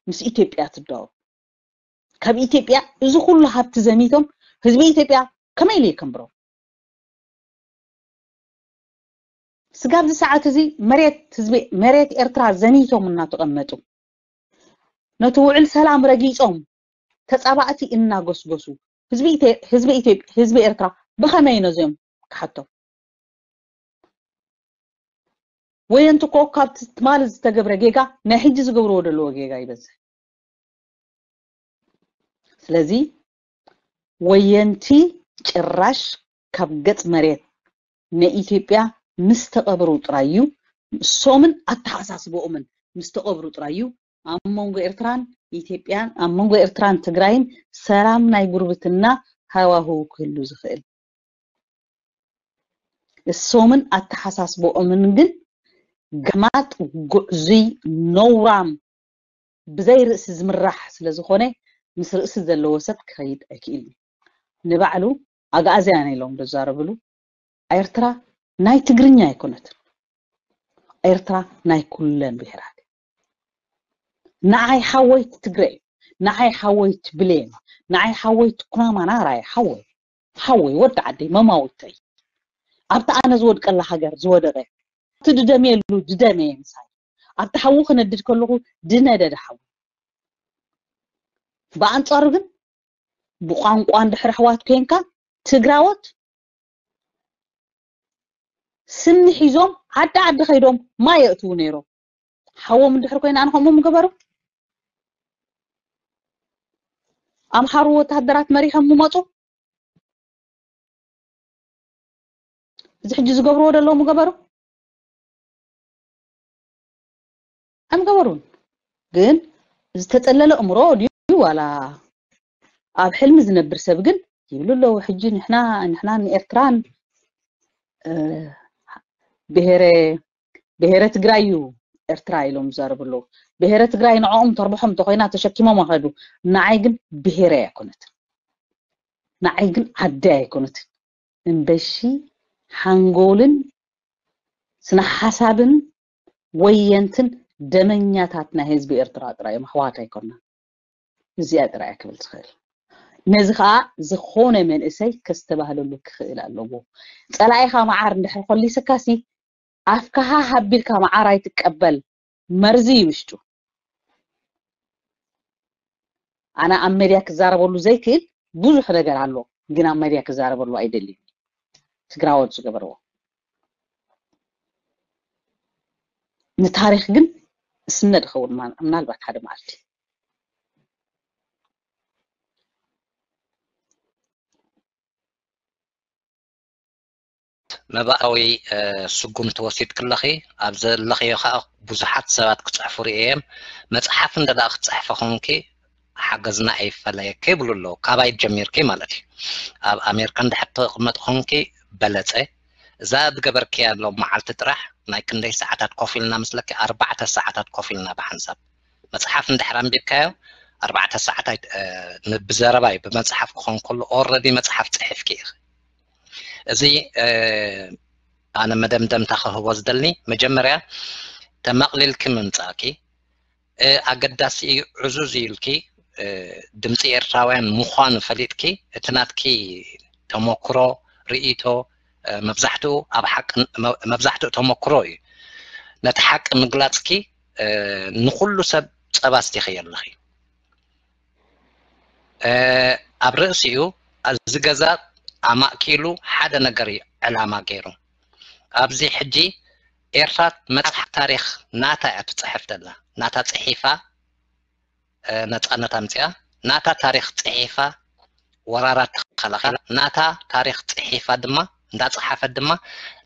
ምስ ኢትዮጵያ ትዳወብ። ካብ ኢትዮጵያ እዚ ኩሉ ሃብቲ ዘሚቶም ህዝቢ ኢትዮጵያ ከመይ ኢሉ ይከንብሮም? ስጋብ እዚ ሰዓት እዚ መሬት ህዝቢ መሬት ኤርትራ ዘሚቶም እናተቐመጡ ነቲ ውዕል ሰላም ረጊጾም ተጻባእቲ እናጎስጎሱ ህዝቢ ኢትዮ- ህዝቢ ኢትዮጵያ ህዝቢ ኤርትራ ብኸመይ ነዚኦም ክሓቶም? ወየንቲ እኮ ካብቲ ትማሊ ዝተገብረ ጌጋ ናይ ሕጂ ዝገብርዎ ዘለዎ ጌጋ ይበዝሕ። ስለዚ ወየንቲ ጭራሽ ካብ ገጽ መሬት ንኢትዮጵያ ምስ ተቐብሩ ጥራይ እዩ፣ እሶምን ኣተሓሳስበኦምን ምስ ተቐብሩ ጥራይ እዩ ኣብ መንጎ ኤርትራን ኢትዮጵያን፣ ኣብ መንጎ ኤርትራን ትግራይን ሰላም ናይ ጉርብትና ሃዋህው ክህሉ ዝኽእል። እሶምን ኣተሓሳስበኦምን ግን ጋማጥ፣ ጉዕዙይ፣ ነውራም፣ ብዘይ ርእሲ ዝምራሕ ስለ ዝኾነ ምስ ርእሲ ዘለዎ ሰብ ክኸይድ ኣይክእልን። ንባዕሉ ኣግኣዝያን ኢሎም ዝዛረብሉ ኤርትራ ናይ ትግርኛ ኣይኮነትን። ኤርትራ ናይ ኩለን ብሄራት። ንዓይ ሓወይ ትግረ እዩ፣ ንዓይ ሓወይ ብሌን፣ ንዓይ ሓወይ ኩናማ ናራይ ሓወይ ሓወይ ወዲ ዓደይ መማውተይ ኣብቲ ኣነ ዝወድቀላ ሃገር ዝወደቀ እቲ ድደምየሉ ድደመየ ምሳይ ኣብቲ ሓዊ ክነድድ ከለኹ ድነደደ ሓዊ። ብኣንጻሩ ግን ብቋንቋ እንድሕር ኣሕዋት ኮንካ ትግራዎት ስኒ ሒዞም ዓዲ ዓዲ ከይዶም ማይ የእትዉ ነይሮም። ሓዎም እንድሕር ኮይና ኣነ ከምኡ ምገበሩ ኣምሓሩ ወታደራት መሪሖም ምመፁ። እዚ ሕጂ ዝገብርዎ ዘለዉ ምገበሩ ኣይምገበሩን። ግን ዝተጠለለ እምሮ ድዩ ዋላ ኣብ ሕልሚ ዝነብር ሰብ ግን ይብሉ ኣለዉ። ሕጂ ንሕና ንሕና ንኤርትራን ብሄረ ብሄረ ትግራይ እዩ ኤርትራ ኢሎም ዝዛረቡ ኣለዉ። ብሄረ ትግራይ ንዕኦም ተርብሖም እንተኮይና ተሸኪሞም ኣኸዱ። ንዓይ ግን ብሄረ ኣይኮነትን፣ ንዓይ ግን ዓዲ ኣይኮነትን። እምበሺ ሓንጎልን ስነ ሓሳብን ወየንትን ደመኛታት ናይ ህዝቢ ኤርትራ ጥራይ እዮም፣ ኣሕዋት ኣይኮና። እዚኣ ጥራይ እያ ክብል ትኽእል። ነዚ ከዓ ዝኾነ መንእሰይ ከስተባህለሉ ክኽእል ኣለዎ። ፀላኢኻ መዓር እንድሕር ኮሊስካሲ ኣፍካሃ ሃቢልካ መዓር ኣይትቀበል፣ መርዚ እዩ ውሽጡ። ኣነ ኣብ መድያ ክዛረበሉ ዘይክእል ብዙሕ ነገር ኣሎ፣ ግን ኣብ መድያ ክዛረበሉ ኣይደልዩ። ትግራዎት ዝገበርዎ ንታሪክ ግን እስነድ ኸውን ምናልባት ሓደ መዓልቲ መባእታዊ ስጉምቲ ወሲድኪ ኣለኺ። ኣብ ዘለኽዮ ከዓ ብዙሓት ሰባት ክፅሕፉ ርእየ እየ። መፅሓፍ እንተ ደኣ ክትፅሕፊ ኾንኪ ሓገዝና ኣይፈለየኪ ይብሉ ኣለዉ። ካባይ ጀሚርኪ ማለት እዩ። ኣብ ኣሜሪካ እንድሕር ትቕመጢ ኾንኪ በለፀ። እዛ ዝገበርክያ ሎም መዓልቲ ጥራሕ ናይ ክንደይ ሰዓታት ኮፍ ኢልና ምስለኪ? ኣርባዕተ ሰዓታት ኮፍ ኢልና ብሓንሳብ። መፅሓፍ እንድሕር ኣንቢብካዮ ኣርባዕተ ሰዓት ብዘረባ እዩ። ብመፅሓፍ ክኾን ከሎ ኦረዲ መፅሓፍ ፅሒፍኪ ኢኺ። እዚ ኣነ መደምደምታ ክህቦ ዝደሊ መጀመርያ ተመቕሊልኪ ምምፃእኪ ኣገዳሲ እዩ። ዕዙዝ ኢልኪ ድምፂ ኤርትራውያን ምዃኑ ፈሊጥኪ እቲ ናትኪ ተመክሮ ርእይቶ መብዛሕትኡ ኣብ ሓቂ መብዛሕትኡ ተመክሮ እዩ። ነቲ ሓቂ ምግላፅኪ ንኹሉ ሰብ ፀባ ኣስቲኽዮ ኣለኺ። ኣብ ርእሲኡ እዚ ገዛ ኣማእኪሉ ሓደ ነገር እዩ ዕላማ ገይሩ። ኣብዚ ሕጂ ኤርትራ መፅሓፍ ታሪክ ናታ እያ ትፅሕፍ ዘላ። ናታ ፅሒፋ ነፃነት ኣምፅኣ፣ ናታ ታሪክ ፅሒፋ ወራራት ተኸላኺላ፣ ናታ ታሪክ ፅሒፋ ድማ እንዳፀሓፈት ድማ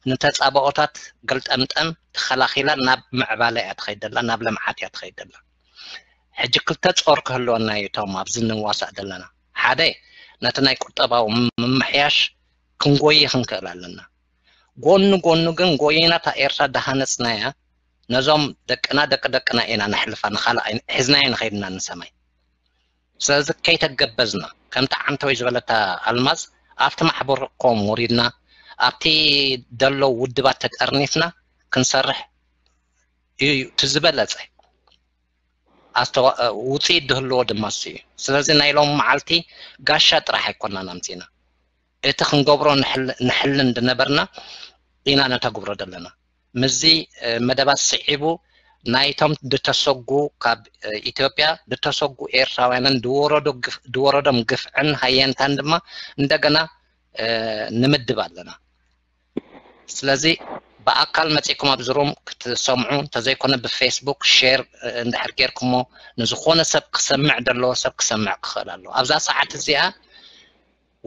ንተፃባኦታት ገልጠምጠም ተኸላኺላ ናብ ምዕባለ እያ ትኸይድ ዘላ፣ ናብ ልምዓት እያ ትኸይድ ዘላ። ሕጂ ክልተ ጾር ክህልወና እዩ እቶም ኣብዚ ንዋሳእ ዘለና። ሓደ ነቲ ናይ ቁጠባዊ ምምሕያሽ ክንጎይ ክንክእል ኣለና። ጎኒ ጎኒ ግን ጎይና እታ ኤርትራ ዳሃነጽናያ ነዞም ደቅና ደቂ ደቅና ኢና ነሕልፋ ንኻልእ ሒዝናዮ ንኸይድና ንሰማይ። ስለዚ ከይተገበዝና ከምቲ ዓንተወይ ዝበለታ ኣልማዝ ኣብቲ ማሕበርኮም ወሪድና ኣብቲ ደሎ ውድባት ተጠርኒፍና ክንሰርሕ እዩ እቲ ዝበለጸ ውፅኢት ዝህልዎ ድማ እሱ እዩ። ስለዚ ናይ ሎም መዓልቲ ጋሻ ጥራሕ ኣይኮናን ኣምፂና እቲ ክንገብሮ ንሕልን ዝነበርና ኢና ነተግብሮ ዘለና። ምስዚ መደባት ስዒቡ ናይቶም ዝተሰጉ፣ ካብ ኢትዮጵያ ዝተሰጉ ኤርትራውያንን ዝወረዶም ግፍዕን ሃየንታን ድማ እንደገና ንምድብ ኣለና። ስለዚ ብኣካል መፂእኩም ኣብዚ ሩም ክትሰምዑ እንተዘይኮነ ብፌስቡክ ሼር እንድሕር ጌርኩሞ ንዝኾነ ሰብ ክሰምዕ ዘለዎ ሰብ ክሰምዕ ክኽእል ኣለዎ። ኣብዛ ሰዓት እዚኣ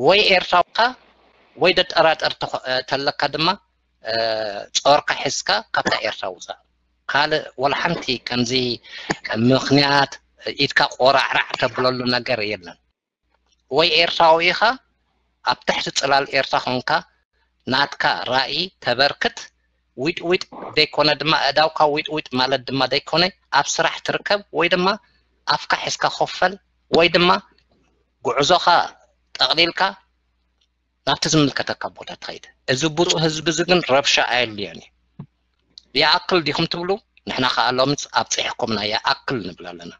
ወይ ኤርትራውካ ወይ ደጠራጠር ተለካ ድማ ጾርካ ሒዝካ ካብታ ኤርትራ ውፃእ። ካልእ ወላ ሓንቲ ከምዚ ምኽንያት ኢድካ ቆራዕራዕ ተብለሉ ነገር የለን። ወይ ኤርትራዊ ኢኻ ኣብ ትሕቲ ፅላል ኤርትራ ኮንካ ናትካ ራእይ ተበርክት። ዊጥ ዊጥ ዘይኮነ ድማ እዳውካ ዊጥ ዊጥ ማለት ድማ ዘይኮነ ኣብ ስራሕ ትርከብ ወይ ድማ ኣፍካ ሒዝካ ኮፈል ወይ ድማ ጉዕዞኻ ጠቕሊልካ ናብቲ ዝምልከተካ ቦታ ትኸይድ። እዚ ብፁዕ ህዝቢ እዚ ግን ረብሻ ኣየድልዮን እዩ። ይኣክል ዲኹም ትብሉ? ንሕና ከኣ ሎምስ ኣብፂሕኩምና ይኣክል ንብል ኣለና።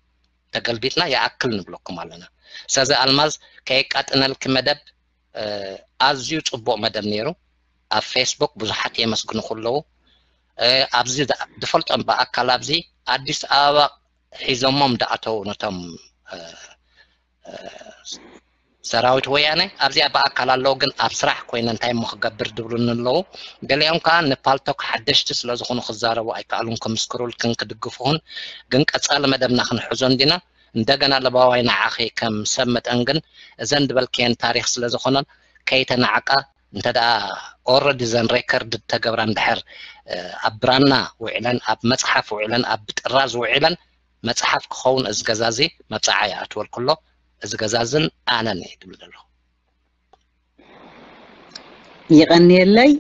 ተገልቢጥና ይኣክል ንብለኩም ኣለና። ስለዚ ኣልማዝ ከየቃጥነልኪ መደብ ኣዝዩ ፅቡቕ መደብ ነይሩ። ኣብ ፌስቡክ ብዙሓት የመስግኑኹ ኣለዉ። ኣብዚ ዝፈልጦም ብኣካል ኣብዚ ኣዲስ ኣበባ ሒዞሞም ዝኣተዉ ነቶም ሰራዊት ወያነ ኣብዚኣ ብኣካል ኣለዉ፣ ግን ኣብ ስራሕ ኮይነ እንታይ እሞ ክገብር ዝብሉኒ ኣለዉ። ገሊኦም ከዓ ንፓልቶክ ሓደሽቲ ስለ ዝኾኑ ክዛረቡ ኣይከኣሉን፣ ክምስክሩልክን ክድግፉኽን። ግን ቀጻሊ መደብና ክንሕዞ እንዲና። እንደገና ለባዋይ ንዓኺ ከም ሰብ መጠን ግን እዘን ዝበልክየን ታሪኽ ስለ ዝኾነን ከይተናዕቃ እንተ ደኣ ኦረዲ ዘን ሬከርድ ተገብራ እንድሕር ኣብ ብራና ውዒለን ኣብ መፅሓፍ ውዒለን ኣብ ጥራዝ ውዒለን መፅሓፍ ክኸውን እዚ ገዛ እዚ መብፅዓ ይኣትወልኩ ኣሎ። እዚ ገዛ እዝን ኣነን እየ ትብል ዘለኹ። ይቐንየለይ።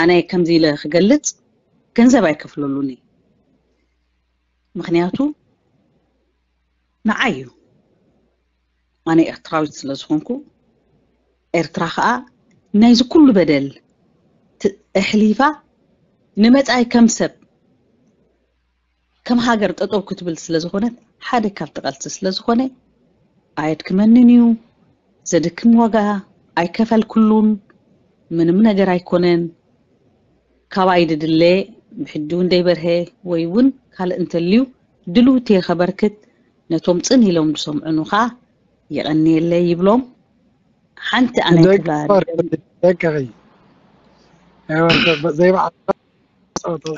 ኣነ ከምዚ ኢለ ክገልፅ ገንዘብ ኣይከፍለሉን እየ። ምኽንያቱ ንዓይ እዩ። ኣነ ኤርትራዊት ስለ ዝኾንኩ ኤርትራ ከዓ ናይዚ ኩሉ በደል ኣሕሊፋ ንመጻኢ ከም ሰብ ከም ሃገር ጠጠው ክትብል ስለ ዝኾነት ሓደ ካብቲ ቃልሲ ስለ ዝኾነ ኣየድክመንን እዩ። ዘድክም ዋጋ ኣይከፈልኩሉን። ምንም ነገር ኣይኮነን። ካባይ ድድለ ብሕጂ እውን ደይበርሀ ወይ እውን ካልእ እንተልዩ ድልውቲ ከበርክት ነቶም ጽን ኢሎም ዝሰምዑኑ ኸዓ የቐንየለይ ይብሎም። ሓንቲ ኣነ ክብላ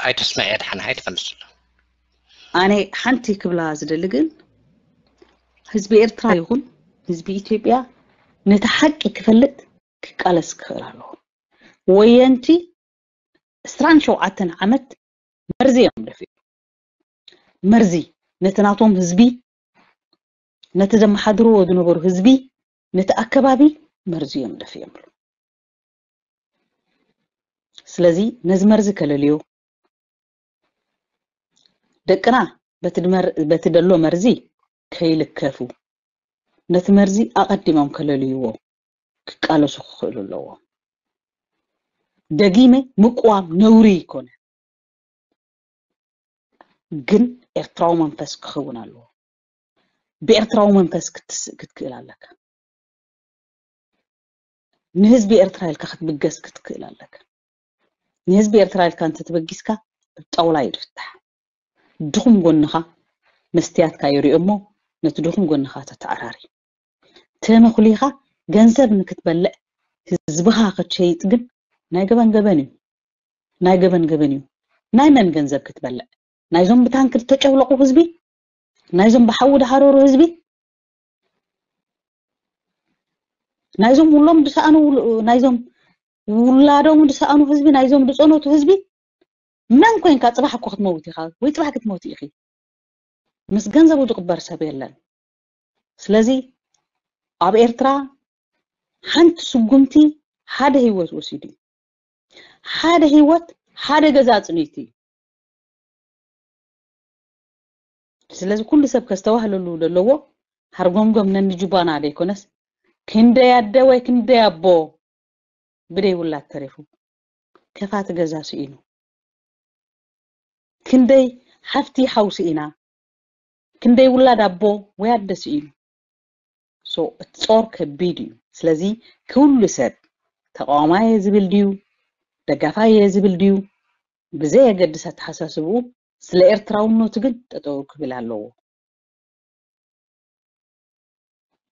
ኣይተስምዐ ድሓን ኣይትፈልስሉ። ኣነ ሓንቲ ክብላ ዝደሊ ግን ህዝቢ ኤርትራ ይኹን ህዝቢ ኢትዮጵያ ነቲ ሓቂ ክፈልጥ ክቃለስ ክኽእል ኣለዎ። ወየንቲ ዕስራን ሸውዓተን ዓመት መርዚ እዮም ደፊኦም። መርዚ ነቲ ናቶም ህዝቢ፣ ነቲ ዘመሓድርዎ ዝነበሩ ህዝቢ፣ ነቲ ኣከባቢ መርዚ እዮም ደፊኦምሉ። ስለዚ ነዚ መርዚ ከለልዮ፣ ደቅና በቲ ደሎ መርዚ ከይልከፉ፣ ነቲ መርዚ ኣቐዲሞም ከለልይዎ ክቃለሱ ክኽእሉ ኣለዎም። ደጊመ ምቅዋም ነውሪ ይኮነ፣ ግን ኤርትራዊ መንፈስ ክኸውን ኣለዎ። ብኤርትራዊ መንፈስ ክትስእ ክትክእል ኣለካ። ንህዝቢ ኤርትራ ኢልካ ክትብገስ ክትክእል ኣለካ። ንህዝቢ ኤርትራ ኢልካ እንተተበጊስካ ጣውላ እዩ ዝፍታሕ። ድኹም ጎንኻ መስትያትካ ይሪኦ እሞ ነቲ ድኹም ጎንኻ ተተዓራሪ። ተመኹሊኻ ገንዘብ ንክትበልዕ ህዝብኻ ክትሸይጥ ግን ናይ ገበን ገበን እዩ። ናይ ገበን ገበን እዩ። ናይ መን ገንዘብ ክትበልዕ? ናይዞም ብታንክ ዝተጨፍለቑ ህዝቢ? ናይዞም ብሓዊ ዝሃረሩ ህዝቢ? ናይዞም ውሎም ዝሰኣኑ ናይዞም ውላዶም ዝሰኣኑ ህዝቢ ናይዞም ዝፀነቱ ህዝቢ? መን ኮይንካ? ፅባሕ እኮ ክትመውት ኢኻ ወይ ፅባሕ ክትሞት ኢኺ። ምስ ገንዘቡ ዝቕበር ሰብ የለን። ስለዚ ኣብ ኤርትራ ሓንቲ ስጉምቲ ሓደ ህይወት ወሲዱ እዩ። ሓደ ህይወት ሓደ ገዛ ኣፅኒቱ እዩ። ስለዚ ኩሉ ሰብ ከስተባህለሉ ዘለዎ ሃርጎምጎም ነንጁባና ዘይኮነስ ክንደይ ኣደ ወይ ክንደይ ኣቦ ብደይ ውላድ ተሪፉ ከፋቲ ገዛ ስኢኑ፣ ክንደይ ሓፍቲ ሓው ስኢና፣ ክንደይ ውላድ ኣቦ ወይ ኣደ ስኢኑ። So እቲ ጾር ከቢድ እዩ። ስለዚ ኩሉ ሰብ ተቃዋማይ እየ ዝብል ድዩ ደጋፋይ እየ ዝብል ድዩ ብዘየገድስ ኣተሓሳስብኡ ስለ ኤርትራውነቱ ግን ጠጠው ክብል ኣለዎ።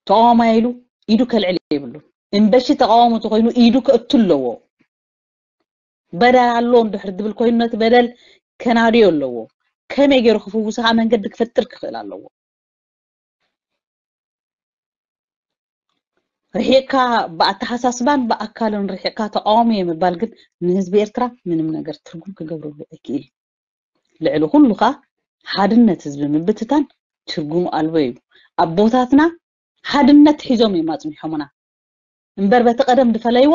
ተቃዋማይ ኢሉ ኢዱ ከልዕል የብሉ። እምበሺ ተቃዋሚ ተኮይኑ ኢዱ ከእቱ ኣለዎ። በደል ኣሎ እንድሕር ዝብል ኮይኑ ነቲ በደል ከናድዮ ኣለዎ። ከመይ ገይሩ ክፍውስ ከዓ መንገዲ ክፈጥር ክኽእል ኣለዎ። ርሒቕካ ብኣተሓሳስባን ብኣካልን ርሒቕካ ተቃዋሚ እየ ምባል ግን ንህዝቢ ኤርትራ ምንም ነገር ትርጉም ክገብረሉ ኣይክእል። ልዕሊ ኩሉ ከዓ ሓድነት ህዝቢ ምብትታን ትርጉም ኣልቦ እዩ። ኣቦታትና ሓድነት ሒዞም እዮም ኣጽኒሖምና እምበር በቲ ቀደም ዝፈለይዎ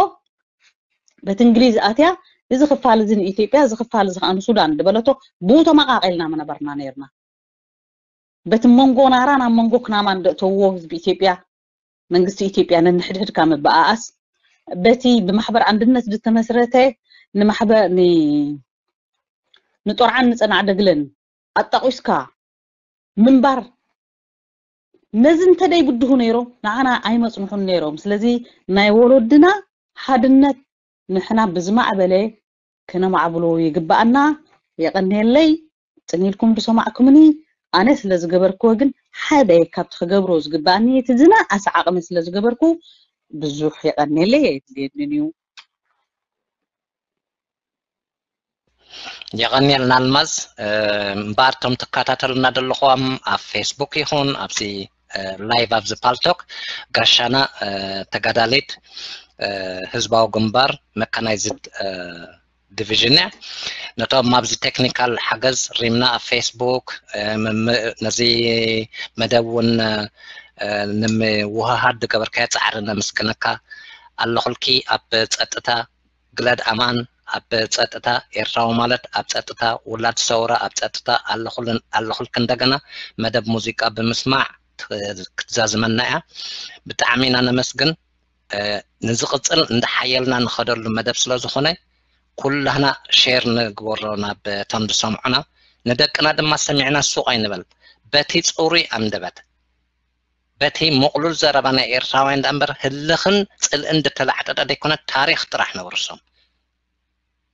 በቲ እንግሊዝ ኣትያ እዚ ክፋል እዚ ንኢትዮጵያ እዚ ክፋል እዚ ከዓ ንሱዳን ዝበለቶ ብኡ ተመቃቂልና ምነበርና ነርና። በቲ መንጎ ናራን ኣብ መንጎ ክናማን ደእተዎ ህዝቢ ኢትዮጵያ መንግስቲ ኢትዮጵያ ነንሕድሕድካ ምበኣኣስ በቲ ብማሕበር ኣንድነት ዝተመስረተ ንማሕበር ንጦርዓን ንፀናዕ ደግለን ኣጣቂስካ ምንባር ነዚ እንተደይ ብድሁ ነይሮም ንዓና ኣይመፅንሑን ነይሮም። ስለዚ ናይ ወለድና ሓድነት ንሕና ብዝማዕበለ ክነማዕብሎ ይግባኣና። የቐንየለይ ፅን ኢልኩም ዝሰማዕኩምኒ። ኣነ ስለ ዝገበርክዎ ግን ሓደ ካብቲ ክገብሮ ዝግባኣኒ እቲ ዝነኣሰ ዓቕሚ ስለ ዝገበርኩ ብዙሕ የቐንየለይ። የድልየንን እዩ። የቐንየልና ኣልማዝ። እምበኣር እቶም ትከታተሉና ዘለኹም ኣብ ፌስቡክ ይኹን ኣብዚ ላይቭ ኣብዚ ፓልቶክ ጋሻና ተጋዳሊት ህዝባዊ ግንባር መካናይዝድ ዲቪዥን እያ። ነቶም ኣብዚ ቴክኒካል ሓገዝ ሪምና ኣብ ፌስቡክ ነዚ መደብ እውን ንምውህሃድ ዝገበርካዮ ፃዕሪ ነመስግነካ ኣለኹልኪ። ኣብ ፀጥታ ግለድ ኣማን ኣብ ፀጥታ ኤርትራዊ ማለት ኣብ ፀጥታ ውላድ ሰውራ ኣብ ፀጥታ ኣለኹልን ኣለኹልክ እንደገና መደብ ሙዚቃ ብምስማዕ ክትዛዝመና እያ። ብጣዕሚ ኢና ነመስግን። ንዝቕፅል እንዳሓየልና ንኸደሉ መደብ ስለ ዝኾነ ኩላህና ሼር ንግበሮ ናብ እቶም ዝሰምዑና። ንደቅና ድማ ሰሚዕና ሱቕ ኣይንበል። በቲ ፅሩይ ኣንደበት በቲ ምቕሉል ዘረባ ናይ ኤርትራውያን ደኣ እምበር ህልኽን ፅልእን ዝተላዕጠጠ ዘይኮነ ታሪኽ ጥራሕ ነውርሶም።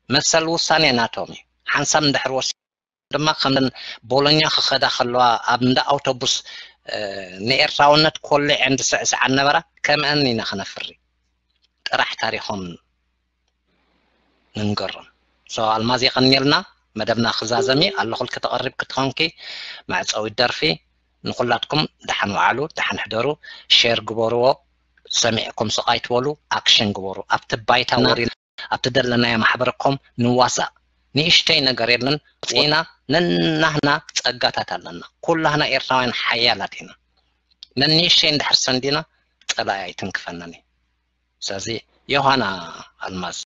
መሰል ውሳኔ ናቶም እዩ። ሓንሳብ እንድሕር ወሲዶም ድማ ከም ቦሎኛ ክኸዳ ከለዋ ኣብ እንዳ ኣውቶቡስ ንኤርትራውነት ኮሊዐን ዝስዕስዓ ነበራ ከምአን ኢና ክነፍሪ። ጥራሕ ታሪኾም ንንገሮም። ሶ ኣልማዝ የቐንየልና። መደብና ክዛዘም እዩ። ኣለኹልኪ ተቐሪብኪ ትኾንኪ መዕፀዊት ደርፊ። ንኹላትኩም ደሓን ወዓሉ፣ ደሓን ሕደሩ፣ ሼር ግበርዎ፣ ሰሚዕኩም ስቕ ኣይትበሉ፣ ኣክሽን ግበሩ። ኣብቲ ባይታ ወሪድና ኣብቲ ዘለናዮ ማሕበረኮም ንዋሳእ። ንእሽተይ ነገር የለን። ፅና ነናህና ፀጋታት ኣለና። ኩላህና ኤርትራውያን ሓያላት ኢና። ነንእሽተይ እንድሕር ሰንዲና ፀላኢ ኣይትንክፈናን እዩ። ስለዚ ዮሃና ኣልማዝ